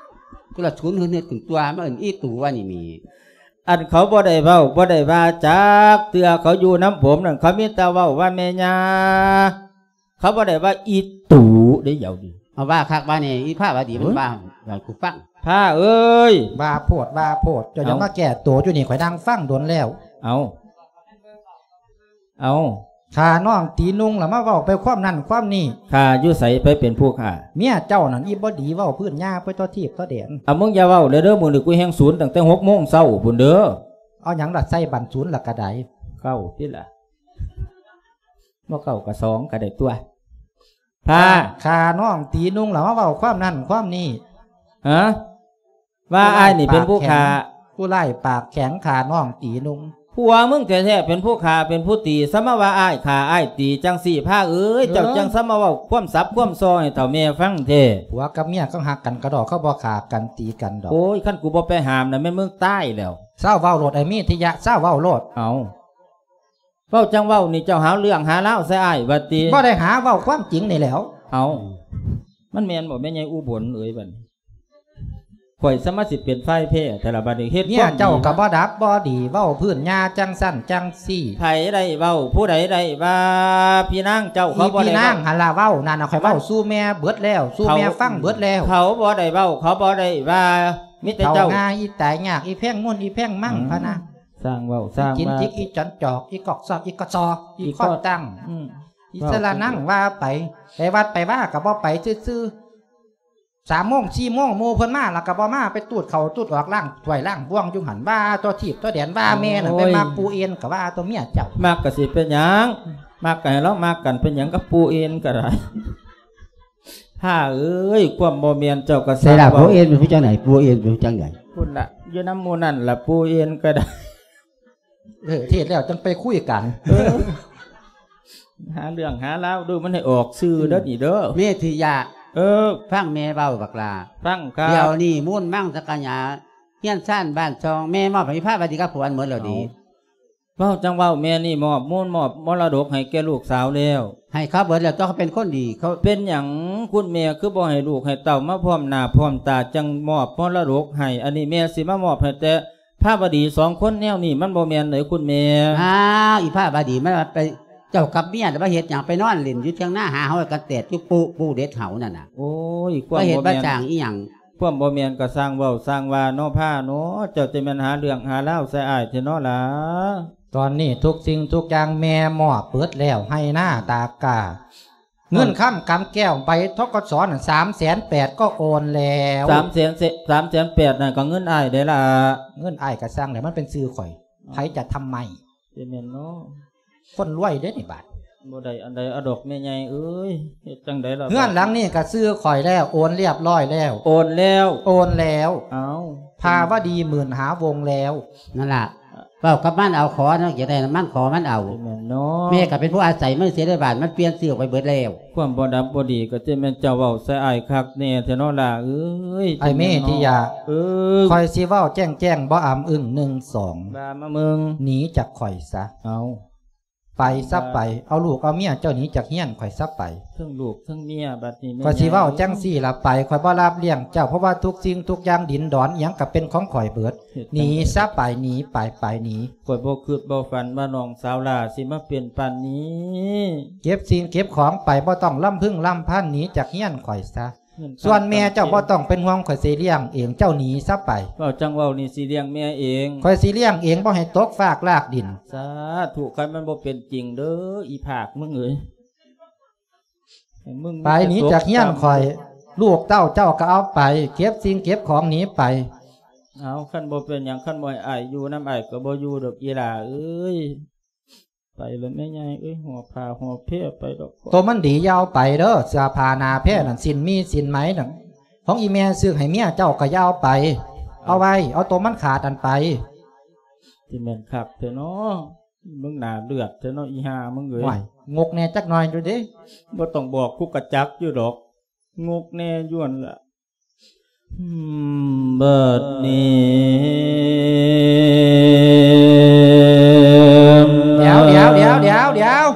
ກູລະສູນເຮືອດໆຂຶ້ນຕົວະ ມາເອີ້ນອີຕູວ່ານີ້ມີ. ອັນເຂົາບໍ່ໄດ້ເວົ້າ ບໍ່ໄດ້ວ່າຈັກເທື່ອ ເຂົາຢູ່ນຳຜົມນັ້ນ ເຂົາມີແຕ່ເວົ້າວ່າແມ່ຍ່າ ເຂົາບໍ່ໄດ້ວ່າອີຕູເດ້. ເອົາວ່າຄັກວ່າແນ່ ອີພາວະດີມັນ ເອີ ວ່າໃຫ້ກູຟັງ. ພາເອີຍ ວ່າໂພດ ວ່າໂພດ ເຈົ້າຢ່າ ເອົ້າ ມາແກ້ໂຕຢູ່ນີ້ ຂ້ອຍນັ່ງຟັງດົນແລ້ວ. ເອົາ ເອົາ ຂ້ານ້ອງຕີນຸ່ງລະມາເວົ້າໄປຄວາມນັ້ນຄວາມນີ້. ຂ້າຢູ່ໃສ ໃຜເປັນຜູ້ຂ້າ? ເມຍເຈົ້ານັ້ນ ອີບໍ່ດີ ເວົ້າພື້ນຍ່າໄປຕົວະ ທີບຕົວະແດນ. ເອົາ ມຶງຢ່າເວົ້າເລີຍເດີ ມື້ນີ້ກູແຮ່ງສູນຕັ້ງແຕ່ຫົກໂມງເຊົ້າພຸ້ນເດີ. ເອົາຫຍັງລະໃສ່ບັນສູນລະກະໄດ. ເກົ້າຕິລະ ບໍ່ເກົ້າກະສອງກະໄດ້ຕົວະ. ພາ ຂ້ານ້ອງຕີນຸ່ງລະມາເວົ້າຄວາມນັ້ນຄວາມນີ້. ຮະ? ວ່າອ້າຍນີ້ເປັນຜູ້ຂ້າ. ຜູ້ຮ້າຍປາກແຂງ ຂ້ານ້ອງຕີນຸ່ງ. ຜົວມຶງແທ້ໆເປັນຜູ້ຂ້າເປັນຜູ້ຕີ ຊະມາວ່າອ້າຍຂ້າອ້າຍຕີຈັ່ງຊີ້. ພາເອີຍ ເອີ ເຈົ້າຈັ່ງຊະມາເວົ້າຄວາມສັບຄວາມຊໍໃຫ້ເຖົ້າແມ່ຟັງແທ້. ຜົວກັບເມຍເຂົາຮັກກັນກະດອກ ເຂົາບໍ່ຂ້າກັນຕີກັນດອກ. ໂອ້ຍ ຄັນກູບໍ່ໄປຫ້າມນະ ແມ່ນມຶງຕາຍແລ້ວ. ເຊົາເວົ້າໂລດ ໄອ້ເມທິຍະ ເຊົາເວົ້າໂລດ. ເອົາ ເວົ້າຈັ່ງເວົ້ານີ້ ເຈົ້າຫາເລື່ອງຫາລາວໃສ່ອ້າຍວ່າຕິ? ບໍ່ໄດ້ຫາ ເວົ້າຄວາມຈິງນີ້ແຫຼ້ວ. ເອົາ ມັນແມ່ນບໍ່ແມ່ໃຫຍ່ອຸບົນເອີຍ? ບັດນີ້ ຂ້ອຍສາມາດຊິເປັນຝ່າຍແພ້ແທ້ລະ ບັດນີ້ເຮັດ ເມຍເຈົ້າກະບໍ່ດັບບໍ່ດີ ເວົ້າພື້ນຍ່າຈັ່ງຊັ້ນຈັ່ງຊີ້. ໃຜໄດ້ເວົ້າ ຜູ້ໃດໄດ້ວ່າ? ພີ່ນາງເຈົ້າ ເຂົາບໍ່ໄດ້ເວົ້າ. ພີ່ນາງຫັ້ນລະເວົ້າ ນັ້ນນະ ຂ້ອຍເວົ້າສູ່ແມ່ເບິດແລ້ວ ສູ່ແມ່ຟັງເບິດແລ້ວ. ເຂົາບໍ່ໄດ້ເວົ້າ ເຂົາບໍ່ໄດ້ວ່າ ມີແຕ່ເຈົ້າ. ເຖົ້າງ່າຍ ອີຕາຍຍາກ ອີແພງມູນ ອີແພງມັງ ອືມ ພະນະ. ສ້າງເວົ້າສ້າງວ່າ ອີຈິນຈິກ ອີຈອນຈອກ ອີກອກຊອກ ອີກະຊອກ ອີ ອີ ຂໍ້ຕັ້ງ ອືມ ອີສະລະນັງວ່າໄປ. ໄປວັດໄປວາກະບໍ່ໄປຊື່ໆ ສາມໂມງສີ່ໂມງ ໝູ່ເພິ່ນມາລະກະບໍ່ມາ ໄປຕູດເຂົ້າຕູດອອກ ລ້າງຖ້ວຍລ້າງບ່ວງຢູ່ຫັ້ນ. ວ່າຕົວະ ທີບຕົວະແດນ ວ່າແມ່ນະ. ໂອ້ຍ ໄປມັກປູ່ເອັນກະວ່າຕົວະ ເມຍເຈົ້າ. ມັກກະຊິເປັນຫຍັງ ມັກກະໃຫ້ລາວມັກກັນ ເປັນຫຍັງກັບປູ່ເອັນກະໄດ້. ພາເອີຍ ຄວາມບໍ່ແມ່ນເຈົ້າກະ ໃສລະ ສ້າງເວົ້າ. ປູ່ເອັນເປັນຜູ້ຈັ່ງໃດ? ປູ່ເອັນເປັນຜູ້ຈັ່ງໃດ? ພຸ້ນລະ ຢູ່ນຳໝູ່ນັ້ນລະ ປູ່ເອັນກະໄດ້. ເອີ ເທດແລ້ວຈັ່ງໄປຄຸຍກັນ. ເອີ ຫາເລື່ອງຫາລາວດູ ມັນໃຫ້ອອກຊື່ເດີ ອືມ ນີ້ເດີ ເມທິຍະ. ເອີ ຟັງແມ່ເວົ້າບັກຫຼ້າ ຟັງຄັບ. ດຽວນີ້ມູນມັງສັງກະຫຍາ ເຮືອນຊານບ້ານຊ່ອງ ແມ່ມອບໃຫ້ພາວະດີກັບຜົວໝົດແລ້ວເດ. ເອົາ ເວົ້າຈັ່ງເວົ້າ ແມ່ນີ້ມອບມູນມອບມໍລະດົກໃຫ້ແກ່ລູກສາວແລ້ວ. ໃຫ້ເຂົາເບິດແລ້ວ ຕົວະ ເຂົາເປັນຄົນດີ ເຂົາ. ເປັນຫຍັງຄຸນແມ່ຄືບໍ່ໃຫ້ລູກໃຫ້ເຕົ້າມາພ້ອມໜ້າພ້ອມຕາ ຈັ່ງມອບມໍລະດົກໃຫ້? ອັນນີ້ແມ່ຊິມາມອບໃຫ້ແຕ່ພາວະດີສອງຄົນແນວນີ້ ມັນບໍ່ແມ່ນເດ້ຄຸນແມ່. ອ້າວ ອີພາວະດີ ມັນວ່າໄປ ເຈົ້າກັບເມຍລະມາເຮັດຫຍັງ? ໄປນອນຫຼິ້ນຢູ່ຖຽງນາ ຫາເຫົາກັນແຕດຢູ່ປູ່ ປູ່ເດັດເຫົານັ້ນນະ. ໂອ້ຍ ຄວາມບໍ່ແມ່ນ ມາເຮັດມາສ້າງອີຫຍັງ? ຄວາມບໍ່ແມ່ນກະສ້າງເວົ້າສ້າງວ່າເນາະ ພາເນາະ ເຈົ້າຈະແມ່ນຫາເລື່ອງຫາລາວໃສ່ອ້າຍແທ້ເນາະຫຼາ. ຕອນນີ້ທຸກສິ່ງທຸກຢ່າງແມ່ມອບເບິດແລ້ວ ໄຮ່ນາຕາກກາ ເງິນຄຳກຳແກ້ວ ໃບ ທກສ ນັ້ນ ສາມແສນແປດ ກໍໂອນແລ້ວ. ສາມແສນ ສາມແສນແປດ ນັ້ນກໍເງິນອ້າຍເດ້ລະ. ເງິນອ້າຍກະຊ່າງແຫຼະ ມັນເປັນຊື່ຂ້ອຍ ໃຜຈະທຳໄມ? ຊິແມ່ນເນາະ ຄົນລວຍເດ້ນີ້ບາດ. ບໍ່ໄດ້ອັນໃດເອົາດອກແມ່ໃຫຍ່ເອີຍ ເຮັດຈັ່ງໃດລະ? ເຮືອນຫຼັງນີ້ກະຊື່ຂ້ອຍແລ້ວ ໂອນລຽບລ້ອຍແລ້ວ. ໂອນແລ້ວ? ໂອນແລ້ວ. ເອົ້າ ພາວະດີໝື່ນຫາວົງແລ້ວ. ນັ້ນລະ ເວົ້າກັບມັນເອົາ ຂໍນະ ຢາກໄດ້ນຳມັນ ຂໍມັນເອົາ. ແມ່ນເນາະ ແມ່ກະເປັນຜູ້ອາໄສມັນເສຍໃນບ້ານ ມັນປ່ຽນຊື່ອອກໄປເບິດແລ້ວ. ຄວາມບໍ່ດັບບໍ່ດີກະຈະແມ່ນເຈົ້າເວົ້າໃສ່ອ້າຍຄັກແນ່ແທ້ເນາະຫຼ້າເອີຍ. ອ້າຍເມທິຍະ ເອີ ຂ້ອຍຊິເວົ້າແຈ້ງໆ ບໍ່ອຳອຶ້ງ ໜຶ່ງ ສອງ ວ່າມາເບິ່ງ ໜີຈາກຂ້ອຍຊະ. ເອົາ ໄປຊະໄປ ເອົາລູກເອົາເມຍເຈົ້າໜີຈາກເຮືອນຂ້ອຍຊະໄປ. ເຖິງລູກເຖິງເມຍ ບັດນີ້ ຂ້ອຍຊິເວົ້າຈັ່ງຊີ້ລະໄປ ຂ້ອຍບໍ່ຮັບລ້ຽງເຈົ້າ ເພາະວ່າທຸກສິ່ງທຸກຢ່າງ ດິນດອນອີ່ຫຍັງກະເປັນຂອງຂ້ອຍເບິດ. ໜີຊະໄປ ໜີໄປ ໄປໜີ. ຂ້ອຍບໍ່ຄິດບໍ່ຝັນວ່ານ້ອງສາວຫຼ້າຊິມາເປັນປານນີ້. ເກັບສິ່ງເກັບຂອງໄປ ບໍ່ຕ້ອງລຳພຶງລຳພັນ ໜີຈາກເຮືອນຂ້ອຍຊະ. ສ່ວນແມ່ເຈົ້າບໍ່ຕ້ອງເປັນຫ່ວງ ຂ້ອຍຊິລ້ຽງເອງ ເຈົ້າໜີຊະໄປ. ເວົ້າຈັ່ງເວົ້ານີ້ ຊິລ້ຽງແມ່ເອງ. ຂ້ອຍຊິລ້ຽງເອງ ບໍ່ໃຫ້ຕົກຟາກລາກດິນ. ສາທຸ ຄັນມັນບໍ່ເປັນຈິງເດີ້ ອີພາກມຶງເອີຍ. ໃຫ້ມຶງໄປໜີຈາກເຮືອນຂ້ອຍ ລູກເຕົ້າເຈົ້າກໍເອົາໄປ ເກັບສິ່ງເກັບຂອງໜີໄປ. ເອົາ ຄັນບໍ່ເປັນຫຍັງ ຄັນບໍ່ໃຫ້ອ້າຍຢູ່ນຳ ອ້າຍກໍບໍ່ຢູ່ດອກ ອີຫຼ້າເອີຍ. ໄປແລ້ວແມ່ໃຫຍ່ເອີຍ ຫໍ່ຜ້າຫໍ່ແພໄປດອກ. ໂຕມັນດີຢ່າເອົາໄປເດີ້ ເສື້ອຜ້າໜ້າແພນັ້ນ ສິ້ນໝີ້ສິ້ນໄໝນັ້ນ ຂອງອີແມ່ຊື້ໃຫ້ເມຍເຈົ້າກໍຢ່າເອົາໄປ. ເອົາໄວ້ ເອົາໂຕມັນຂາດນັ້ນໄປ. ຊິແມ່ນຄັກແທ້ເນາະ ມຶງໜ້າເລືອດແທ້ເນາະ ອີຫ່າມຶງເອີຍ. ໂອ້ຍ ງົກແດ່ຈັກໜ່ອຍຢູ່ເດ້. ບໍ່ຕ້ອງບອກ ກູກະຈັກຢູ່ດອກ ງົກແດ່ຢູ່ຫັ້ນລະ. ອືມ ບັດນີ້ ດຽວ ດຽວ ດຽວ ດຽວ ດຽວ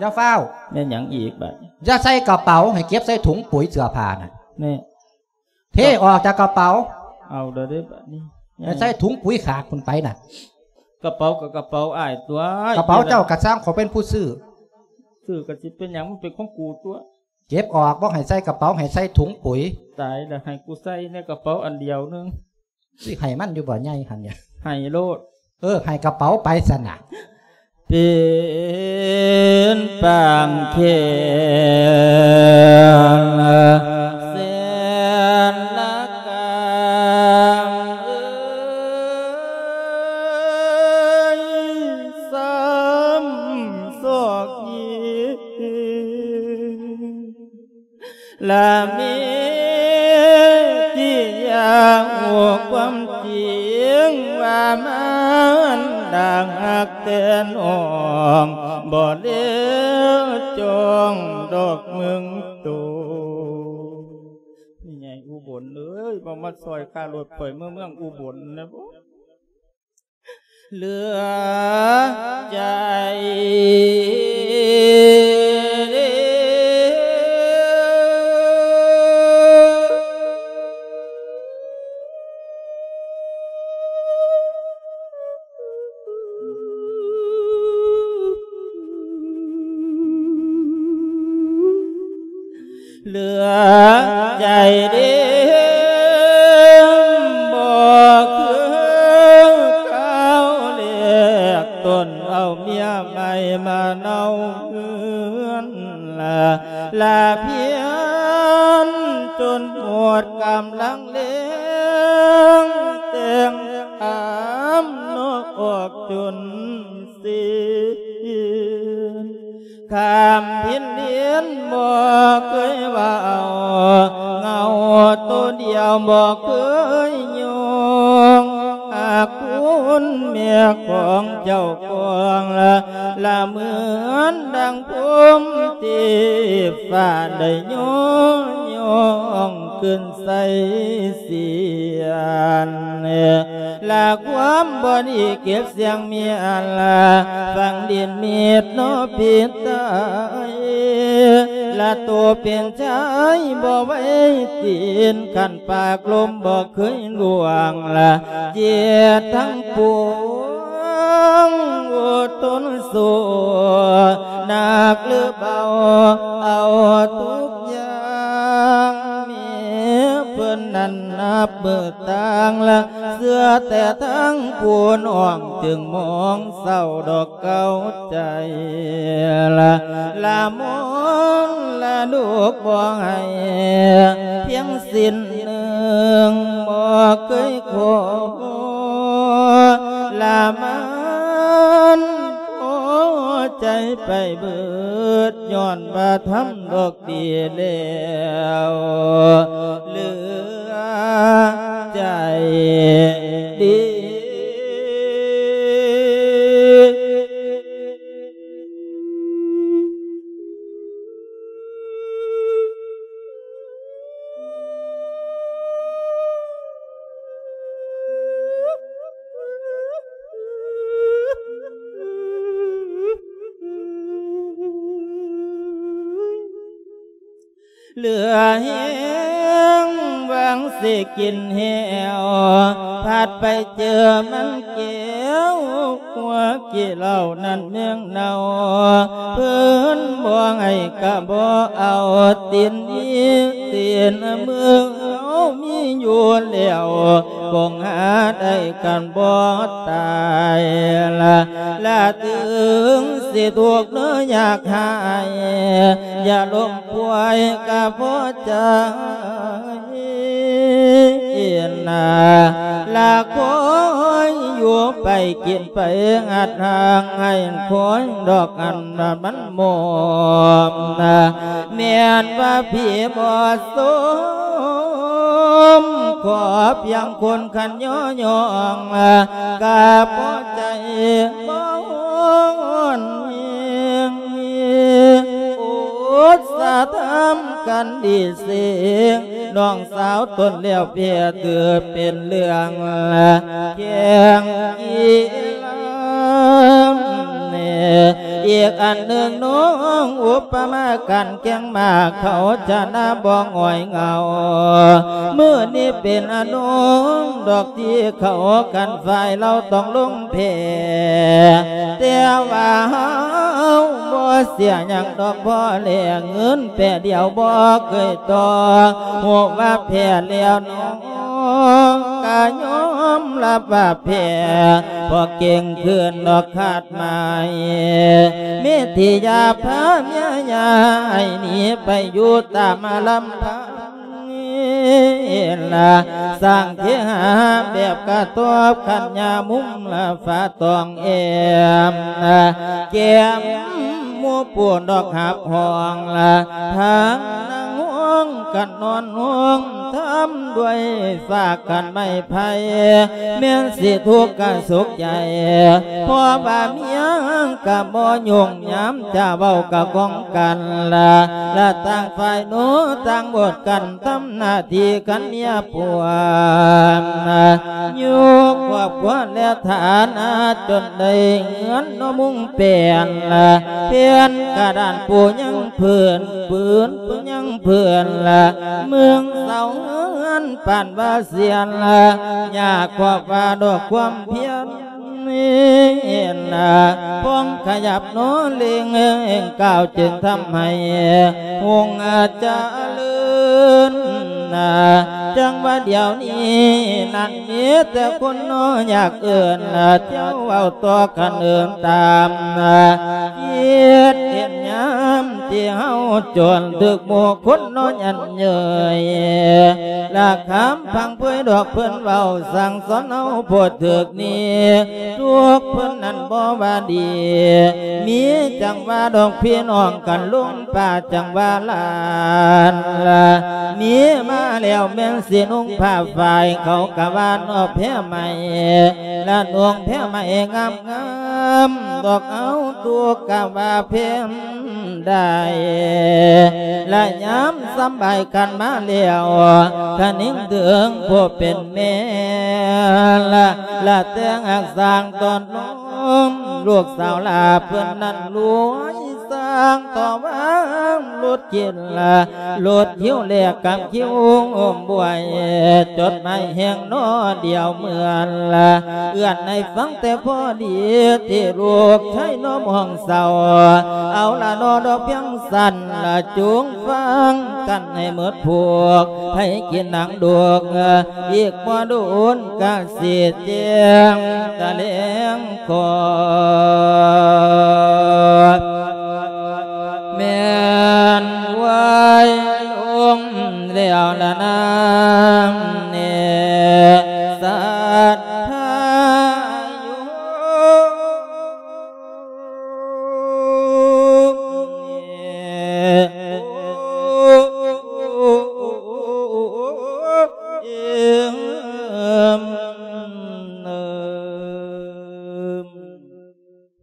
ຢ່າຟ້າວ. ແມ່ນຫຍັງອີກບັດນີ້? ຢ່າໃສ່ກະເປົາ ໃຫ້ເກັບໃສ່ຖົງປຸ໋ຍເສື້ອຜ້ານະ. ແນ່ ເທອອກຈາກກະເປົາ. ເອົາແລ້ວເດ້ບັດນີ້ ໃຫ້ໃສ່ຖົງປຸ໋ຍຂາກພຸ້ນໄປນະ. ກະເປົາກໍກະເປົາອ້າຍຕົວະ. ກະເປົາເຈົ້າກະຊ່າງ ຂ້ອຍເປັນຜູ້ຊື້. ຊື້ກໍຊິເປັນຫຍັງ ມັນເປັນຂອງກູຕົວະ. ເກັບອອກ ບໍ່ໃຫ້ໃສ່ກະເປົາ ໃຫ້ໃສ່ຖົງປຸ໋ຍ. ຕາຍແລ້ວ ໃຫ້ກູໃສ່ໃນກະເປົາອັນດຽວໜຶ່ງ. ຊິໃຫ້ມັນຢູ່ບໍ່ໃຫຍ່ຫັ້ນເນຍ? ໃຫ້ໂລດ. ເອີ ໃຫ້ກະເປົາໄປຊັ້ນນະ. ເປັນປາງແຂນແສນລະກາງເອີຍ ຊ້ຳຊອກຍິງ ລະເມທີ່ຢາກຮູ້ຄວາມຈິງວ່າມານດາກຮັກແຕ່ນ້ອງ ບໍ່ເລວຈ້ອງດອກເມືອງໂຕ. ແມ່ໃຫຍ່ອຸບົນເອີຍ ບໍ່ມາຊ່ອຍຄ່າລົດຂ້ອຍເມືອເມືອງອຸບົນແດ່ບໍ? ເຫຼືອໃຈເດ ເຫຼືອໃຈເດ ບໍ່ຄືຄາວແລກ ຕົນເອົາເມຍໃໝ່ມາເນົາເຮືອນ ລະພຽນຈົນໝົດກຳລັງແລງ ແຕ່ງອາມນອກອອກຈົນ ເສຍ ຂ້າມພິນດິນບໍ່ເຄີຍວ່າເອົາ ເງົາໂຕດຽວບໍ່ເຄີຍຍອງ ຫາກຄຸນແມ່ຂອງເຈົ້າຂອງລະ ລະເໝືອນດັ່ງພົມເທບຟ້າໄດ້ຍໍຍ້ອງຂຶ້ນໃສ່ສຽນ ລະຄວາມບໍ່ດີເກັບສຽງເມຍລະ ຝັງດິນເມັດເນາະເປັນຕາຍ ລະໂຕເປັນຊາຍບໍ່ໄວ້ຕີນ ຄັນປາກລົມບໍ່ເຄີຍລ່ວງລະ ເຈັບທັງປວງອົດທົນສູ້ ໜັກຫຼືເບົາເອົາທຸກຢ່າງ ແມ່ເພິ່ນນັ້ນນັບມື້ ຕ່າງລະເຊື່ອແຕ່ທາງຜູ້ນ້ອງ ຈຶ່ງມອງເສົ້າດອກເກົ່າໃຈລະ ລະມອນລະລູກບໍ່ໃຫ້ພຽງສິ້ນໜຶ່ງ ບໍ່ເຄີຍຂໍລະມານພໍໃຈໄປເບີດ ຍ້ອນວ່າທຳດອກ ດີແລ້ວເຫຼືອໃຈດີ. ເຫຼືອແຮງວ່າ ຍັງຊິກິນແຫ້ວ ພັດໄປເຈີມັນແກ້ວ ຫົວຂີ້ເຫຼົ້ານັ້ນແມ່ງເນົ່າ ເພິ່ນບໍ່ໃຫ້ກະບໍ່ເອົາ ຕີນມີຕີນມືເຮົາມີຢູ່ແລ້ວ ຄົງຫາໄດ້ກັນບໍ່ຕາຍລະ ລະເຖິງຊິທຸກເນີຍາກຫາຍ ຢ່າລົມປ່ວຍກະພໍໃຈ ນາ ລະຄອຍຢູ່ໄປກິນໄປ ອັດຫາງໃຫ້ຄອຍດອກອັນມັນໝົມນາ ແມ່ນວ່າຜີບໍ່ສົມ ຂໍພຽງຄົນຂັນຍໍຍ້ອງ ກະພໍໃຈບໍ່ຮ້ອນແຮງ ອຸດສາທຳກັນດີເສງ ນ້ອງສາວຕົນແລ້ວເພຍເກີດເປັນເລື່ອງແຂ່ງກິລາ ອີກອັນໜຶ່ງນ້ອງອຸປະມາການແຂ່ງມ້າ ເຂົາຊະນະບໍ່ຫງອຍເຫງົາ ມື້ນີ້ເປັນອານົງດອກທີ່ເຂົາກັນ ຝ່າຍລາວຕ້ອງລົງ ແພ້ ແຕ່ວ່າເຮົາບໍ່ເສຍຫຍັງດອກ ພໍແລເງິນແປດຽວບໍ່ເຄີຍຕໍ່ ຮູ້ວ່າແພ້ແລ້ວໜໍ ກະຍອມຮັບວ່າແພ້ ບໍ່ເກັ່ງຂຶ້ນດອກຄາດໝາຍ ເມທິຢາພາເມຍຢາໃຫ້ໜີໄປຢູ່ຕາມລຳພັງ ລະ ສ້າງເຄຫາແບບກະຕອບຂັນຍາມຸມລະຝາຕອງແອມລະ ແກ້ມໝູ່ປູນດອກຮັບຫ້ອງລະ ທາງນາງຫ້ອງກັນນອນຫ້ອງ ທຳດ້ວຍຝາກກັນໄມ້ໄຜ່ ແມ່ນຊິທຸກກະສຸກໃຈ ເພາະວ່າເມຍກະບໍ່ຫຍຸ້ງ ຍາມຈະເວົ້າກະກ້ອງກັນລະ ລະຕ່າງຝ່າຍໂນຕ່າງບົດກັນ ທຳໜ້າທີ່ກັນເມຍຜົວ ຢູ່ຄອບຄົວແລະຖານະ ຈົນໄດ້ເຮືອນເນາະມຸງແປນລະ ແຜ່ນກະດານປູຍັງພື້ນ ປືນປູຍັງພື້ນລະ ເມືອງເສົາເຮືອນປານວ່າເສຍນລະ ຍາກຄວາມວ່າດອກຄວາມພຽນ ເຫັນນະ ພອງຂະຫຍັບໂນເລັງ ກ້າວຈຶ່ງທຳໃຫ້ຮຸ່ງຈະເລີນນະ ຈັ່ງວ່າດຽວນີ້ນັ້ນມີແຕ່ຄົນເນາະຢາກເອີ້ນນະ ເຈົ້າເວົ້າຕໍ່ກັນເອີ້ນຕາມນະ ຄິດເຫັນຍາມທີ່ເຮົາຈົນ ຖືກໝູ່ຄົນເນາະຫຍັນ ເຍີ້ຍ ລະຄຳພັງເຜີຍດອກເພິ່ນເວົ້າ ສັ່ງສອນເຮົາໂພດຖືກນີ້ ທຸກເພິ່ນນັ້ນບໍ່ວ່າດີ ມີຈັ່ງວ່າດອກພີ່ນ້ອງກັນ ລຸງປ້າຈັ່ງວ່າຫຼານລະ ມີມາແລ້ວແມ່ນຊິນຸ່ງຜ້າຝ້າຍ ເຂົາກະວ່າເນາະແພໄໝ ລະນຸ່ງແພໄໝງາມ ງາມດອກເອົາ ທຸກກະວ່າເພມໄດ້ ລະຍາມສຳບາຍກັນມາແລ້ວ ຄະນຶງເຖິງຜູ້ເປັນແມ່ລະ ລະແຕ່ງຮັກສ້າງຕ້ອນລົມ ລູກສາວຫຼ້າເພິ່ນນັ້ນລວຍສ້າງຕໍ່ວ່າຫຼຸດກິນລະ ລົດຫິ້ວແລກກັບຫິ້ວອົມບວຍ ຈົດໝາຍແຫ່ງໜໍດຽວເມືອນລະ ເອື້ອນໃຫ້ຟັງແຕ່ພໍດີ ທີ່ລູກຊາຍນ້ອມຫ້ອງເຊົາ ເອົາລະໜໍດອກພຽງສັ້ນລະ ຈົ່ງຟັງກັນໃຫ້ໝົດພວກ ໃຫ້ກິນນາງດວງ ອີກບໍ່ດົນກະຊິແຈ້ງຕະແຫຼງ ຂໍ ແມ່ນໄວລົງແລ້ວລະນາງແນ່ ສັດທາຢູ່ແນ່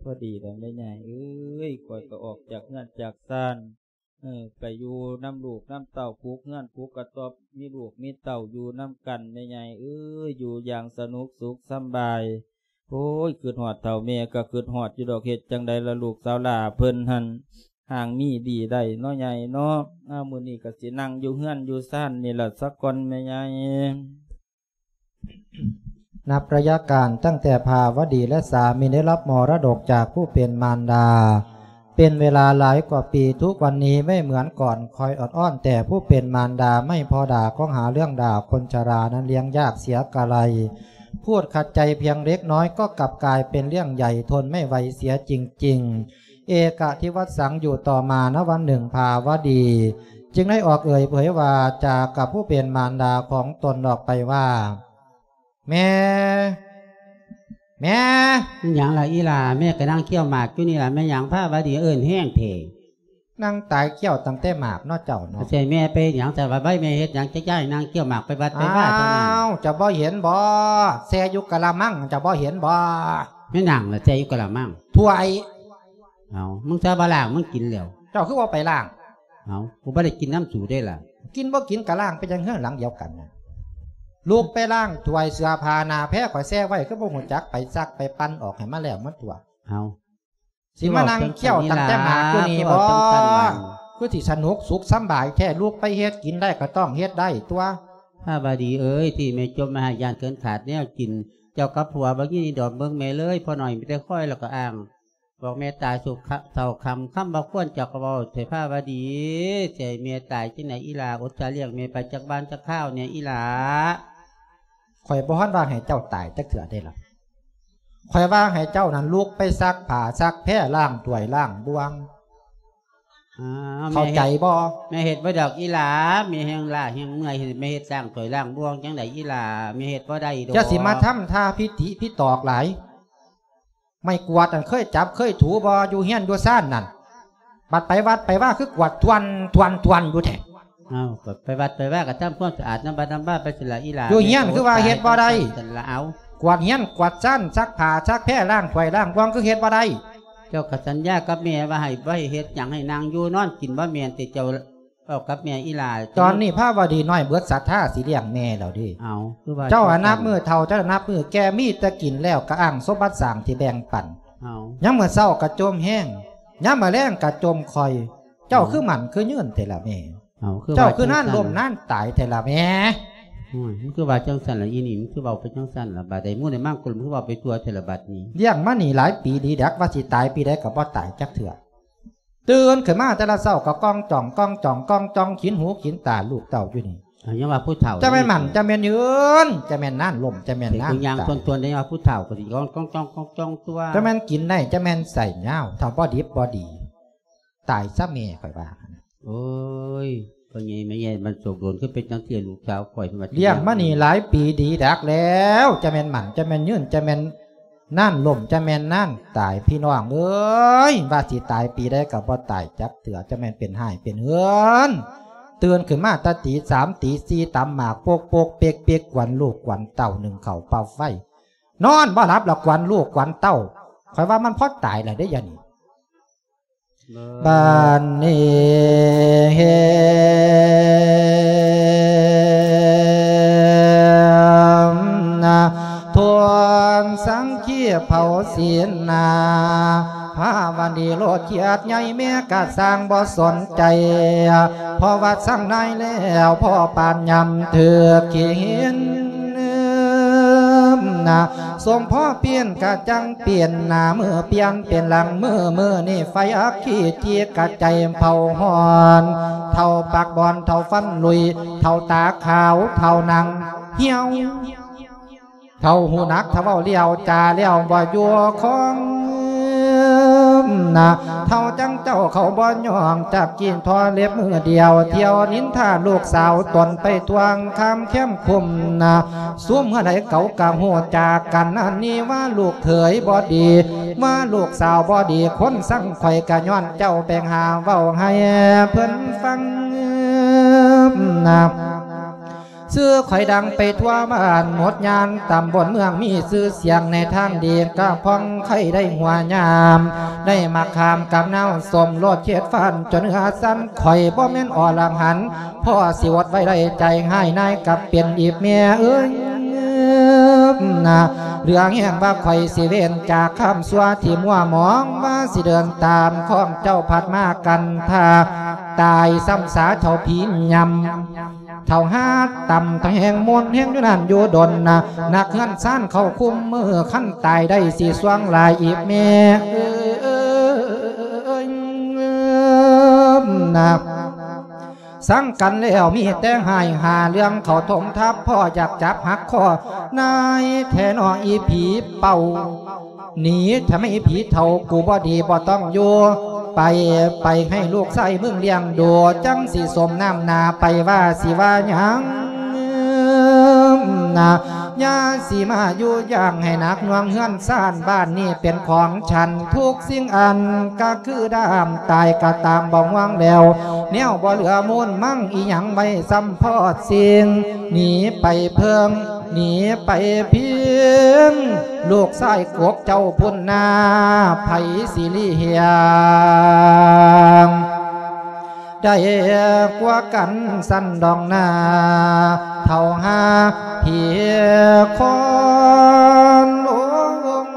ພໍດີແລ້ວແມ່ໃຫຍ່ເອີຍ ຂ້ອຍກໍອອກຈາກເຮືອນຈາກຊານ ເອີ ໄປຢູ່ນຳລູກນຳເຕົ້າ ປູກເຮືອນປູກກະຕ໊ອບ ມີລູກມີເຕົ້າຢູ່ນຳກັນ ແມ່ໃຫຍ່ເອີຍ ຢູ່ຢ່າງສະໜຸກສຸກສຳບາຍ. ໂອ້ຍ ຄຶດຮອດເຖົ້າແມ່ກໍຄຶດຮອດຢູ່ດອກ ເຮັດຈັ່ງໃດລະລູກສາວຫຼ້າເພິ່ນຫັ້ນ ຮ່າງມີດີໄດ້ເນາະຍາຍເນາະ. ອ້າວ ມື້ນີ້ກໍຊິນັ່ງຢູ່ເຮືອນຢູ່ຊານນີ້ລະສາກ່ອນແມ່ຍາຍ. ນັບໄລຍະການຕັ້ງແຕ່ພາວະດີແລະສາມີໄດ້ຮັບມໍລະດົກຈາກຜູ້ເປັນມານດາ ເປັນເວລາຫຼາຍກວ່າປີ, ທຸກວັນນີ້ໄມ່ເໝືອນກ່ອນ, ຄອຍອອດອ້ອນແຕ່ຜູ້ເປັນມານດາ, ໄມ່ພໍດ່າຂອງຫາເລື່ອງດ່າ, ຄົນຊະລານັ້ນລ້ຽງຍາກເສຍກະໄລ, ພູດຂັດໃຈພຽງເລັກນ້ອຍກໍກັບກາຍເປັນເລື່ອງໃຫຍ່, ທົນໄມ່ໄຫວເສຍຈິງໆ. ເອກະທິວັດສັງ ຢູ່ຕໍ່ມານະວັນໜຶ່ງ ພາວະດີຈຶ່ງໄດ້ອອກເອີ່ຍເຜີຍວາຈາກັບຜູ້ເປັນມານດາຂອງຕົນອອກໄປວ່າ, ແມ່ ແມ່. ແມ່ນຫຍັງລະອີ່ຫຼ້າ? ແມ່ກໍນັ່ງຄ້ຽວໝາກຢູ່ນີ້ລະ. ແມ່ນຫຍັງພາວະດີເອີ້ນແຮງແທ້? ນັ່ງຕາຍຄ້ຽວຕັ້ງແຕ່ໝາກເນາະເຈົ້າເນາະ. ໃສ່ແມ່ໄປເຮັດຫຍັງ? ໃສ່ວ່າໄວ້ແມ່ເຮັດຫຍັງ? ຈະຍ້າຍນັ່ງຄ້ຽວໝາກໄປວັດໄປວາເທົ່ານັ້ນ. ອ້າວ ເຈົ້າບໍ່ເຫັນບໍ່? ແຊ່ຢູ່ກະລະມັງ ເຈົ້າບໍ່ເຫັນບໍ່? ແມ່ນຫຍັງລະແຊ່ຢູ່ກະລະມັງ? ຖ້ວຍ. ເອົາ ມຶງຊະບໍ່ລ້າງ ມັນກິນແລ້ວ. ເຈົ້າຄືບໍ່ໄປລ້າງ? ເອົາ ກູບໍ່ໄດ້ກິນນຳສູເດ້ລະ. ກິນບໍ່ກິນກໍລ້າງ ເປັນຫຍັງເຮືອນຫຼັງດຽວກັນນະ. ລຸກໄປລ້າງຖ້ວຍເສື້ອຜ້າໜ້າແພ ຂ້ອຍແຊ່ໄວ້ ຄືບໍ່ຮູ້ຈັກໄປຊັກໄປປັ່ນອອກໃຫ້ມັນແລ້ວມັນຖ້ວຍ. ເອົາ ຊິມານັ່ງຄ້ຽວຕັ້ງແຕ່ໝາກຢູ່ນີ້ບໍ່? ຄືຊິສະໜຸກສຸກສຳບາຍແທ້. ລຸກໄປເຮັດກິນໄດ້ກໍຕ້ອງເຮັດໄດ້ຕົວະ. ພາວະດີເອີຍ ທີ່ແມ່ຈົມມາໃຫ້ຢ້ານເກີນຂາດແນວກິນ. ເຈົ້າກັບຜົວບໍ່ຍິນດີດອກເບິ່ງແມ່ເລີຍ. ພໍ່ນ້ອຍມີແຕ່ຄອຍແລ້ວກໍອ້າງ ບອກແມ່ຕາຍສຸກເຖົ້າຄ່ຳ ຄຳບໍ່ຄວນເຈົ້າກໍເວົ້າໃສ່ພາວະດີ. ຊິໃຫ້ແມ່ຕາຍຈັ່ງໃດອີ່ຫຼ້າ? ອົດສາລ້ຽງແມ່ໄປຈັກບ້ານຈັກຄາວແດ່ອີ່ຫຼ້າ. ຂ້ອຍບໍ່ທັນວ່າໃຫ້ເຈົ້າຕາຍຈັກເທື່ອເດ້ລະ. ຂ້ອຍວ່າໃຫ້ເຈົ້ານັ້ນລຸກໄປຊັກຜ້າຊັກແພ ລ້າງຖ້ວຍລ້າງບ່ວງ. ອ້າວ ເຂົ້າໃຈບໍ່? ແມ່ເຮັດ ແມ່ເຮັດບໍ່ດອກອີ່ຫຼ້າ. ແມ່ແຮງລ້າແຮງເມື່ອຍ ແມ່ເຮັດລ້າງຖ້ວຍລ້າງບ່ວງຈັ່ງໃດອີ່ຫຼ້າ? ແມ່ເຮັດບໍ່ໄດ້ດອກ. ຢ່າຊິມາທຳທ່າພິຕິພິຕອກຫຼາຍ. ໄມ້ກວາດນັ້ນເຄີຍຈັບເຄີຍຖູບໍ່ ຢູ່ເຮືອນຢູ່ຊານນັ້ນ? ບັດໄປວັດໄປວາຄືກວາດຖ້ວນໆໆຢູ່ແທ້. ເອົາ ກໍໄປວັດໄປວາກໍທຳຄວາມສະອາດນຳວັດນຳວາໄປຊັ້ນລະອີ່ຫຼ້າ. ຢູ່ເຮືອນຄືວ່າເຮັດບໍ່ໄດ້? ຊັ້ນລະເອົາ ກວາດເຮືອນກວາດຊານ ຊັກຜ້າຊັກແພ ລ້າງຖ້ວຍລ້າງບ່ວງ ຄືເຮັດບໍ່ໄດ້? ເຈົ້າກໍສັນຍາກັບແມ່ວ່າໃຫ້ ບໍ່ໃຫ້ເຮັດຫຍັງ ໃຫ້ນັ່ງຢູ່ນອນກິນ ບໍ່ແມ່ນຕິເຈົ້າ? ເວົ້າກັບແມ່ອີ່ຫຼ້າ. ຕອນນີ້ພາວະດີນ້ອຍເບິດສັດທາຊິລ້ຽງແມ່ແລ້ວເດ້. ເອົາ ຄືວ່າ ເຈົ້າອະນັບມື້ເຖົ້າ ເຈົ້າອະນັບມື້ແກ່ ມີແຕ່ກິນແລ້ວກໍອ້າງສົມບັດສ້າງທີ່ແບ່ງປັນ. ເອົາ ຍາມມື້ເຊົ້າກໍຈົ່ມແຮງ ຍາມມື້ແລງກໍຈົ່ມຂ້ອຍ. ເຈົ້າ ເອົາ ຄືໝັ້ນຄືຍືນແທ້ລະແມ່? ເອົາ ຄື ເຈົ້າຄືນານລົ້ມນານຕາຍແທ້ລະແມ່? ໂອ້ຍ ມັນຄືວ່າຈັ່ງຊັ້ນລະອີ່ນີ້? ມັນຄືເວົ້າໄປຈັ່ງຊັ້ນລະ? ບາດໃດໝູ່ໃດມັງຄົນ ມັນຄືເວົ້າໄປທົ່ວແທ້ລະບາດນີ້? ລ້ຽງມານີ້ຫຼາຍປີດີດັກ ວ່າຊິຕາຍປີໃດກໍບໍ່ຕາຍຈັກເທື່ອ. ຕື່ນຂຶ້ນມາແຕ່ລະເຊົ້າກໍກ້ອງຈ່ອງ ກ້ອງຈ່ອງ ກ້ອງຈ່ອງ ຂິນຫູຂິນຕາລູກເຕົ້າຢູ່ນີ້. ເອົາ ຍັງວ່າຜູ້ເຖົ້າ ຈະແມ່ນໝັ້ນ ຈະແມ່ນຍືນ ຈະແມ່ນນານລົ້ມ ຈະແມ່ນນານຕາຍ ຍ່າງຊົນໆ ໄດ້ວ່າຜູ້ເຖົ້າກໍຊິກ້ອງ ກ້ອງ ກ້ອງ ກ້ອງ ຈ້ອງຕົວະ. ຈະແມ່ນກິນໄດ້ ຈະແມ່ນໃສ່ຍາວ ເຖົ້າບໍ່ດິບບໍ່ດີ ຕາຍຊະແມ່ ຂ້ອຍວ່າ. ໂອ້ຍ ພໍ່ໃຫຍ່ແມ່ໃຫຍ່ ມັນໂສກໂດນ ຄືເປັນຈັ່ງຊີ້ ລູກສາວຂ້ອຍ ເພິ່ນວ່າ ລ້ຽງມານີ້ຫຼາຍປີດີດັກແລ້ວ ຈະແມ່ນໝັ້ນ ຈະແມ່ນຍືນ ຈະແມ່ນ ນານລົ້ມ ຈະແມ່ນນານຕາຍ ພີ່ນ້ອງເອີຍ ວ່າຊິຕາຍປີໃດກໍບໍ່ຕາຍຈັກເທື່ອ ຈະແມ່ນເປັນຮ້າຍເປັນເຮືອນ. ຕື່ນຂຶ້ນມາແຕ່ຕີສາມຕີສີ່ ຕຳໝາກໂປກໆເປັກໆ ກວນລູກກວນເຕົ້າ ໜຶ້ງເຂົ້າເປົ່າໄຟ ນອນບໍ່ຫຼັບລະກວນລູກກວນເຕົ້າ. ຂ້ອຍວ່າມັນພໍຕາຍແລ້ວເດ້ ດຽວນີ້. ບາດນີ້ເຫັນນະ ທວນສັງຄີເຜົາສີນນາ ພາວະດີໂລດຄຽດໃຫຍ່ ແມ່ກະຊ່າງບໍ່ສົນໃຈ ເພາະວ່າສັ່ງນາຍແລ້ວ ພໍປານຍາມຖືກຂີ້ຫີນນະ ສົມພໍປ່ຽນກະຈັ່ງ ປ່ຽນໜ້າມືປ່ຽນເປັນຫຼັງມື ມື້ນີ້ໄຟອັກຄີທີ່ກະໃຈເຜົາຮ້ອນ ເຖົ້າປາກບອນ ເຖົ້າຟັນລຸຍ ເຖົ້າຕາຂາວ ເຖົ້າໜັງຫ່ຽວ ເຖົ້າຫູໜັກ ເຖົ້າເວົ້າລ້ຽວຈາແລ້ວບໍ່ຢູ່ຄົງນະ ເຖົ້າຈັ່ງເຈົ້າເຂົາບໍ່ຍອມຈັບກິນ ທໍເລັບມືດຽວ ທ່ຽວນິນທາລູກສາວຕົນໄປທົ່ວງຄາມແຄມຄຸ້ມນະ. ຊຸມເຮືອໃດເຂົາກະຮູ້ຈັກກັນ ອັນນີ້ວ່າລູກເຂີຍບໍ່ດີ ວ່າລູກສາວບໍ່ດີ ຄົນຊັງຂ້ອຍກະຍ້ອນເຈົ້າ ແບ່ງຫາເວົ້າໃຫ້ເພິ່ນຟັງນະ. ຊື່ຂ້ອຍດັງໄປທົ່ວບ້ານໝົດ ຍ່ານຕຳບົນເມືອງ ມີຊື່ສຽງໃນທາງດີ ກະຜ່ອງໄຄໄດ້ຫົວຍາມ ໄດ້ມາຂ້າມກັບນາວ ສົມໂລດເຂດຟັນຈົນເຫື່ອສັ່ນ ຂ້ອຍບໍ່ແມ່ນອໍລະຫັນ ພໍຊິອົດໄວ້ໄດ້ໃຈຮ້າຍ ນາຍກັບເປັນອີກແມ່ເອີຍ ນະ ເຫຼືອແຮງວ່າຂ້ອຍຊິເວັ້ນຈາກຄວາມຊົ່ວທີ່ມົວໝອງ ວ່າຊິເດີນຕາມຂອງເຈົ້າພັດມາກັນທາ ຕາຍຊ້ຳສາເຖົ້າຜີຍ່ຳ ເຖົ້າຫາຕ່ຳ ເຖົ້າແຮງມົນແຮງຢູ່ນັ້ນຢູ່ດົນນະ ນັກເຮືອນຊານເຂົ້າຄຸມມື ຄັນຕາຍໄດ້ຊິສ່ວງຫຼາຍອີກແມ່ເອີຍນະ. ສັງກັນແລ້ວມີແຕ່ຮ້າຍຫາເລື່ອງ ເຂົ້າຖົມທັບພໍ່ຢາກຈັບຫັກຄໍ ນາຍແທ້ໜໍອີຜີເປົ່າ ໜີທຳໄມຜີເຖົ້າ ກູບໍ່ດີບໍ່ຕ້ອງຢູ່ ໄປ ໄປໃຫ້ລູກຊາຍມຶງລ້ຽງດູ ຈັ່ງຊິສົມນ້ຳໜ້າ ໄປວ່າຊິວ່າຫຍັງນະ ຢ່າຊິມາຍຸຍົງໃຫ້ໜັກໜ່ວງເຮືອນຊານ ບ້ານນີ້ເປັນຂອງ ສັນທຸກສິ່ງອັນກະຄືດ້າມຕາຍກະຕາມບໍ່ຫວງແລ້ວ ແນວບໍ່ເຫຼືອມູນມັງອີ່ຫຍັງໄວ້ຊ້ຳພໍດສິ່ງ ໜີໄປເພິ່ງ ໜີໄປພິງ ລູກຊາຍກົກເຈົ້າພຸ້ນນາ ໃຜຊິລີ້ຫຽງ ໄດ້ກວ່າກັນຊັ້ນດອກນາ ເຖົ້າຫາເພຄອນລົງ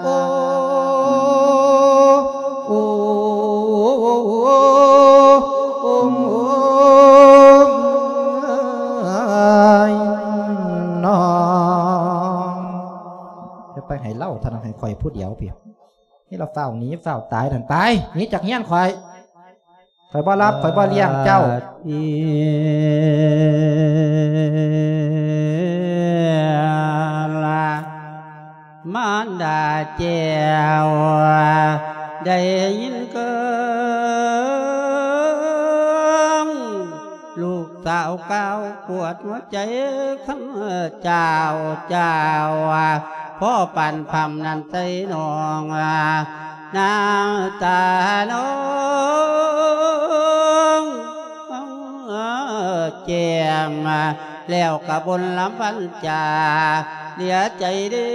ໂອ້ ໂອ້ ໂອ້ ໂອ້ ຍ ນ້ອງ ຈະໄປໃຫ້ລາວເທົ່ານັ້ນ ໃຫ້ຂ້ອຍຜູ້ດຽວພີ້ ນີ້ລາວຟ້າວໜີຟ້າວຕາຍນັ້ນ ໄປ ໜີຈາກເຮືອນຂ້ອຍ ຂ້ອຍບໍ່ຮັບ ຂ້ອຍບໍ່ລ້ຽງເຈົ້າ ມານດາແກ້ວ ໄດ້ຍິນເກີງ ລູກສາວກ່າວປວດຫົວໃຈ ຄຳເຈົ້າ ເຈົ້າ ພໍປານພຳນັ້ນໃສ່ນ້ອງ ນ້ຳຕານ້ອງແຈ່ມ ແລ້ວກະບົນລຳພັນຈາ ເຫຼືອໃຈເດີ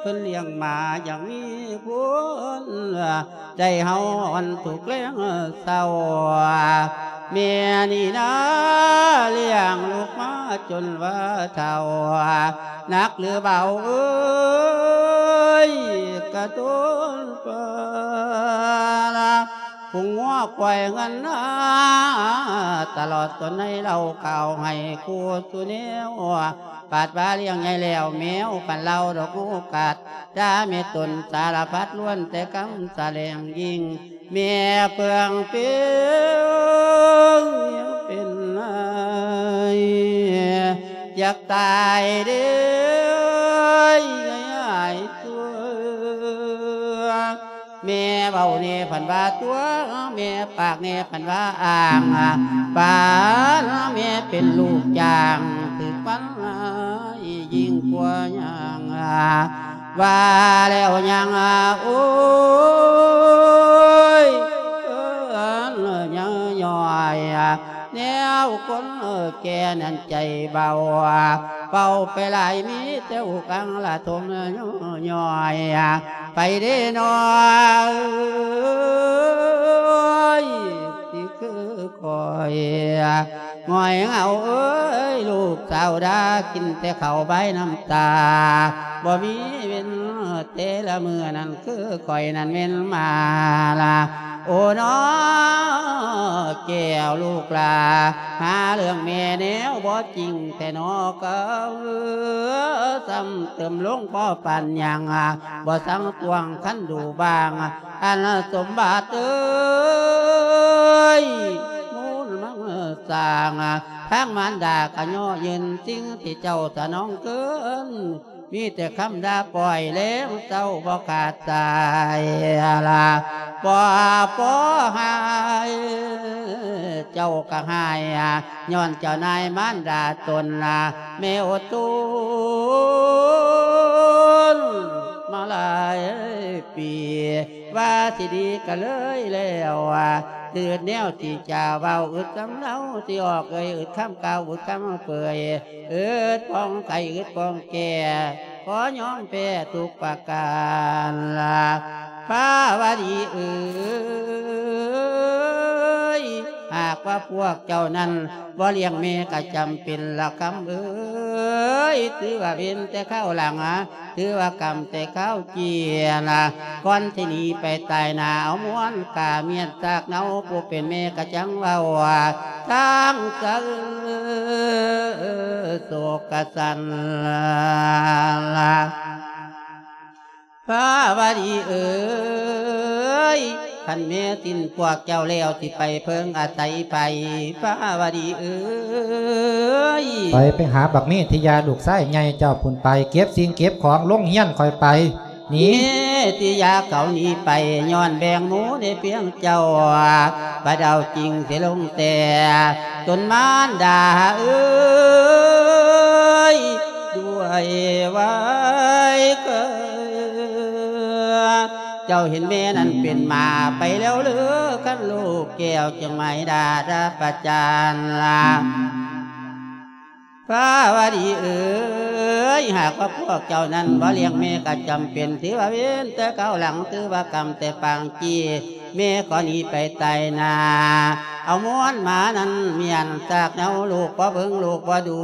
ເພິ່ນລ້ຽງໝາຢ່າງມີຄຸນ ໄດ້ເຮົາອ່ອນທຸກແລງເຊົາ ແມ່ນີ້ນາລ້ຽງລູກມາຈົນວ່າເຖົ້າ ໜັກຫຼືເບົາເອີຍ ກະທົນປານ ພຸງງົວຄວາຍເງິນນາ ຕະຫຼອດຕົນໃນເລົ່າເຂົ້າໃຫ້ຄູ່ສູ່ແນວ ປາດວ່າລ້ຽງໃຫຍ່ແລ້ວແມວ ຄັນເລົ່າດອກໂອກາດ ດາເມດຕົນສາລະພັດ ລ້ວນແຕ່ຄຳສະແຫຼງຍິ່ງ ແມ່ເປືອງເປັນ ຍັງເປັນໄອ ຢາກຕາຍເດ້ ຍາຍຕົວ ແມ່ເວົ້າແນ່ພັນວ່າຕົວ ແມ່ປາກແນ່ພັນວ່າອ້າງ ປານແມ່ເປັນລູກຈ້າງ ຖືກມັນຮ້າຍຍິ່ງກວ່າຍ່າງ ວ່າແລ້ວຍັງ ໂອ້ຍ ຍັງຍ່ອຍ ແນວຄົນແກ່ນັ້ນໃຈເບົາ ເວົ້າໄປຫຼາຍມີແຕ່ອຸກອັງລະທົມຍ່ອຍ ໄປເດ້ນ້ອງເອີຍ ຊິຄືຂ້ອຍ ຫງອຍເຫງົາເອີຍ ລູກສາວດາ ກິນແຕ່ເຂົ້າບາຍນ້ຳຕາ ບໍ່ມີເວັນແຕ່ລະມື້ນັ້ນ ຄືຂ້ອຍນັ້ນແມ່ນໝາລະ ໂອ້ນ້ອງແກ້ວລູກຫຼ້າ ຫາເລື່ອງແມ່ແນວບໍ່ຈິງແທ້ໜໍ ກໍຊ້ຳເຕີມລົງພໍປານຫຍັງ ບໍ່ສັງຕວງຄັນດູບາງ ອັນສົມບັດເອີຍ ມູນມັງສ້າງ ທາງມານດາກະຍໍ້ຢືນ ສິ່ງທີ່ເຈົ້າສະໜອງເກີນ ມີແຕ່ຄຳດ່າປ່ອຍແລງເຊົາບໍ່ຂາດສາຍລະ ບໍ່ພໍຫາຍ ເຈົ້າກະຫາຍ ຍ້ອນເຈົ້ານາຍມານດາຕົນລະ ແມ່ອົດທົນມາຫຼາຍປີ ວ່າຊິດີກະເລີຍແລ້ວ ອາ ອຶດແນວທີ່ຈະເວົ້າ ອຶດຄຳເລົ່າທີ່ອອກເອີຍ ອຶດຄຳກ່າວ ອຶດຄຳເປີຍ ອຶດປ້ອງໄກ່ ອຶດປ້ອງແກ່ ຂໍຍອມແພ້ທຸກປະການລະ ພາວະດີເອີຍ. ຫາກວ່າພວກເຈົ້ານັ້ນບໍ່ລ້ຽງແມ່ກໍຈຳເປັນລະຄຳເອີຍ ຖືວ່າເວນແຕ່ຄາວຫຼັງ ຖືວ່າກຳແຕ່ຄາວເຈຍນະ ກ່ອນທີ່ໜີໄປຕາຍໜ້າ ເອົາມ້ວນກາມຽນຊາກເນົາ ຜູ້ເປັນແມ່ກໍຈັ່ງເວົ້າ ທາງເຊີໂສກະສັນລະ ພາວະດີເອີຍ ຄັນແມ່ສິ້ນພວກເຈົ້າແລ້ວ ຊິໄປເພິ່ງອາໄສໃຜ ພາວະດີເອີຍ ໄປ ໄປຫາບັກເມທິຍາລູກຊາຍໃຫຍ່ເຈົ້າພຸ້ນໄປ ເກັບສິ່ງເກັບຂອງລົງຮຽນຂ້ອຍໄປ ນີ້ ເມທິຍາເຂົາໜີໄປ ຍ້ອນແບ່ງໝູ່ໃນພຽງເຈົ້າ ບາດເອົາຈິງເສຍລົງແຕ່ ຕົນມານດາເອີຍ ດ້ວຍໄວເກີນ ເຈົ້າເຫັນແມ່ນັ້ນເປັນໝາໄປແລ້ວເລີ ຄັນລູກແກ້ວຈຶ່ງໄມດ້າດາປະຈານລະ ພາວະດີເອີຍ ຫາກວ່າພວກເຈົ້ານັ້ນບໍ່ລ້ຽງແມ່ກໍຈຳເປັນ ຖືວ່າເວນແຕ່ຄາວຫຼັງ ຖືວ່າກຳແຕ່ປາງຈີ ແມ່ກໍໜີໄປຕາຍໜ້າ ເອົາມ້ວນມານັ້ນມຽນຊາກເນົາ ລູກບໍ່ເບິ່ງ ລູກບໍ່ດູ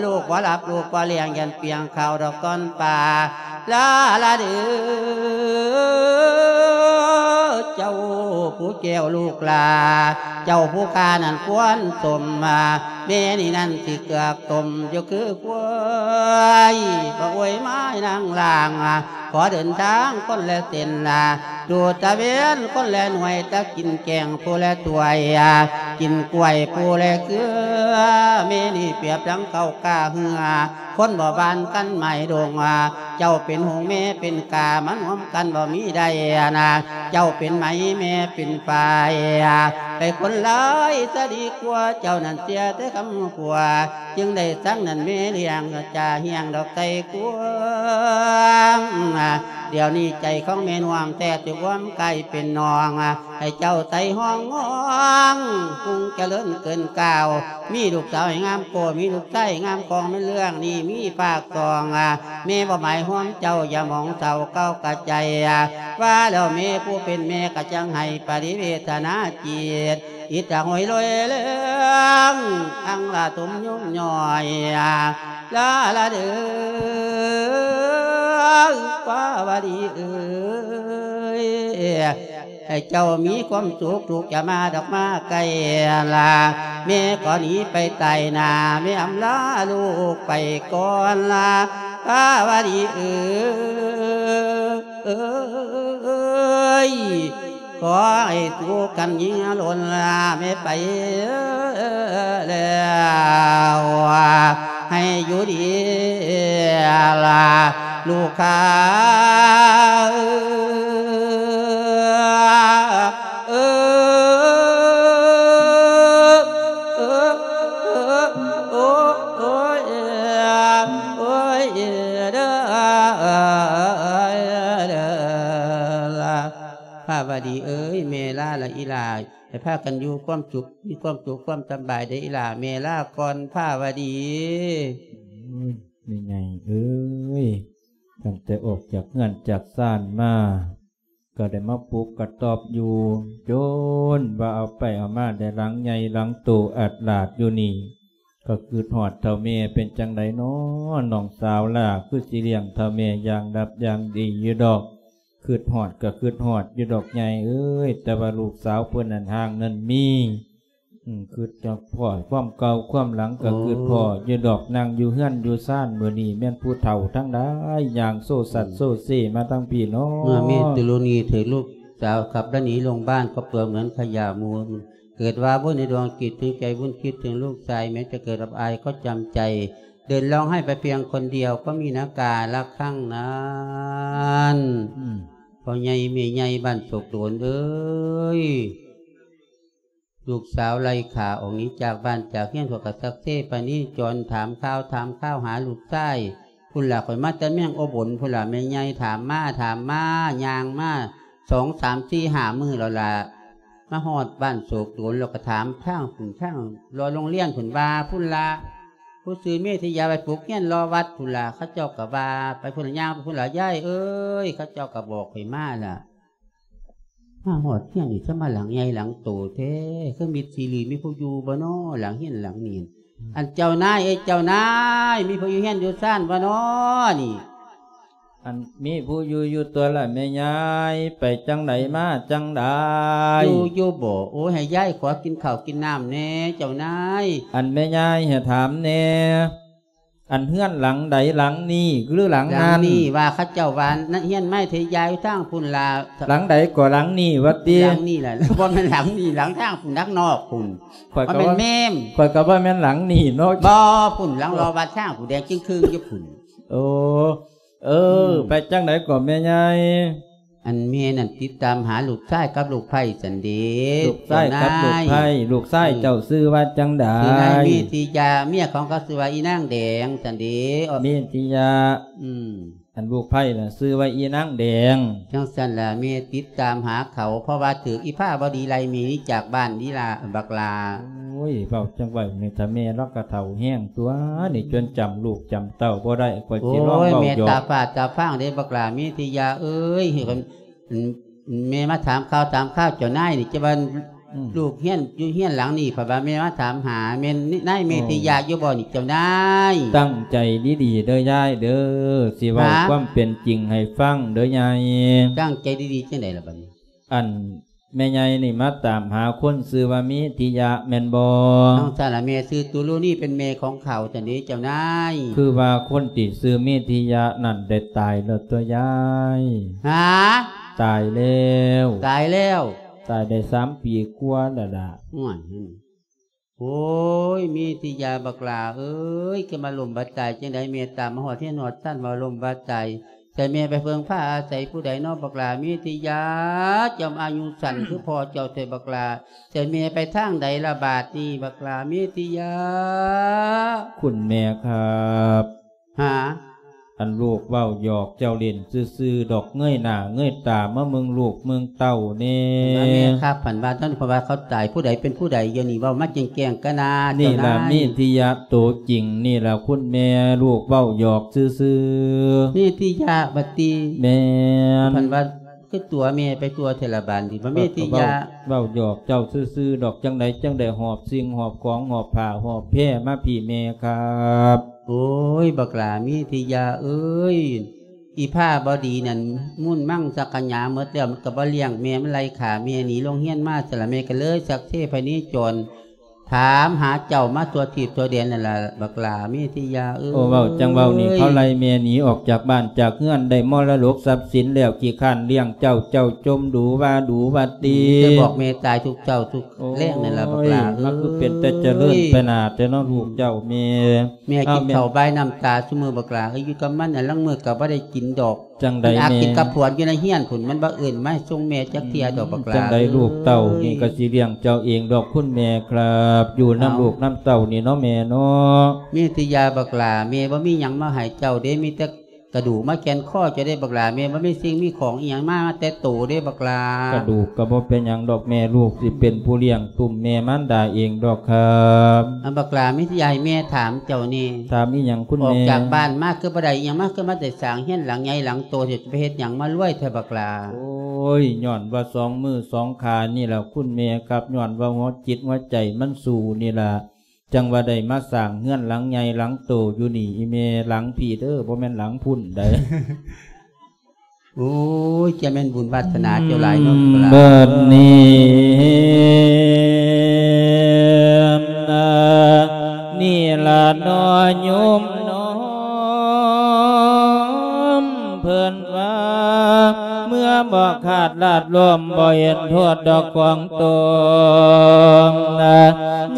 ລູກບໍ່ຫຼັບ ລູກບໍ່ລ້ຽງ ຢ້ານປ່ຽງເຂົ້າດອກຕອນປ່າ ລາລາເດີ ເຈົ້າຜູ້ແກ້ວລູກຫຼ້າ ເຈົ້າຜູ້ຂ້ານັ້ນຄວນສົມ ແມ່ນີ້ນັ້ນຊິເກືອກຕົ້ມຢູ່ຄືຄວາຍ ບໍ່ອວຍມາຍນາງລ່າງ ຂໍເດີນທາງຄົນລະເສັ້ນ ດູດຕະເວນຄົນລະໜ່ວຍ ຕະກິນແກງຜູ້ລະຖ້ວຍ ກິນກ້ວຍຜູ້ລະເຄືອ ແມ່ນີ້ປຽບດັ່ງເຂົ້າກ້າເຮືອ ຄົນບໍ່ບານກັນໄມ້ດົງ ເຈົ້າເປັນຫົງແມ່ເປັນກາ ມາຮ່ວມກັນບໍ່ມີໄດ້ນະ ເຈົ້າເປັນໄມ້ແມ່ເປັນປາຍ ໄປຄົນຫຼາຍຊະດີກວ່າ ເຈົ້ານັ້ນເສຍແຕ່ຄຳຂົວ ຈຶ່ງໄດ້ສັງນັ້ນແມ່ລ້ຽງ ຈາຮຽງດອກໄຕກວາງ ດຽວນີ້ໃຈຂອງແມ່ນວມແທ້ ຈະອວມກາຍເປັນນ້ອງ ໃຫ້ເຈົ້າໄຕຫ້ອງງອງ ຮຸ່ງຈະເລີນເກີນກ່າວ ມີລູກສາວໃຫ້ງາມໂກ ມີລູກຊາຍໃຫ້ງາມຂອງ ແມ່ນເລື່ອງນີ້ມີພາກສອງ ແມ່ບໍ່ໝາຍຮວມເຈົ້າ ຢ່າມອງເສົ້າເກົ້າກະໃຈ ວ່າແລ້ວແມ່ຜູ້ເປັນແມ່ກະຈັ່ງໃຫ້ປະລິເວທະນາຈິດ ອິດຕະໂຫຍໂລຍແລງ ອັງລະຖົມຍຸມຍ່ອຍ ລາລາເດີ ພາວະດີເອີຍ ໃຫ້ເຈົ້າມີຄວາມສຸກ ລູກຢ່າມາດອກມາໃກ້ລາ ແມ່ກໍໜີໄປຕາຍໜ້າ ແມ່ອຳລາລູກໄປກ່ອນລາ ພາວະດີເອີຍ ຂໍໃຫ້ສຸກກັນຍິ່ງລົ້ນລາ ແມ່ໄປແລ້ວ ໃຫ້ຢູ່ດີລາ ລູກຂ້າເອີຍ ເອີ ເອີ ໂອ້ ໂອ້ຍ ໂອ້ຍ ເດີ ເດີ ພາວະດີເອີຍ ແມ່ລາລະອີຫຼ້າ ໃຫ້ພາກັນຢູ່ຄວາມສຸກ ມີຄວາມສຸກຄວາມສະບາຍເດີອີຫຼ້າ ແມ່ລາກ່ອນພາວະດີ. ໂອ້ຍ ແມ່ໃຫຍ່ເອີຍ ຕັ້ງແຕ່ອອກຈາກເຮືອນຈາກຊານມາ ກໍໄດ້ມາປຸກກະຕອບຢູ່ ຈົນວ່າເອົາໄປເອົາມາໄດ້ຫຼັງໃຫຍ່ຫຼັງໂຕອາດຫຼາດຢູ່ນີ້ ກໍຄິດຮອດເຖົ້າແມ່ ເປັນຈັ່ງໃດນໍນ້ອງສາວຫຼ້າ ຄືຊິລ້ຽງເຖົ້າແມ່ຢ່າງດັບຢ່າງດີຢູ່ດອກ ຄິດຮອດກໍຄິດຮອດຢູ່ດອກໃຫຍ່ເອີຍ ແຕ່ວ່າລູກສາວເພິ່ນນັ້ນຮ່າງນັ້ນມີ ອືມ ຄິດຈະພໍ້ຄວາມເກົ່າຄວາມຫຼັງກໍ ໂອ້ ຄິດພໍ້ຢູ່ດອກ ນັ່ງຢູ່ເຮືອນຢູ່ຊານ ມື້ນີ້ແມ່ນຜູ້ເຖົ້າທັງຫຼາຍ ຍ່າງໂຊສັດ ອືມ ໂຊເຊມາທາງພີ້ເນາະ ເມື່ອມີຕຸລຸນີຖືກລູກສາວຂັບລະໜີລົງບ້ານ ກໍເປືອກເໝືອນຂະຫຍະມູນ ເກີດວ່າບຸນໃນດວງຈິດ ເຖິງໃຈບຸນຄິດເຖິງລູກຊາຍ ແມ້ຈະເກີດອັບອາຍກໍຈຳໃຈ ເດີນຮ້ອງໄຫ້ໄປພຽງຄົນດຽວ ກໍມີນາກາລະຄັງນັ້ນ ອືມ ພໍ່ໃຫຍ່ແມ່ໃຫຍ່ບ້ານໂສກໂດນເອີຍ ລູກສາວໄລ່ຂ້າອອກໜີຈາກບ້ານຈາກເຮືອນ ຂ້ອຍກໍສັກເຊປະນີຈອນ ຖາມຂ່າວຖາມຄາວຫາລູກຊາຍ ພຸ້ນລະ ຂ້ອຍມາແຕ່ແມງໂອບົນພຸ້ນລະ ແມ່ໃຫຍ່ຖາມມາຖາມມາ ຍ່າງມາສອງສາມສີ່ຫ້າມື້ແລ້ວລະ ມາຮອດບ້ານໂສກໂດນ ແລ້ວກໍຖາມທາງພຸ້ນທາງ ລໍໂຮງຮຽນພຸ້ນວ່າ ພຸ້ນລະ ຜູ້ຊື່ເມທິຍາໄປປຸກຮຽນລໍວັດພຸ້ນລະ ເຂົາເຈົ້າກໍວ່າ ໄປພຸ້ນລະ ຍ່າງໄປພຸ້ນລະ ຍາຍເອີຍ ເຂົາເຈົ້າກໍບອກຂ້ອຍມາລະ. ມາຮອດເຮືອນນີ້ ສະມາຫຼັງໃຫຍ່ຫຼັງໂຕແທ້ ຄືມິດຊີຣີ ມີຜູ້ຢູ່ບໍ່ນໍ ຫຼັງເຮືອນຫຼັງນີ້. ອັນເຈົ້ານາຍເອີຍ ເຈົ້ານາຍ ມີຜູ້ຢູ່ເຮືອນຢູ່ຊານບໍ່ນໍນີ້? ອັນມີຜູ້ຢູ່ຢູ່ຕົວະລະແມ່ຍາຍ ໄປຈັ່ງໃດມາຈັ່ງໃດ? ຢູ່ຢູ່ບໍ? ໂອ້ຍ ໃຫ້ຍາຍຂໍກິນເຂົ້າກິນນ້ຳແດ່ເຈົ້ານາຍ. ອັນແມ່ຍາຍໃຫ້ຖາມແດ່ ອັນເຮືອນຫຼັງໃດຫຼັງນີ້ ຫຼື ຫຼັງນັ້ນ? ຫຼັງນີ້ ວ່າເຂົາເຈົ້າວ່າເຮືອນໄມ້ເທຍາຢູ່ທາງພຸ້ນລະ. ຫຼັງໃດກໍຫຼັງນີ້ວ່າຕິ? ຫຼັງນີ້ລະ ບໍ່ແມ່ນຫຼັງນີ້ ຫຼັງທາງພຸ້ນ ຫຼັງນອກພຸ້ນ. ຂ້ອຍກໍວ່າ ມັນແມ່ນແມ່ມ ຂ້ອຍກໍວ່າແມ່ນຫຼັງນີ້ເນາະ. ບໍ່ ພຸ້ນ ຫຼັງລໍວັດທາງຜູ້ແດງຈຶ່ງຄຶ່ງຢູ່ພຸ້ນ. ໂອ້ ເອີ ອືມ ໄປຈັ່ງໃດກໍແມ່ໃຫຍ່? ອັນແມ່ນັ້ນຕິດຕາມຫາລູກຊາຍກັບລູກໃພ້ຊັ້ນເດ. ລູກຊາຍກັບລູກໃພ້ ເຈົ້ານາຍ ລູກຊາຍ ອືມ ເຈົ້າຊື່ວ່າຈັ່ງໃດ? ຊື່ນາງເມທິຍາ ເມຍຂອງເຂົາຊື່ວ່າອີນາງແດງຊັ້ນເດ. ເມທິຍາ ອືມ ອັນລູກໃພ້ນະຊື່ວ່າອີນາງແດງ. ຈັ່ງຊັ້ນລະ ແມ່ຕິດຕາມຫາເຂົາ ເພາະວ່າຖືກອີພາບໍດີໄລ່ໜີຈາກບ້ານນີ້ລະບັກຫຼ້າ. ໂອ້ຍ ເວົ້າຈັ່ງວ່ານີ້ ຖ້າແມ່ລາວກໍເຖົ້າແຮງຕົວະນີ້ ອືມ ຈົນຈຳລູກຈຳເຕົ້າບໍ່ໄດ້ ຂ້ອຍຊິລອງເວົ້າຢອກ. ໂອ້ຍ ແມ່ຕາຝາດຕາຟາງເດ້ບັກຫຼ້າເມທິຍາເອີຍ ເອີ ແມ່ມາຖາມຂ່າວຖາມຄາວເຈົ້ານາຍນີ້ ຈະວ່າ ອືມ ລູກຮຽນຢູ່ເຮືອນຫຼັງນີ້ ເພາະວ່າແມ່ມາຖາມຫາ ແມ່ນນາຍເມທິຍາຢູ່ບໍ່ນີ້ເຈົ້ານາຍ? ຕັ້ງໃຈດີໆເດີຍາຍເດີ ຊິເວົ້າ ຮະ ຄວາມເປັນຈິງໃຫ້ຟັງເດີຍາຍ. ຕັ້ງໃຈດີໆຈັ່ງໃດລະບັດນີ້? ອັນແມ່ໃຫຍ່ນີ້ມາຕາມຫາຄົນຊື່ວ່າເມທິຍະແມ່ນບໍ່? ນ້ອງສາລະແມ່ຊື່ຕຸລຸນີ ເປັນແມ່ຂອງເຂົາຊັ້ນເດເຈົ້ານາຍ. ຄືວ່າຄົນທີ່ຊື່ເມທິຍະນັ້ນໄດ້ຕາຍແລ້ວຕົວະຍາຍ. ຫາ? ຕາຍແລ້ວ. ຕາຍແລ້ວ? ຕາຍໄດ້ສາມປີກວ່າແລ້ວລະ. ໂອ້ຍ ໂອ້ຍ ເມທິຍາບັກຫຼ້າເອີຍ ຄືມາລົ້ມບາດຕາຍຈັ່ງໃດ? ແມ່ຕາມມາຮອດເຮືອນຮອດຊານວ່າລົ້ມບາດຕາຍ ໃສ່ແມ່ໄປເພິ່ງພາອາໄສຜູ້ໃດນໍບັກຫຼ້າເມທິຍາ? ເຈົ້າອາຍຸສັ້ນຄືພໍ່ເຈົ້າແທ້ບັກຫຼ້າ ໃສ່ແມ່ໄປທາງໃດລະບາດນີ້ບັກຫຼ້າເມທິຍາ? ຄຸນແມ່ຄັບ ຫາ? ອັນລູກເວົ້າຫຍອກເຈົ້າຫຼິ້ນຊື່ໆດອກ ເງີຍໜ້າເງີຍຕາມາເບິ່ງລູກເບິ່ງເຕົ້າແດ່. ແມ່ຄັບ ເພິ່ນວ່າ ເພາະວ່າເຂົາຕາຍ ຜູ້ໃດເປັນຜູ້ໃດ ດຽວນີ້ເວົ້າມາແຈ້ງໆກັນນາ. ນີ້ລະເມທິຍະໂຕຈິງນີ້ລະຄຸນແມ່ ລູກເວົ້າຫຍອກຊື່ໆ. ເມທິຍະບັດຕິ? ແມ່ນ. ເພິ່ນວ່າ ຄືຕົວະແມ່ໄປທົ່ວແທ້ລະບາດນີ້ ວ່າເມທິຍະ ເວົ້າຫຍອກເຈົ້າຊື່ໆດອກ ຈັ່ງໃດຈັ່ງໄດ້ຫອບສິ່ງຫອບຂອງ ຫອບຜ້າຫອບແພມາພີ້ແມ່ຄັບ. ໂອ້ຍ ບັກຫຼ້າເມທິຍາເອີຍ ອີພາບໍດີນັ້ນມຸນມັງສັກຂະຫຍາໝົດແລ້ວ ມັນກໍບໍ່ລ້ຽງແມ່ ມັນໄລ່ຂ້າແມ່ໜີໂລງຮຽນມາ ສະລະແມ່ກໍເລີຍຊັກເຊພະເນຈອນ ຖາມຫາເຈົ້າມາທົ່ວທີບທົ່ວແດນນັ້ນລະ ບັກຫຼ້າເມທິຍາເອີຍ. ໂອ້ ເວົ້າຈັ່ງເວົ້ານີ້ ເຂົາໄລ່ແມ່ໜີອອກຈາກບ້ານຈາກເຮືອນ ໄດ້ມໍລະດົກຊັບສິນແລ້ວ ຂີ້ຄ້ານລ້ຽງເຈົ້າ ເຈົ້າຈົ່ມດູວ່າດູວ່າຕິ ໄດ້ບອກແມ່ຕາຍທຸກເຊົ້າທຸກແລງນັ້ນລະ ບັກຫຼ້າເອີຍ. ໂອ້ຍ ມັນຄືເປັນແຕ່ຈະເລີນໄປໜ້າແຕ່ເນາະ ອືມ ລູກເຈົ້າແມ່. ແມ່ກິນເຂົ້າບາຍນ້ຳຕາຊຸມື້ບັກຫຼ້າເອີຍ ຢູ່ກັບມັນລາງມື້ກໍບໍ່ໄດ້ກິນດອກ. ຈັ່ງໃດແມ່? ກິນກັບພວນຢູ່ໃນເຮືອນພຸ້ນ ມັນບໍ່ເອີ້ນມາສົ່ງແມ່ຈັກເທື່ອດອກບັກຫຼ້າ. ຈັ່ງໃດລູກເຕົ້ານີ້ກໍຊິລ້ຽງເຈົ້າເອງດອກຄຸນແມ່ຄັບ ຢູ່ນຳລູກນຳເຕົ້ານີ້ເນາະແມ່ເນາະ. ເມທິຍາບັກຫຼ້າ ແມ່ບໍ່ມີຫຍັງມາໃຫ້ເຈົ້າເດ້ ມີແຕ່ກະດູກມາແກ່ນຄໍເຈົ້າເດ້ບັກຫຼ້າ ແມ່ບໍ່ມີສິ່ງມີຂອງອີ່ຫຍັງມາແຕ່ໂຕເດ້ບັກຫຼ້າ. ກະດູກກໍບໍ່ເປັນຫຍັງດອກແມ່ ລູກຊິເປັນຜູ້ລ້ຽງຕຸ້ມແມ່ມານດາເອງດອກຄັບ. ອາ ບັກຫຼ້າ ເມທິຍາ ໃຫ້ແມ່ຖາມເຈົ້າແດ່ ຖາມອີ່ຫຍັງຄຸນແມ່? ອອກຈາກບ້ານມາຄືບໍ່ໄດ້ອີ່ຫຍັງມາ ຄືມາແຕ່ສ້າງເຮືອນຫຼັງໃຫຍ່ຫຼັງໂຕ ຊິໄປເຮັດຫຍັງມາລວຍແທ້ບັກຫຼ້າ? ໂອ້ຍ ຍ້ອນວ່າສອງມືສອງຂານີ້ລະຄຸນແມ່ຄັບ ຍ້ອນວ່າຫົວຈິດຫົວໃຈມັນສູ້ນີ້ລະ ຈັ່ງວ່າໄດ້ມາສ້າງເຮືອນຫຼັງໃຫຍ່ຫຼັງໂຕຢູ່ນີ້ອີ່ແມ່ ຫຼັງພີ້ເດີ ບໍ່ແມ່ນຫຼັງພຸ້ນໃດ. ໂອ້ຍ ຈະແມ່ນບຸນວາສະໜາເຈົ້າຫຼາຍເນາະ. ບັດນີ້ ນີ້ລະເນາະໂຍມນ້ອງ ເພິ່ນວ່າ ເມື່ອບໍ່ຂາດລາດລົມ ບໍ່ເຫັນໂທດດອກຂອງຕົນ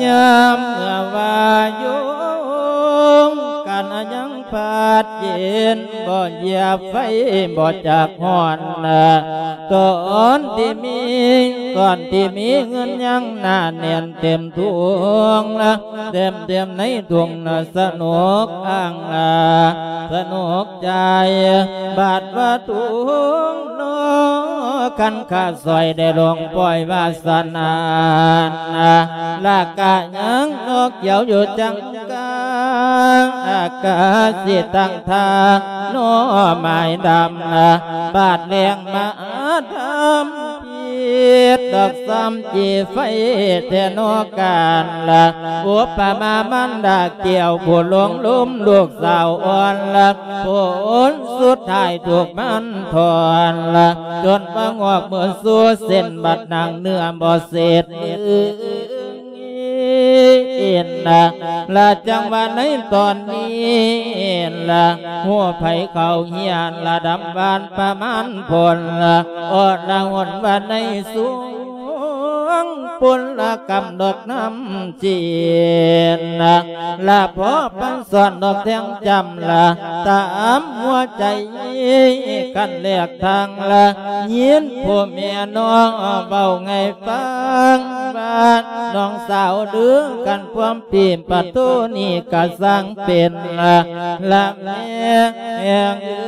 ຍາມເມື່ອວ່າຢູ່ກັນຍັງ ພັດເຢັນ ບໍ່ຢຽບໄຟ ບໍ່ຈັກຮ້ອນ ຕອນທີ່ມີ ຕອນທີ່ມີເງິນຍັງໜາແໜ້ນເຕັມຖົງ ເຕັມ ເຕັມໃນຖົງ ສະໜຸກອັງ ສະໜຸກໃຈ ບາດວ່າທຸງນອກ ຄັນຂາດສອຍໄດ້ລົງປ່ອຍວາສະໜາ ລະກະຍັງນອກກ່ຽວຢູ່ຈັງ ກາງອາກາດຊິຕັ້ງທ່າ ໜໍ່ໄມ້ດຳ ບາດແລງມາທຳພີ ດດອກຊ້ຳຈີໄຟແທ້ນໍການລະ ອຸປະມາມານດາແກ້ວຜູ້ຫຼົງລົມລູກສາວອ່ອນລະ ຜົນສຸດທ້າຍຖືກມັນຖອນລະ ຈົນວ່າງອກເມືອສູ່ເສັ້ນ ບັດໜັງເນື້ອບໍ່ເສດ ເອັນນະ ລະຈັ່ງວ່າໃນຕອນນີ້ລະ ຮູ້ໃຜເຂົາຮຽນລະດຳບານປະມານຜົນລະ ອໍລະຫົນວ່າໃນສວງ ພົນລະກຳດອກນ້ຳຈີນນະ ລະພໍປັນສອນດອກແທງຈຳລະ ຕາມຫົວໃຈ ກັນແລກທາງລະ ຍິນຜູ້ແມ່ນ້ອງເວົ້າໃຫ້ຟັງວ່າ ນ້ອງສາວເດີ ກັນພວມປີປະຕູນີ້ກະຊ່າງເປັນລະ ລະແມ່ເອີຍ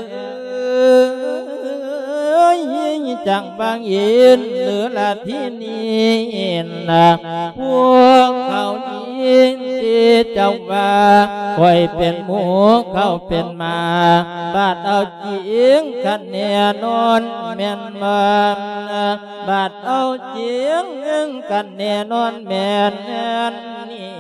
ຈັ່ງບັງເອີນເດີລະທີນີ້ນະ ພວກເຂົານີ້ທີ່ເຈົ້າວ່າ ຂ້ອຍເປັນໝູ ເຂົາເປັນໝາ ບາດເອົາຈິງຄັນແນ່ນອນແມ່ນບໍ່ ບາດເອົາຈິງຄັນແນ່ນອນແມ່ນນີ້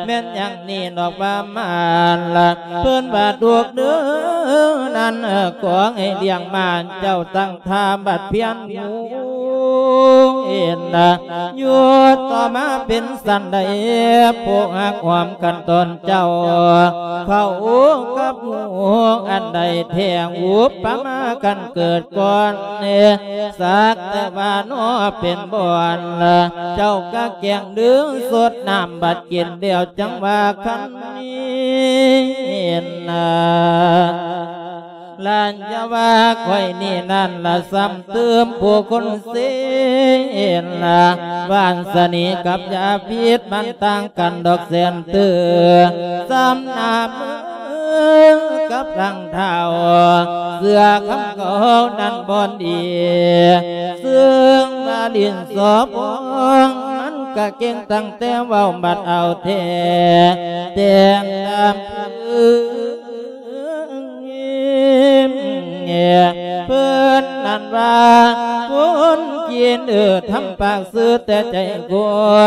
ແມ່ນຫຍັງນີ້ນອກວ່າມານລະ ເພິ່ນວ່າລູກເດີນັ້ນ ຂໍໃຫ້ລ້ຽງມານເຈົ້າຕັ້ງທ່າບັດພຽນ ເຫັນນະ ຢູ່ຕໍ່ມາເປັນສັນໃດ ຜູ້ຮັກຫອມກັນຕອນເຈົ້າ ເຂົາກັບໝູອັນໃດແທ້ ອຸປະມາກັນເກີດກ່ອນ ສັກແຕ່ວ່ານໍເປັນບ່ອນລະ ເຈົ້າກະແກ້ງດຶງສົດນ້ຳບັດກິນແລ້ວ ຈັ່ງວ່າຄັນນີ້ນະ ລະຢ່າວ່າຂ້ອຍນີ້ນັ້ນລະ ຊ້ຳຕື່ມຜູ້ຄົນເສນລະ ວານສະນີກັບຢາພິດມັນຕ່າງກັນດອກແສນຕື່ມ ຊ້ຳໜ້າມືກັບຫຼັງເທົ້າ ເສື້ອຄຳເກົ່ານັ້ນບໍ່ດີ ເຊິ່ງວ່າຫຼິ້ນສອບອງ ມັນກະເກັ່ງຕັ້ງແຕ່ເວົ້າບັດເອົາແທ້ ແຕ່ງຕາມ ເພິ່ນນັ້ນວ່າ ຄົນຈີນເອີ ທຳປາກຊື່ແຕ່ໃຈໂກ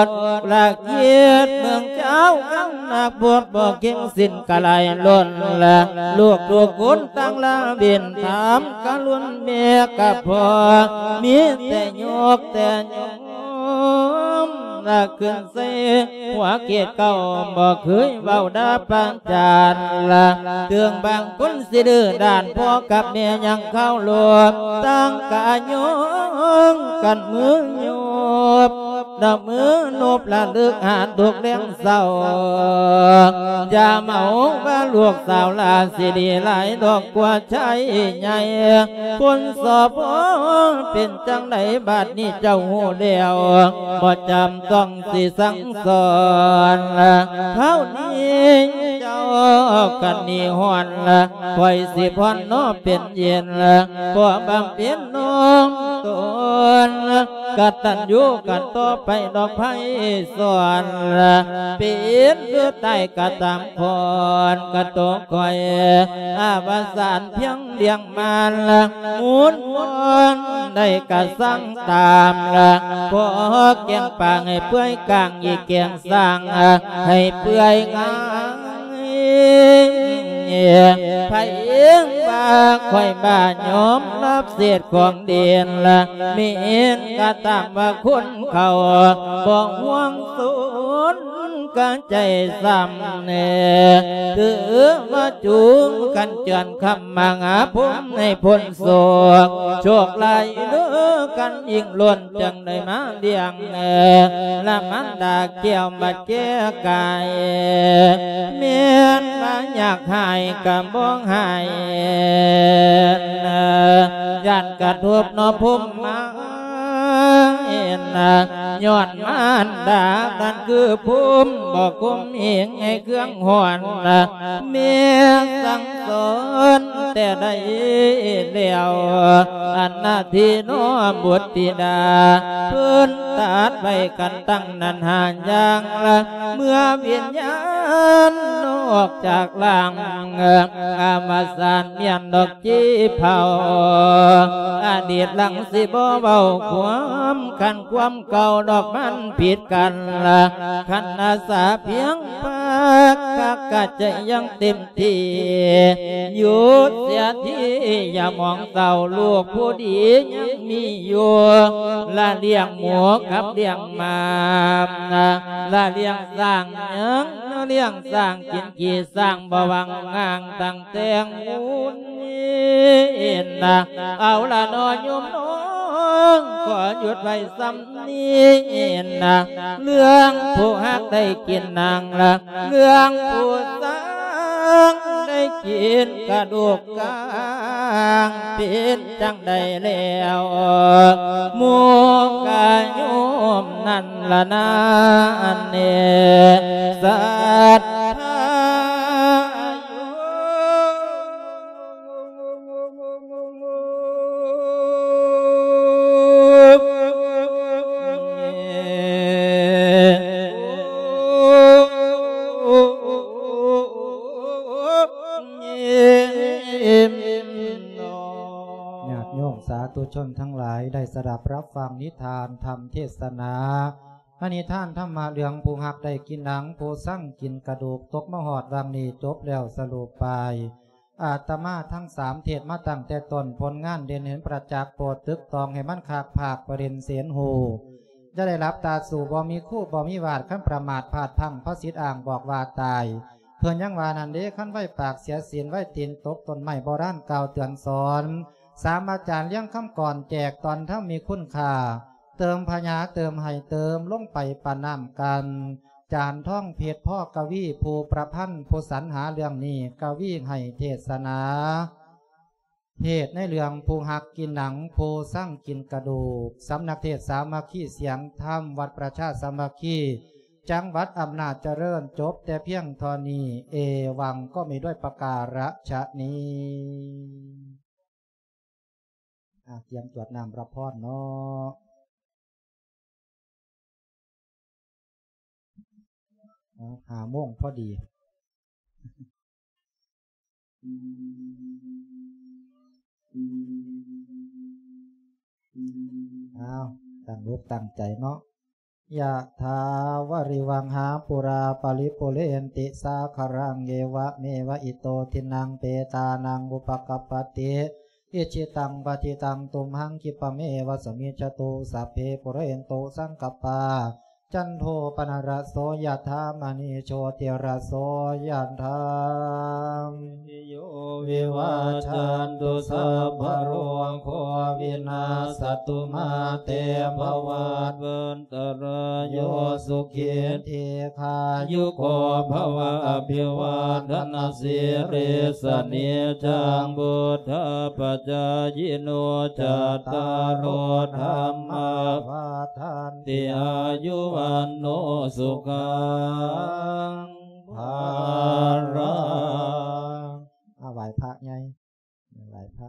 ດ ລະຄຽດເມືອງເຈົ້າອັນໜັກບົດ ບໍ່ເກັ່ງສິນກະໄຫຼລົ້ນລະ ລູກທຸກຄົນຕ່າງລາເວັນ ຖາມກະລຸນແມ່ກະພໍ່ ມີແຕ່ຍົກແຕ່ຍອມລະຂຶ້ນ ໃສ່ຫົວເກດເກົ່າ ບໍ່ເຄີຍເວົ້າດ່າປະຈານລະ ເຖິງບາງຄົນຊິດື້ດ້ານ ພໍ່ກັບແມ່ຍັງເຄົາລົບ ຕ່າງກະຍອງກັນມືໂຍບ ນະມືໂນບລະລຶກຫາທຸກແລງເສົ້າ ຢ່າເມົາວ່າລູກສາວຫຼ້າ ຊິດີຫຼາຍດອກກວ່າຊາຍໃຫຍ່ ຄົນສອບເປັນຈັ່ງໃດ ບາດນີ້ເຈົ້າຮູ້ແລ້ວ ບໍ່ຈຳຕ້ອງ ຊິສັ່ງສອນ ຄາວນີ້ເຈົ້າກັນໜີຮ້ອນ ຂ້ອຍຊິຜ່ອນເນາະເປັນເຢັນ ຂໍບຳເພັນນ້ອມຕົນ ກະຕັນຍູກັນຕໍ່ໄປດອກໄພສອນ ເປັນຫຼືຕາຍກະຕາມ ຄອນກະໂຕຂ້ອຍ ອາວະສານພຽງລ້ຽງມານ ໝູນວອນໃດກະສັ່ງຕາມ ຂໍແກງປາງໃຫ້ເປື່ອຍກາງ ອີກແກງສ້າງໃຫ້ເປື່ອຍງ່າຍ ໃຜວ່າຂ້ອຍບ້າຍອມຮັບເສດຂອງເດັ່ນ ແມ່ນກະຕາມວ່າຄົນເຂົາ ບໍ່ຫ່ວງສົນ ກະໃຈຊ້ຳແນ່ ຖືວ່າຈູງກັນເຈື່ອນຄຳມະຫາພົມໃຫ້ພົ້ນໂສກ ໂຊກຫຼາຍເດີກັນຍິ່ງລົ້ນ ຈັ່ງໄດ້ມາລ້ຽງແນ່ ລະມານດາແກ້ວມາແກ້ກາຍ ແມ່ນວ່າຢາກຫາຍກະບໍ່ຫາຍ ຢ້ານກະທົບເນາະພົມມາ ເຫັນນະ ຍ້ອນມານດານັ້ນຄືພູມ ບໍ່ຄຸມເອງໃຫ້ເຄື່ອງຮ້ອນນະ ແມ່ສັ່ງສອນແຕ່ໃດແລ້ວ ອັນນາທີນ້ອມບຸດທິດາ ເພິ່ນຕັດໄວ້ກັນຕັ້ງນັ້ນຫາຢ່າງລະ ເມື່ອວິນຍານອອກຈາກຮ່າງ ອາວະສານແມ່ນດອກຈີ່ເຜົາ ອະດີດຫຼັງຊິບໍ່ເວົ້າຄວາມ ຄັນຄວາມເກົ່າດອກມັນຜິດກັນລະ ຄັນອາສາພຽງພາກ ກະກະຈະຍັງເຕັມ ທີ່ ຢຸດເສຍທີຢ່າມອງເສົ້າ ລູກຜູ້ດີຍັງມີຢູ່ ລະລ້ຽງໝູກັບລ້ຽງໝາ ລະລ້ຽງຊ້າງຍັງ ລະລ້ຽງຊ້າງກິນຂີ້ຊ້າງ ບໍ່ຫວັງງາງຕັ້ງແຕ່ງບຸນ ເອົາລະເນາະໂຍມນ້ອງ ຂໍຢຸດໄວ້ສ່ຳນີ້ນະ ເລື່ອງຜູ້ຮັກໄດ້ກິນໜັງລະ ເລື່ອງຜູ້ສ້າງໄດ້ກິນກະດູກກາງ ເປັນຈັ່ງໃດແລ້ວ ໝູ່ກະໂຍມນັ້ນລະນາ ອັນເນ ສັດທາໂຍ ຍາດໂຍມສາທຸຊົນທັງຫຼາຍ ໄດ້ສະດັບຮັບຟັງນິທານທຳເທດສະໜາ ໃນນິທານທຳມະເລື່ອງຜູ້ຮັກໄດ້ກິນໜັງ ຜູ້ຊັງກິນກະດູກ ຕົກມາຮອດວັງນີ້ຈົບແລ້ວສະຫຼຸບໄປ. ອາດຕະມາທັງສາມເທດມາຕັ້ງແຕ່ຕົ້ນ ຜົນງານເດັ່ນເຫັນປະຈັກ ໂປດຕຶກຕອງໃຫ້ມັນຄັກພາກປະເດັນເສນຮູ້ ຢ່າໄດ້ຫຼັບຕາສູ້ ບໍ່ມີຄູບໍ່ມີວາດ ຄັນປະໝາດພາດພັ້ງ ພະສິດອ້າງບອກວ່າຕາຍ ເພິ່ນຍັງວ່ານັ້ນເດ້ ຄັນໄວປາກເສຍສິນ ໄວຕີນຕົກຕົ້ນໄມ້ ໂບລານກ່າວເຕືອນສອນ ສາມອາຈານລຽງຄຳກອນ ແຈກຕອນທຳມີຄຸນຄ່າ ເຕີມພະຍາເຕີມໃຫ້ເຕີມລົງໄປປານນ້ຳກັນ ຈານທອງເພັດ ພໍ່ກະວີຜູ້ປະພັນ ຜູ້ສັນຫາເລື່ອງນີ້ ກະວີໃຫ້ເທດສະໜາ ເທດໃນເລື່ອງຜູ້ຮັກກິນໜັງ ຜູ້ຊັງກິນກະດູກ ສຳນັກເທດສາມັກຄີສຽງທຳ ວັດປະຊາສາມັກຄີ ຈັງຫວັດອຳນາດຈະເລີນ ຈົບແຕ່ພຽງເທົ່ານີ້ ເອວັງ ກໍມີດ້ວຍປະກາລະຊະນີ້. ອາ ກຽມກວດນ້ຳຮັບພອນເນາະ ເອົາ ຫ້າໂມງພໍດີ ເອົາ ຕັ້ງອົກຕັ້ງໃຈເນາະ. ຍະຖາວາລິວະຫາປູຣາປະລິປູເຣນຕິສາຄະລັງ ເອວະເມວະອິໂຕທິນນັງເປຕານັງອຸປະກັບປະຕິ ອິດຖິຕັງປະທິຕັງຕຸມຫັງ ຂິບປະເມວະສະມິດຈະຕຸ ສັບເພປູເຣນຕຸສັງກັບປາ ຈັນໂທປະນະລະໂສ ຍະຖາ ມະນີໂຊຕິລະໂສ ຍະຖາ ໂຍວິວາຈັນຕຸ ສັບພະໂລໂຄວິນາສະຕຸ ມາເຕພະວັດວັນຕະລາໂຍ ສຸຂີ ດີຄາຍຸໂກ ພະວະ ອະພິວາທະນະສີລິສະ ນິດຈັງ ພຸດທາປະຈາຍິໂນ ຈັດຕາໂລ ທຳມາ ວັດທັນຕິ ອາຍຸວັນໂນ ສຸຂັງ ພະລັງ. ອາ ໄຫວ້ພະໃຫຍ່ ໄຫວ້ພະ